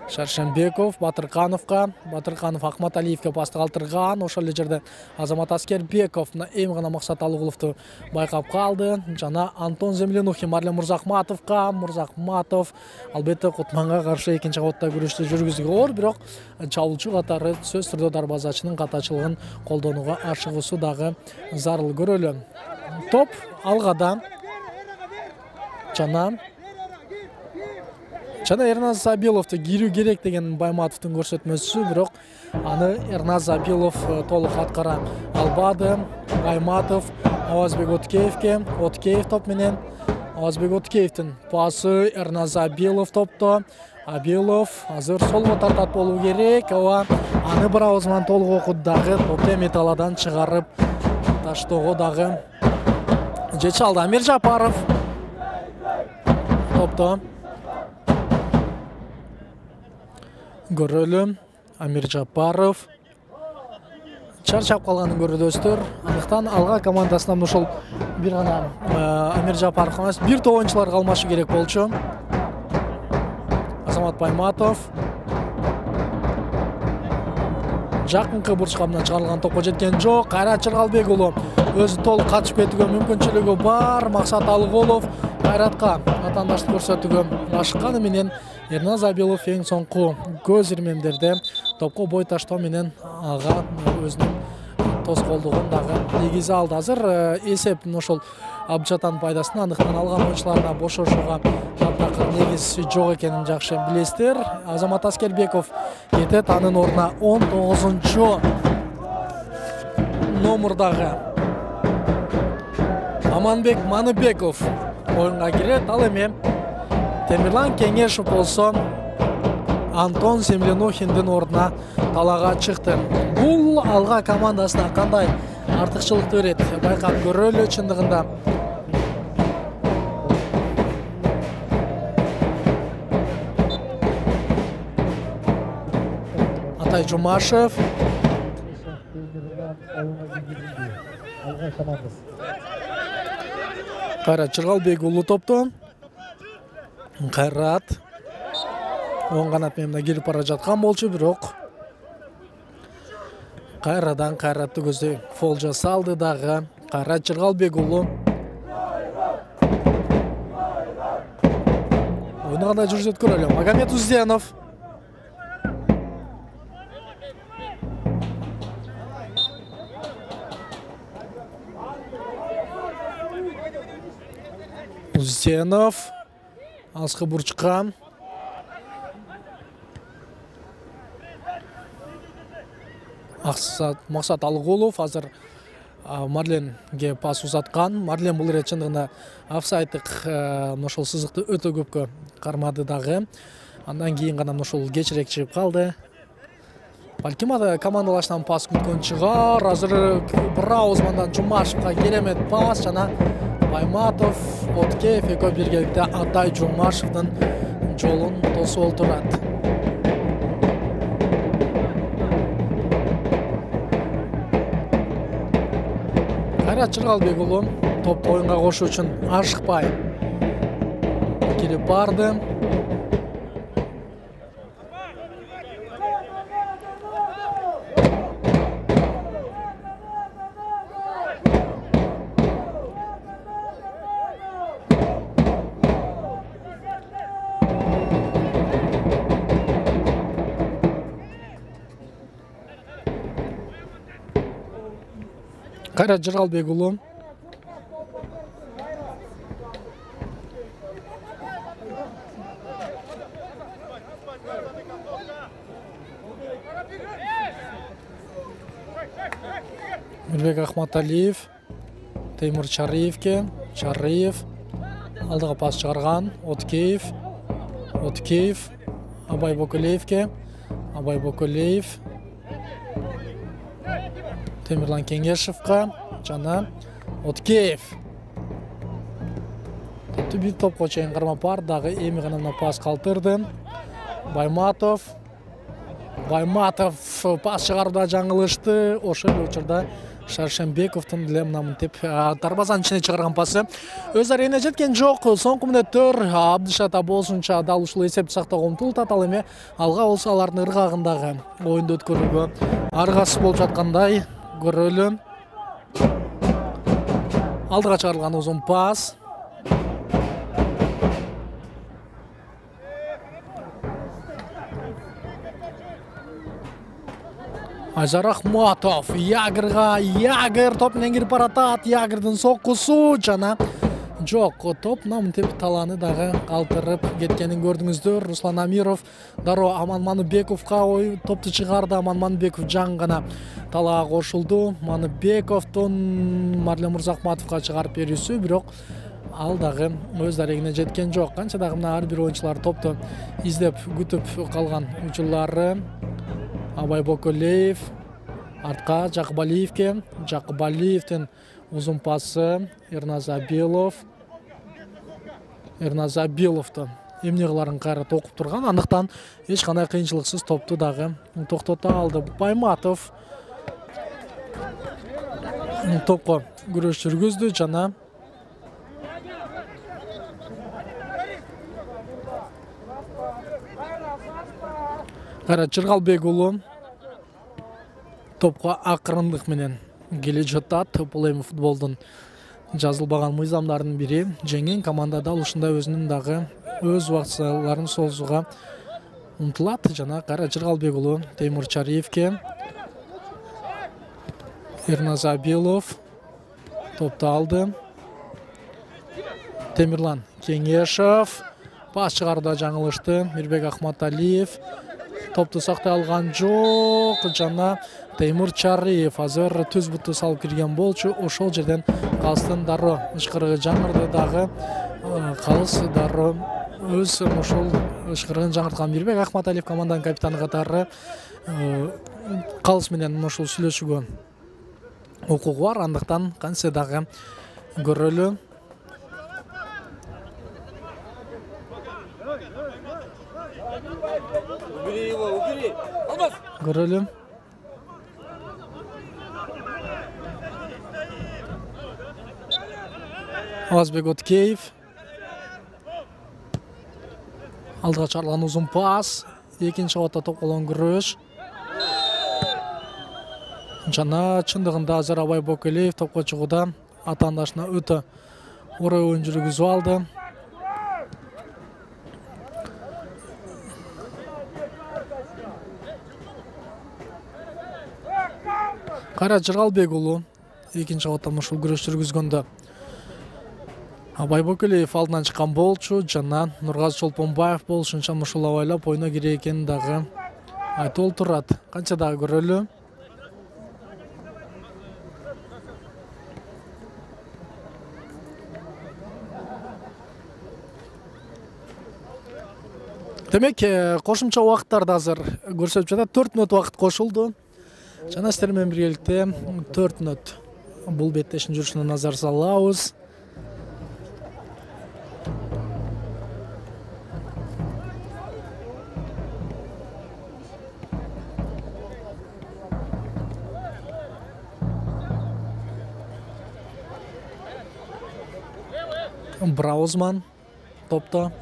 Шаршенбеков Батыркановка, Батырканов Акматалиевке пасты калтырган. Ошол эле жерде Азамат Аскербеков эми гана Максат Алыкуловду байкап калды. Жана Антон Землянухин Марлен Мурзахматовка, Мурзахматов албетте Кутманга каршы экинчи кабатта күрөштү жүргүзүүгө оор, бирок чабуулчу катары сөз түрдө дарбазачынын катачылыгын колдонууга ашыгуусу дагы зарыл. Көрөлү. Топ алгада жана Жана Эрназ Забиловду кирүү керек деген Байматовдун көрсөтмөсү, бирок аны Эрназ Забилов толук аткара албады. Байматов Авазбек Откеевке, Откеев топ менен Авазбек Откеевдин пасы Эрназ Забилов топто. Абилов азыр солго тартат болуу керек. Ооба, аны бир ауыз менен толук окуду дагы топто металладан чыгарып таштоого дагы жече алды. Амир Жапаров топто. Көрөлү. Амир Жапаров чарчап калганын көрдөсүздөр. Андыктан алга командасынан ушул бир гана Амир Жапаров эмес, бир топ оюнчулар калмашы керек болчу. Азамат Байматов жакынкы бурчка менен чыгарылган топко жеткен жок. Кайрат Чыргалбек уулу өзү толук катышып кетүүгө мүмкүнчүлүгү бар. Максат Алыкулов Кайратка атаандаштык көрсөтүүгө ашыкканы менен Эрназ Абилов эң соңку көз ирмемдерде топко бой таштоо менен ага өзүнүн тоскоолдугун дагы негизе алды. Азыр эсеп ошол Абчатан пайдасына, андыктан алган оюнчуларына бошошууга таптакыр негиз жок экенин жакшы билесиздер. Азамат Аскербеков кетет, анын ордуна он тогузунчу номурдагы Аманбек Маныбеков оюнга кирет. Ал эми Темирлан Кеңешев болсо Антон Землянухиндин ордуна талаага чыкты. Бул алга командасына кандай артыкчылыкты берет байкап көрөлү. Чындыгында Атай Жумашев Кайрат Чыргалбек уулу топто. Кайрат оң канат менен келип бара жаткан болчу, бирок кайрадан Кайратты көздөй фол жасалды дагы. Кайрат Чыргалбек уулу ойуну кандай жүргүзөт көрөлү. Магомед Узденов Узенов алыскы бурчка. Максат Алгулов азыр Марленге пас узаткан. Марлен бул ирет чындыгында офсайддык ошол сызыкты өтө көпкө кармады дагы. Андан кийин гана ошол кечирээк чыгып калды. Балким ада командалашынан пас күткөн чыгар. Азыр бир ауызмандан Жумашевка керемет пас жана Байматов, Откеев экөө биргеликте Атай Жумашевдин жолун тосуп олтурат. Кайрат Жыргалбек уулу топту оюнга кошуу үчүн ашыкпай кирип барды. Кайрат Жыргалбек уулу Мирбек Ахматалиев Теймур Чарыевке. Чарыев алдыга пас чыгарган. Откеев Откеев Абай Бокулеевке. Абай Бокулеев Темирлан Кеңешевка жана Откеев. Бир топко чейин карма бар дагы эми гана пас калтырды. Байматов Байматов пас чыгарууда жаңылышты. Ошол учурда Шаршенбековдун деле мынамынтип дарбазанын ичине чыгарган пасы өз арегине жеткен жок. Соңку мүнөттөр Абдышат Абосунча дал ушул эсепти сактоого умтулуп атат. Ал эми алга болсо алардын ыргагындагы оюнду өткөрүүгө аргасыз болуп жаткандай көрөлү. Алдыга чыгарылган узун пас. Айзар Ахматов Ягырга. Ягыр топ менен кирип баратат. Ягырдын соккусу жана жок. Топ намынтип таланы дагы калтырып кеткенин көрдүңүздөр. Руслан Амиров дароо Аман Маныбековго ой топту чыгарды. Аман Маныбеков жаң гана талаага кошулду. Маныбековдун Марлен Мырзахматовго чыгарып берүүсү, бирок ал дагы өз арегине жеткен жок. Канча дагы мына ар бир оюнчулар топту издеп күтүп калган учурлары. Абай Бокулеев артка Жакыбалиевке. Жакыбалиевдин узун пасы. Эрназабилов Эрназабиловду эмне кыларын кайра окуп турган. Андыктан эч кандай кыйынчылыксыз топту дагы токтото алды. Байматов топко күрөш жүргүздү жана Кайрат Жыргалбек уулу топко акырындык менен келе жатат. Бул эми футболдун жазылбаган мыйзамдарынын бири. Жеңген команда дал ушундай өзүнүн дагы өз убактыларын созууга умтулат. Жана Кайрат Жыргалбек уулу Теймур Чарыевке. Эрназабилов топту алды. Темирлан Кеңешев пас чыгарууда жаңылышты. Мирбек Ахматалиев топту сактай алган жок жана Теймур Чарыев азыр түз буту салып кирген болчу. Ошол жерден калыстын дароо ышкырыгы жаңырды дагы. Калыс дароо өз ошол ышкырыгын жаңырткан Мирбек Ахматалиев команданын капитаны катары калыс менен ошол сүйлөшүүгө укугу бар. Андыктан кантсе дагы көрөлү. Көрөлү. Азбек Откеев алдыга чыгарылган узун пас. Экинчи абатта топколон күрөш. Жана чындыгында азыр Абай Бокулеев топко чыгууда атаандашына өтө орой оюн жүргүзүп алды. Кайрат Жыргалбек уулу экинчи абатта ушул күрөш жүргүзгөндө Байбөкөлөев алдынан чыккан болчу жана Нургазы Чолпонбаев болушунча ушул абайлап ойно керек экенин дагы айтып олтурат. Канча дагы көрөлү. Демек, кошумча убакыттарды азыр көрсөтүп жатат. төрт мүнөт убакыт кошулду. Жана сиздер менен биргеликте төрт мүнөт бул беттештин жүрүшүнө назар салабыз. Браузман топто.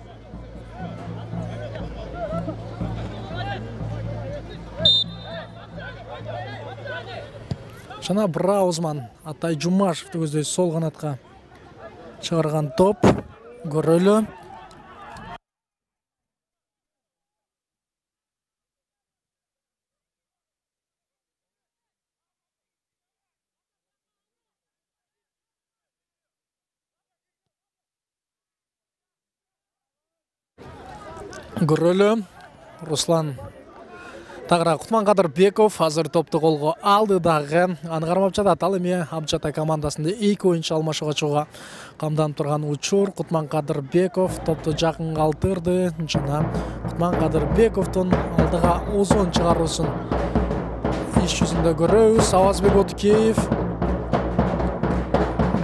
Жана Браузман Атай Жумашевди көздөй сол канатка чыгарган топ. Көрөлү. Көрөлү. Руслан Тагыра Кутманкадырбеков азыр топту колго алды дагы. Аны кармап жатат. Ал эми Абжатай командасында эки оюнчу алмашууга чыгууга камданып турган учур. Кутманкадырбеков топту жакын калтырды. Жана Кутманкадырбековдун алдыга озон чыгаруусун иш жүзүндө көрөбүз. Авазбек Отукеев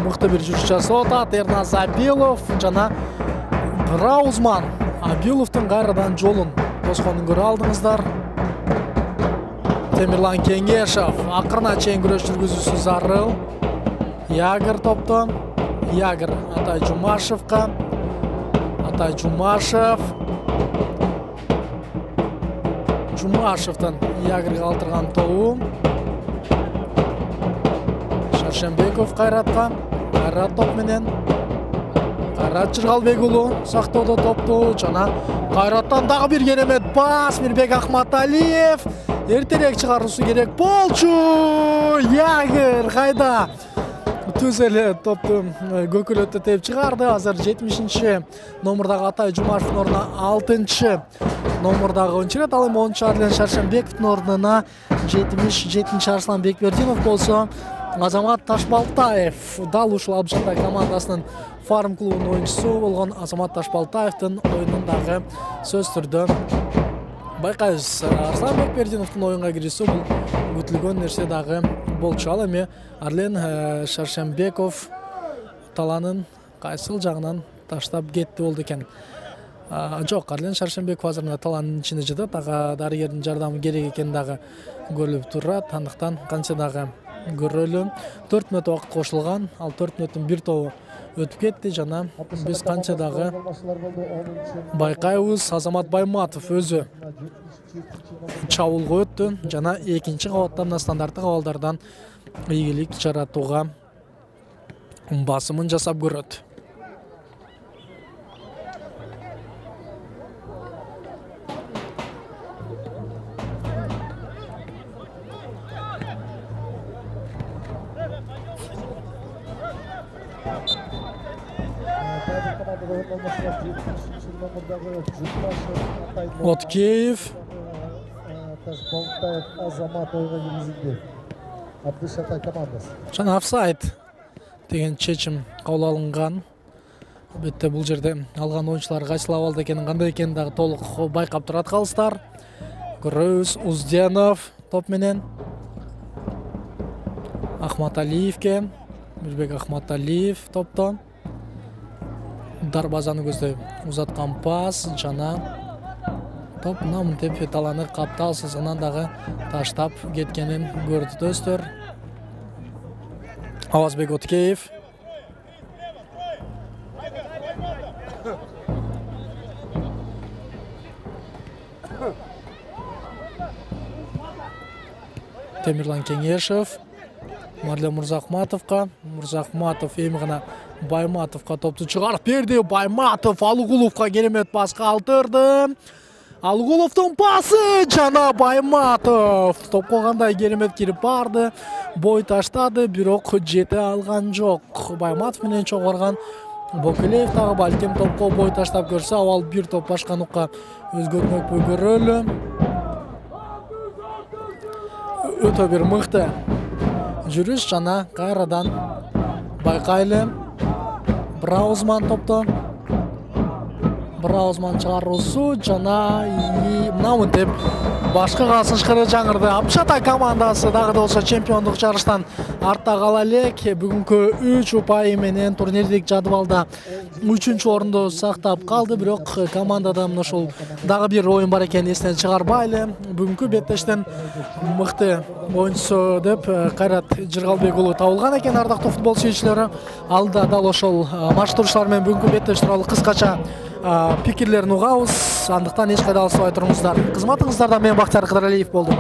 мыкты бир жүрүш жасап атат. Эрназ Абилов жана Браузман Абиловдун кайрадан жолун тосконун көрө алдыңыздар. Темирлан Кеңешев акырына чейин күрөш жүргүзүүсү зарыл. Ягер топто. Ягер Атай Жумашевка. Атай Жумашев. Жумашевден Ягерге калтырган тобу. Шаршенбеков Кайратка. Кайрат топ менен. Кайрат Жыргалбек уулу сактоодо топту жана Кайраттан дагы бир керемет бас. Мирбек Ахматалиев эртерээк чыгаруусу керек болчу. Ягер кайда? Түз эле топту көкөлөттө теп чыгарды. Азыр жетимишинчи номурдагы Атай Жумашевдин ордуна алтынчы номурдагы ойунчу. Ал эми онунчу Арлен Шаршенбековдун ордуна жетимиш жетинчи Арслан Бекбердинов болсо, Азамат Ташбалтаев дал ушул Абжатай командасынын фарм клубунун оюнчусу болгон Азамат Ташбалтаевдин оюнун дагы сөз түрдө байкайбыз. Арслан Бекбердиновдун оюнга кирүүсү бул күтүлгөн нерсе дагы болчу. Ал эми Арлен Шаршенбеков таланын кайсыл жагынан таштап кетти болду экен. Жок, Арлен Шаршенбеков азыр таланын ичинде жатат. Ага дарыгердин жардамы керек экен дагы көрүлүп турат. Андыктан канча дагы көрөлү. төрт мүнөт убакыт кошулган. Ал төрт мүнөттүн бир тобу өтүп кетти жана биз канча дагы байкайбыз. Азамат Байматов өзү чабуулга өттү жана экинчи кабаттан мына стандарттык абалдардан ийгилик жаратууга басымын жасап көрөт. Откеев Ташбалтаев Азамат ойга киргизилди. Абдышатай командасы. Жана офсайд деген чечим кабыл алынган. Албетте бул жерде алган оюнчулар кайсыл абалда экенин, кандай экенин дагы толук байкап турат калыстар. Көрөбүз. Узденов топ менен Ахматалиевке. Мирбек Ахматалиев топто. Дарбазаны көздөй узаткан пас жана топ намынтеп таланы каптал сызыгынан дагы таштап кеткенин көрдүңүздөр. Авазбек Откеев. Темирлан Кеңешев. Марлен Мурзахматовка. Мурзахматов эми гана Байматовка топту чыгарып берди. Байматов Алыгуловка керемет пас калтырды. Алыгуловдун пасы жана Байматов топко кандай керемет кирип барды. Бой таштады, бирок жете алган жок. Байматов менен чогорган Бокелеев дагы балким топко бой таштап көрсө, абал бир топ башка нукка өзгөрмөкпү көрөлү. Өтө бир мыкты жүрүш жана кайрадан байкайлы. Браузман топто. Браузман чыгаруусу жана мына мынтип башкы касышкыры жаңырды. Апшата командасы дагы да болсо чемпиондук жарыштан артта кала элек. Бүгүнкү үч упайы менен турнирлик жадыбалда үчүнчү орунду сактап калды, бирок командада мына ушул дагы бир оюн бар экенин эстен чыгарбайлы. Бүгүнкү беттештен мыкты оюнчусу деп Кайрат Жыргалбек уулу табылган экен. Ардактуу футбол сүйүүчүлөрү, алда дал ошол матчташуулар менен бүгүнкү беттеш тууралуу кыскача пикирлерин угабыз. Андыктан эч кайда алыспай туруңуздар. Кызматыңыздарда мен Бактияр Кыдыралиев болдум.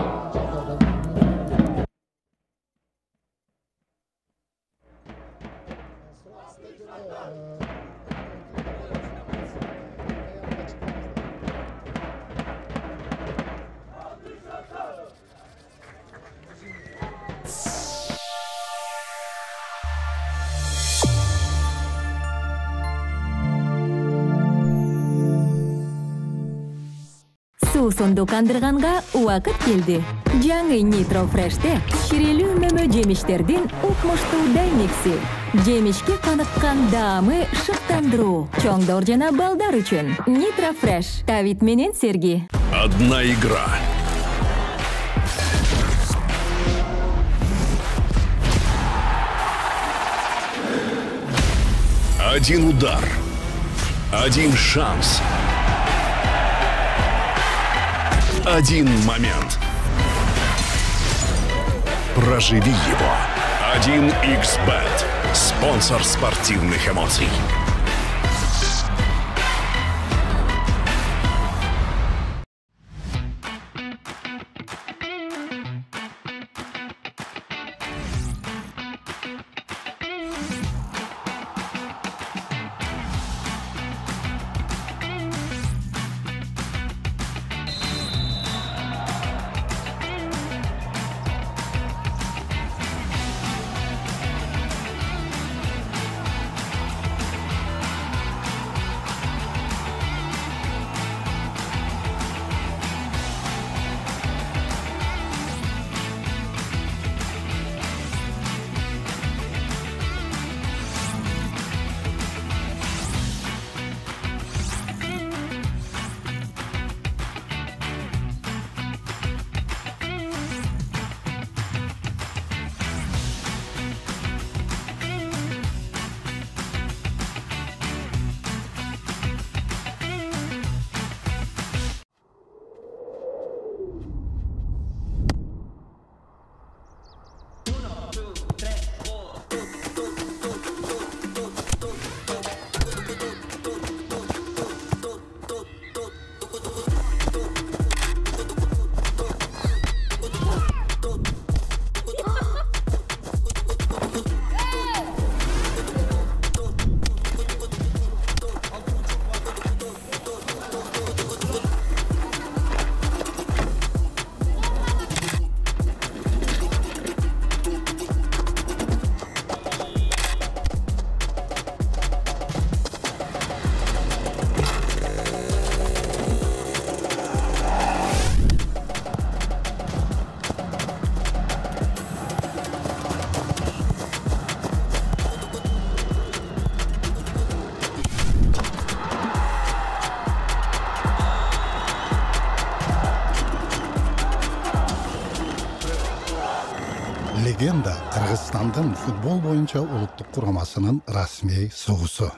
Суусунду кандырганга убакыт келди. Жаңы Nitro Fresh'те ширелүү мөмө жемиштердин укмуштуудай микси. Жемишке каныккан даамы шыктандыруу. Чоңдор жана балдар үчүн. Nitro Fresh. Давид менен Серги. Одна игра. Один удар. Один шанс. Один момент. Проживи его. один икс бет. Спонсор спортивных эмоций. Легенда Кыргызстандын футбол боюнча улуттук курамасынын расмий согусу.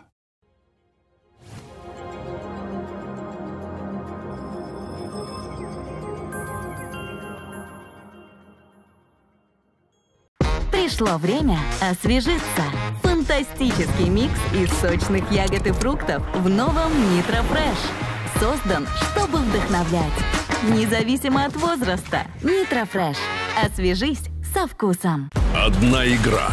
Пришло время освежиться. Фантастический микс из сочных ягод и фруктов в новом Nitro Fresh. Создан, чтобы вдохновлять. Независимо от возраста. Nitro Fresh. Освежись со вкусом. Одна игра.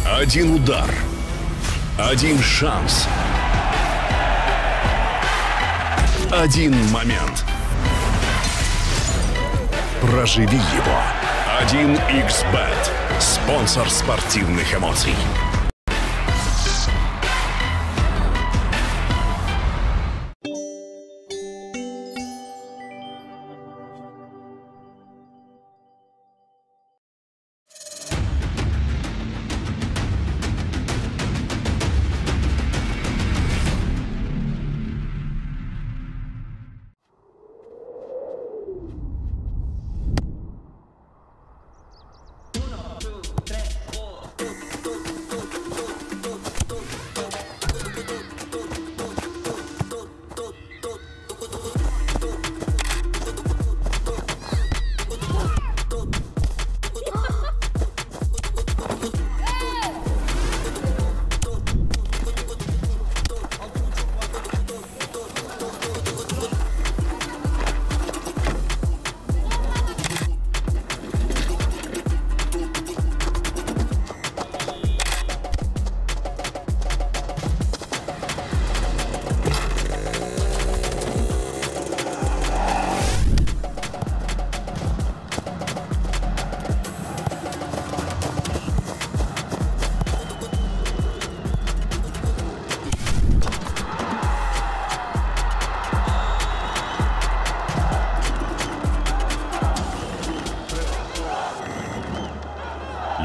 Один удар. Один шанс. Один момент. Проживи его. один икс бет. Спонсор спортивных эмоций.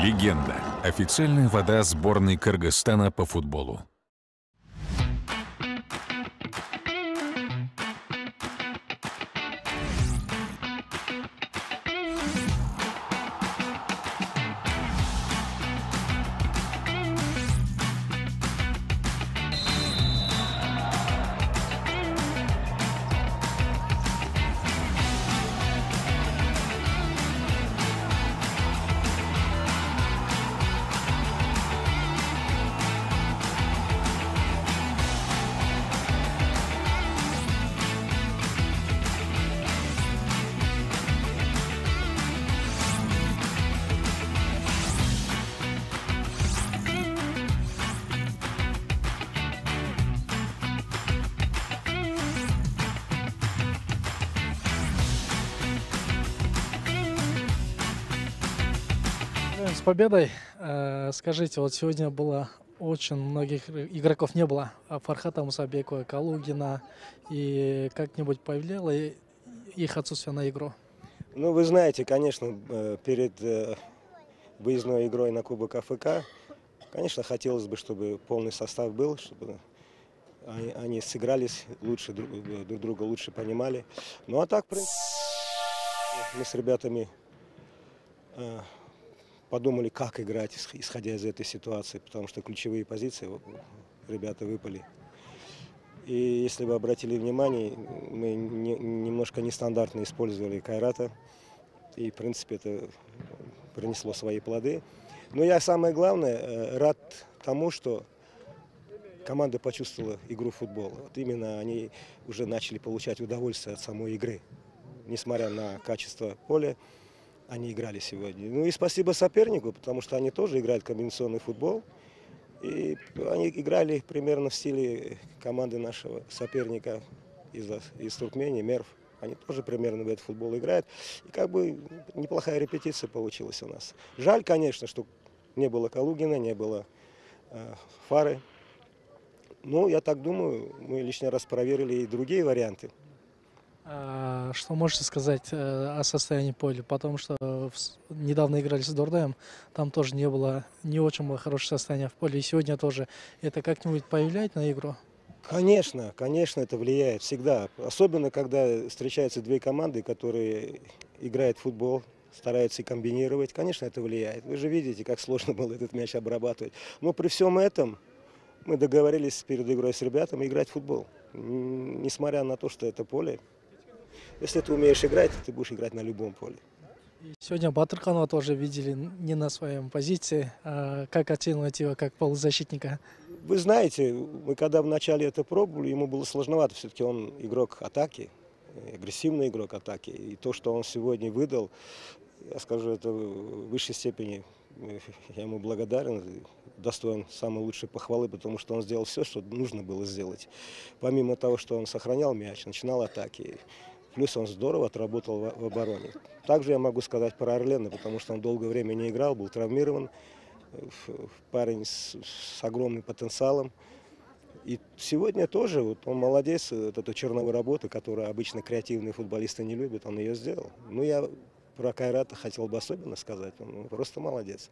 Легенда. Официальная вода сборной Кыргызстана по футболу. С победой. Э, Скажите, вот сегодня было очень многих игроков не было. А Фархата Мусабекова, Калугина. И как-нибудь повлияло их отсутствие на игру? Ну, вы знаете, конечно, перед выездной игрой на Кубок АФК, конечно, хотелось бы, чтобы полный состав был, чтобы они, они сыгрались лучше, друг, друг друга лучше понимали. Ну, а так, в принципе, мы с ребятами э, подумали, как играть, исходя из этой ситуации, потому что ключевые позиции ребята выпали. И если вы обратили внимание, мы не, немножко нестандартно использовали Кайрата, и, в принципе, это принесло свои плоды. Но я, самое главное, рад тому, что команда почувствовала игру в футбол. Вот именно они уже начали получать удовольствие от самой игры. Несмотря на качество поля, они играли сегодня. Ну и спасибо сопернику, потому что они тоже играют комбинационный футбол. И они играли примерно в стиле команды нашего соперника из, из Туркмении, Мерв. Они тоже примерно в этот футбол играют. И как бы неплохая репетиция получилась у нас. Жаль, конечно, что не было Калугина, не было э, Фары. Но я так думаю, мы лишний раз проверили и другие варианты. А что можете сказать о состоянии поля? Потому что недавно играли с Дордаем, там тоже не было, не очень было хорошее состояние в поле. И сегодня тоже. Это как-нибудь повлияет на игру? Конечно, конечно, это влияет всегда. Особенно, когда встречаются две команды, которые играют в футбол, стараются комбинировать. Конечно, это влияет. Вы же видите, как сложно было этот мяч обрабатывать. Но при всем этом мы договорились перед игрой с ребятами играть в футбол. Несмотря на то, что это поле. Если ты умеешь играть, ты будешь играть на любом поле. Сегодня Батырханова тоже видели не на своем позиции. А как оценивать его как полузащитника? Вы знаете, мы когда вначале это пробовали, ему было сложновато. Все-таки он игрок атаки, агрессивный игрок атаки. И то, что он сегодня выдал, я скажу, это в высшей степени я ему благодарен, достоин самой лучшей похвалы, потому что он сделал все, что нужно было сделать. Помимо того, что он сохранял мяч, начинал атаки. Плюс он здорово отработал в, в обороне. Также я могу сказать про Орлена, потому что он долгое время не играл, был травмирован. Парень с, с огромным потенциалом. И сегодня тоже вот он молодец, вот эту черновую работу, которую обычно креативные футболисты не любят, он ее сделал. Ну, я про Кайрата хотел бы особенно сказать, он просто молодец.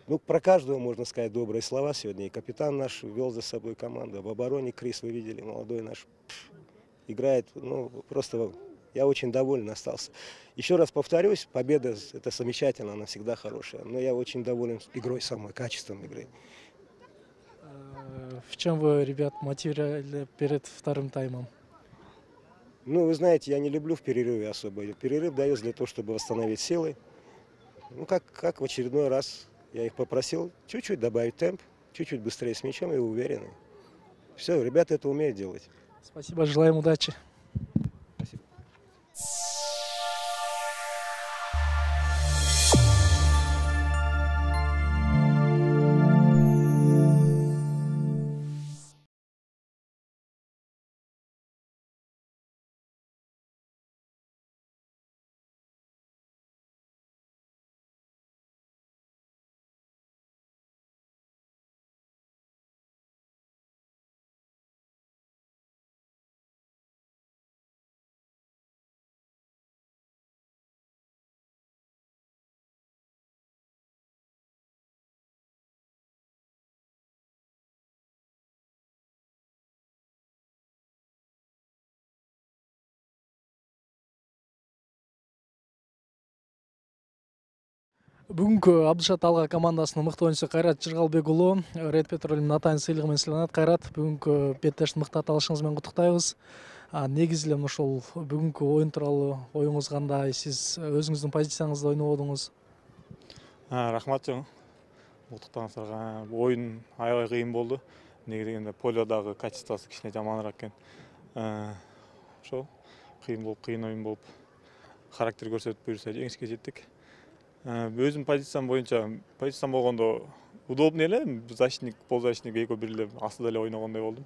Ну, про каждого можно сказать добрые слова сегодня. И капитан наш вел за собой команду. В обороне Крис, вы видели, молодой наш, играет, ну, просто я очень доволен остался. Еще раз повторюсь, победа – это замечательно, она всегда хорошая. Но я очень доволен игрой самой, качеством игры. В чем вы, ребят, мотивировали перед вторым таймом? Ну, вы знаете, я не люблю в перерыве особо. Перерыв дается для того, чтобы восстановить силы. Ну, как, как в очередной раз я их попросил чуть-чуть добавить темп, чуть-чуть быстрее с мячом и уверены. Все, ребята это умеют делать. Спасибо, желаем удачи. Спасибо. Бүгүнкү Абдышат Алга командасынын мыкты оюнчусу Кайрат Жыргалбек уулу Red Petrol'ün атайын сыйлыгы менен сыйланат. Кайрат, бүгүнкү беттештин мыкты аталышыңыз менен куттуктайбыз. Негизи эле ошол бүгүнкү оюн тууралуу оюңуз кандай? Сиз өзүңүздүн позицияңызда ойнободуңуз? Рахмат жөн. Куттуктооңуздарга. Оюн аябай кыйын болду. Неге дегенде полёдагы качествосу кичине жаманыраак экен. Ошол кыйын болуп, кыйын оюн болуп, характер көрсөтүп буюрса жеңишке жеттик. Өзүм позициям боюнча, позициям болгондо удобный эле, защитник, полузащитник экөө бир эле астыда эле ойногондой болдум.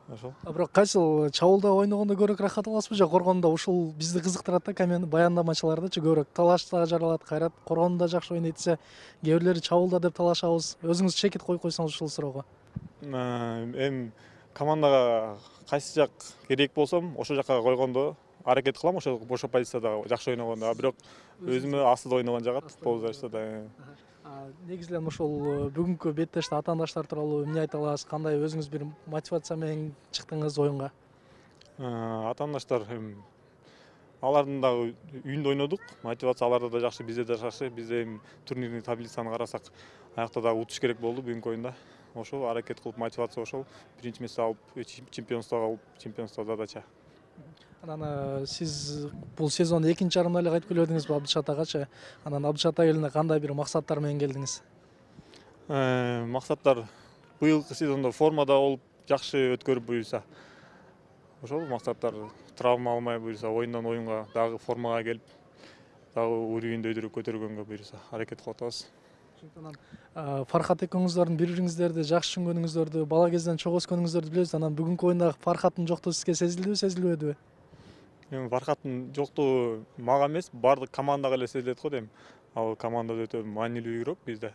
Ошол. Бирок кайсыл чабуулда ойногондо көбүрөөк рахат аласызбы же коргондо? Ушул бизди кызыктырат да, команда баяндамачылардычы көбүрөөк талашта жаралат. Кайрат коргондо жакшы ойнойт десе, кээ бирлери чабуулда деп талашабыз. Өзүңүз чекит коюп койсоңуз ушул суроого. Эми командага кайсы жак керек болсом, ошол жакка койгондо аракет кылам, ошол бошо позицияда жакшы ойногондо. Бирок өзүмө астыда ойногон жагат, полузащитада. Негизи эле ошол бүгүнкү беттеште атаандаштар тууралуу эмне айта аласыз? Кандай өзүңүз бир мотивация менен чыктыңыз оюнга? Атаандаштар алардын дагы үйүндө ойнодук. Мотивация аларда да жакшы, бизде да жакшы. Бизде эми турнирдин таблицаны карасак, аякта дагы утуш керек болду бүгүнкү оюнда. Ошол аракет кылып, мотивация ошол. Биринчи месте алып, чемпионствого алып, чемпионство задача. Анан сиз бул сезондо экинчи жарымда эле кайтып келбедиңизби Абдышат агачы? Анан Абдышат айылына кандай бир максаттар менен келдиңиз? Максаттар быйылкы сезондо формада болуп, жакшы өткөрүп буюрса. Ошол максаттар, травма алмай буюрса, оюндан оюнга дагы формага келип, дагы уровеньди өйдүрүп көтөргөнгө буюрса аракет кылып атабыз. Фархат экөөңүздөрдүн бири-бириңиздерди жакшы түшүнгөнүңүздөрдү, бала кезден чогуу өскөнүңүздөрдү билебиз. Анан бүгүнкү оюнда Фархаттын жоктугу сизге сезилдиби, сезилбедиби? Эми Фархаттын жоктугу мага эмес, бардык командага эле сезилет го дейм. Ал командада өтө маанилүү игрок бизде.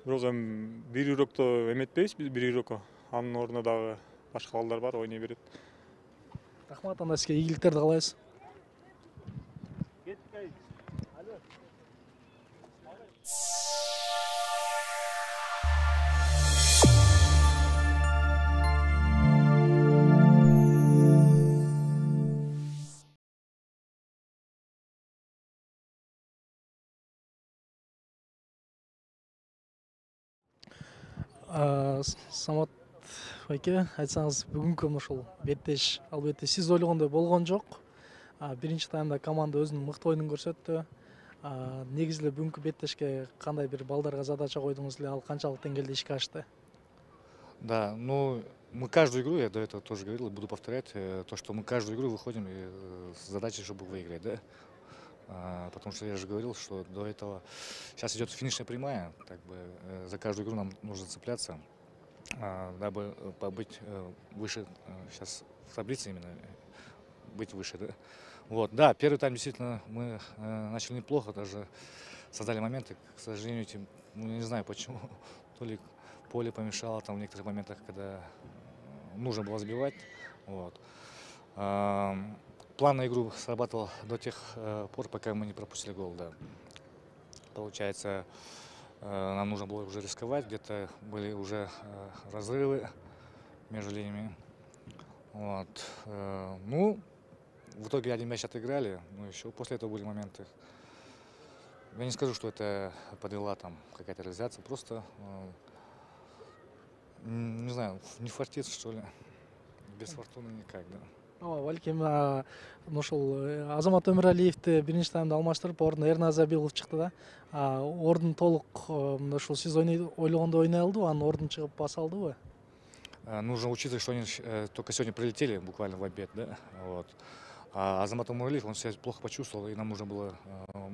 Бирок эми бир игрокто эметпейбиз биз бир игрокко. Анын ордуна дагы башка балдар бар, ойной берет. Рахмат, анда сизге ийгиликтерди каалайбыз. Самат байке, айтсаңыз, бүгүнкү ошол беттеш албетте сиз ойлогондой болгон жок. Биринчи таймда команда өзүнүн мыкты оюнун көрсөттү. Негизи эле бүгүнкү беттешке кандай бир балдарга задача койдуңуз эле, ал канчалык деңгээлде ишке ашты? Да, ну мы каждую игру, я до этого тоже говорил и буду повторять, то, что мы каждую игру выходим с задачей, чтобы выиграть, да. А, потому что я же говорил, что до этого сейчас идет финишная прямая, как бы за каждую игру нам нужно цепляться, а, дабы побыть выше сейчас в таблице именно, быть выше, да. Вот, да, первый тайм действительно мы э, начали неплохо, даже создали моменты, к сожалению, этим, ну, я не знаю почему, то ли поле помешало там в некоторых моментах, когда нужно было сбивать, вот. А, план на игру срабатывал до тех э, пор, пока мы не пропустили гол, да. Получается, э, нам нужно было уже рисковать, где-то были уже э, разрывы между линиями, вот. Э, ну, в итоге один мяч отыграли, но еще после этого были моменты. Я не скажу, что это подвела там какая-то реализация, просто, э, не знаю, не фартит, что ли, без фортуны никак, да. Ооба, балким ошол Азамат Өмүралиевди биринчи таймда алмаштырып, ордуна Эрназ Забилов чыкты да. Ордун толук мына ушул сиз ойлогондой ойной алдыбы, анын ордун чыгып баса алдыбы? Нужно учитывать, что они э, только сегодня прилетели буквально в обед, да, вот. А Азамат Умарлиев, он себя плохо почувствовал, и нам нужно было э,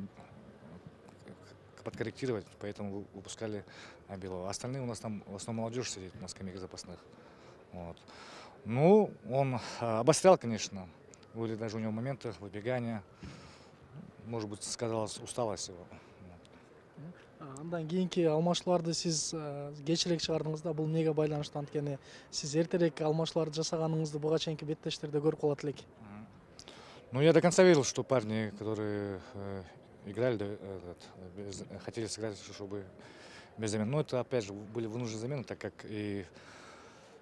подкорректировать, поэтому выпускали Абилова. Остальные у нас там в основном молодежь сидит на скамейке запасных. Вот. Ну, он э, обострял, конечно, были даже у него моменты выбегания, может быть, сказалась усталость его. Андан кийинки алмашууларды сиз кечирээк чыгардыңыз да, бул эмнеге байланыштуу? Анткени сиз эртерээк алмашууларды жасаганыңызды буга чейинки беттештерде көрүп калат элек. Ну, я до конца верил, что парни, которые э, играли, этот, без, хотели сыграть, чтобы без замен. Но это, опять же, были вынужденные замены, так как и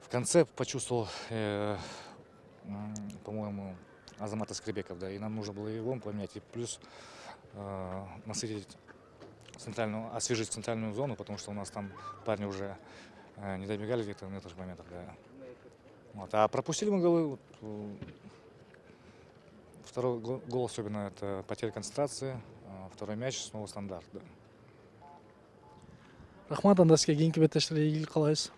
в конце почувствовал, э, э, по-моему, Азамата Скребеков, да, и нам нужно было его поменять, и плюс э, насытить центральную, освежить центральную зону, потому что у нас там парни уже э, не добегали где-то на этих моментах, да. Вот. А пропустили мы голы. Второй гол особенно это потеря концентрации, второй мяч снова стандарт. Да. Рахмат, анда сизге кийинки беттештерге ийгилик каалайбыз.